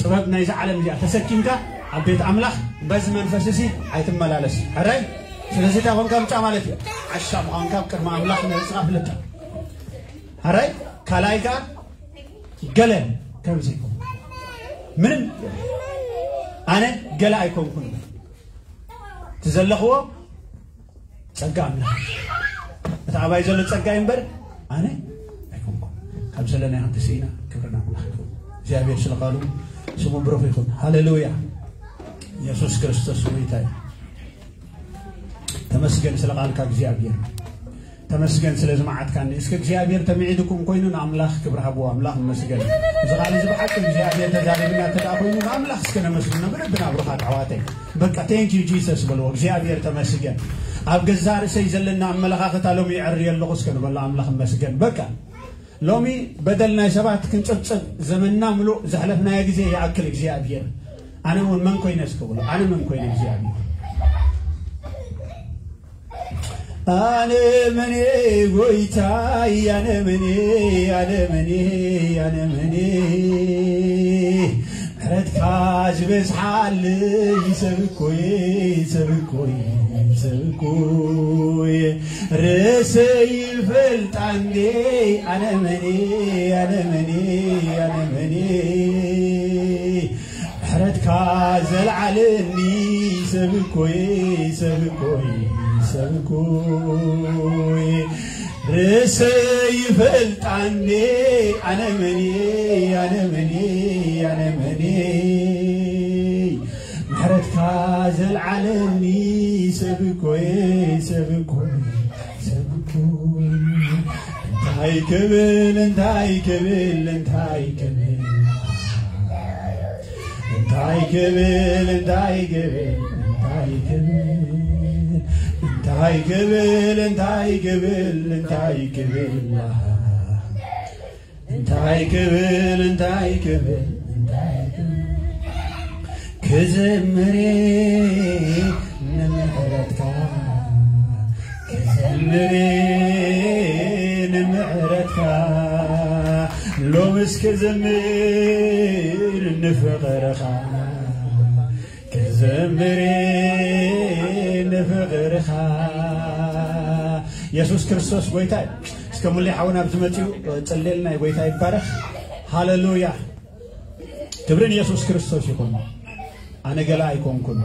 ጥበብ ናይዚ ዓለም እዚኣ ተሰኪምካ ኣብ ቤት ኣምላኽ በዚ መንፈስ እዚ ኣይትመላለስ ሕራይ ስለዚ እንታይ ኮንካ ምፃ ማለት እዩ ዓሻ ምዃንካ ኣብ ቅድሚ ኣምላኽ ንርእስኻ ፍለጥ ሕራይ ካልኣይ ከዓ ገለ ከም ዘይኮንኩ ምንም ኣነ ገለ ኣይኮንኩን እቲ ዘለኽዎ ጸጋ ኣምላኽ እቲ ኣባይ ዘሎ ጸጋ እዩ እምበር ኣነ ኣይኮንኩን ካብ ዘለናይ ክንትስኢና ክብርና ኣምላኽ ይኹን እግዚኣብሔር ስለ ቃሉ ስሙ ብሩኽ ይኹን ሃሌሉያ የሱስ ክርስቶስ ጎይታ እዩ ተመስገን ስለ ቃልካ እግዚኣብሔር ተመስገን ስለ ዝመዓትካኒ እስከ እግዚኣብሔር ተሚዒድኩም ኮይኑ ንኣምላኽ ክብሪ ሃብዎ ኣምላኽ ይመስገን እዚ ቃል እዚ ብሓቂ እግዚኣብሔር ተዛሪብና እንተ ኮይኑ ንኣምላኽ እስከ ነመስግኖ ብልብና ብሩኻት ኣሕዋተይ በቃ thank you Jesus በልዎ እግዚኣብሔር ተመስገን ኣብ ገዛ ርእሰይ ዘለና ኣመለኻኽታ ሎሚ ይዕሪ ኣለኹ እስከ ንበሎ ኣምላኽ ይመስገን በቃ ሎሚ በደል ናይ ሰባት ክንጽብጽብ ዘመንና ምሉእ ዘሕለፍናዮ ግዜ ይኣክል እግዚኣብሔር ኣነ እውን መን ኮይነ እስከ በሎ ኣነ መን ኮይነ እግዚኣብሔር ኣነ መኔ ጎይታይ፣ ኣነ መኔ፣ ኣነ መኔ፣ ኣነ መኔ፣ ምሕረትካ ዝበዝሓለይ ሰብ እኮየ፣ ሰብ እኮየ፣ ሰብ እኮየ። ርእሰይ ይፈልጣ እንዴ፣ ኣነ መኔ፣ ኣነ መኔ፣ ኣነ መኔ። ምሕረትካ ዘልዓለኒ ሰብ እኮየ፣ ሰብ እኮየ፣ ሰብ እኮየ። ርእሰይ ይፈልጣ እንዴ፣ ኣነ መኔ፣ ኣነ መኔ፣ ኣነ መኔ። ምሕረትካ ዘልዓለኒ ሰብ እኮየ፣ ሰብ እኮየ፣ ሰብ እኮየ። እንታይ ክብል፣ እንታይ ክብል፣ እንታይ ክብል፣ እንታይ ክብል፣ እንታይ ክብል፣ እንታይ ክብል፣ እንታይ ክብል፣ እንታይ ክብል፣ እንታይ ክብል፣ እንታይ ክብል፣ እንታይ ክብል፣ እንታይ ክብል፣ ክዝምር ንምሕረትካ፣ ክዝምር ንምሕረትካ፣ ሎምስ ክዝምር ንፍቕርኻ፣ ክዝምር ንፍቕርኻ። የሱስ ክርስቶስ ጎይታ እዩ። እስከ ሙሌ ሓውና ኣብዚ መጺኡ ጽሌልና፣ ጎይታ ይባረኽ። ሃሌሉያ። ክብሪ ንየሱስ ክርስቶስ ይኹን። ኣነ ገለ ኣይኮንኩን።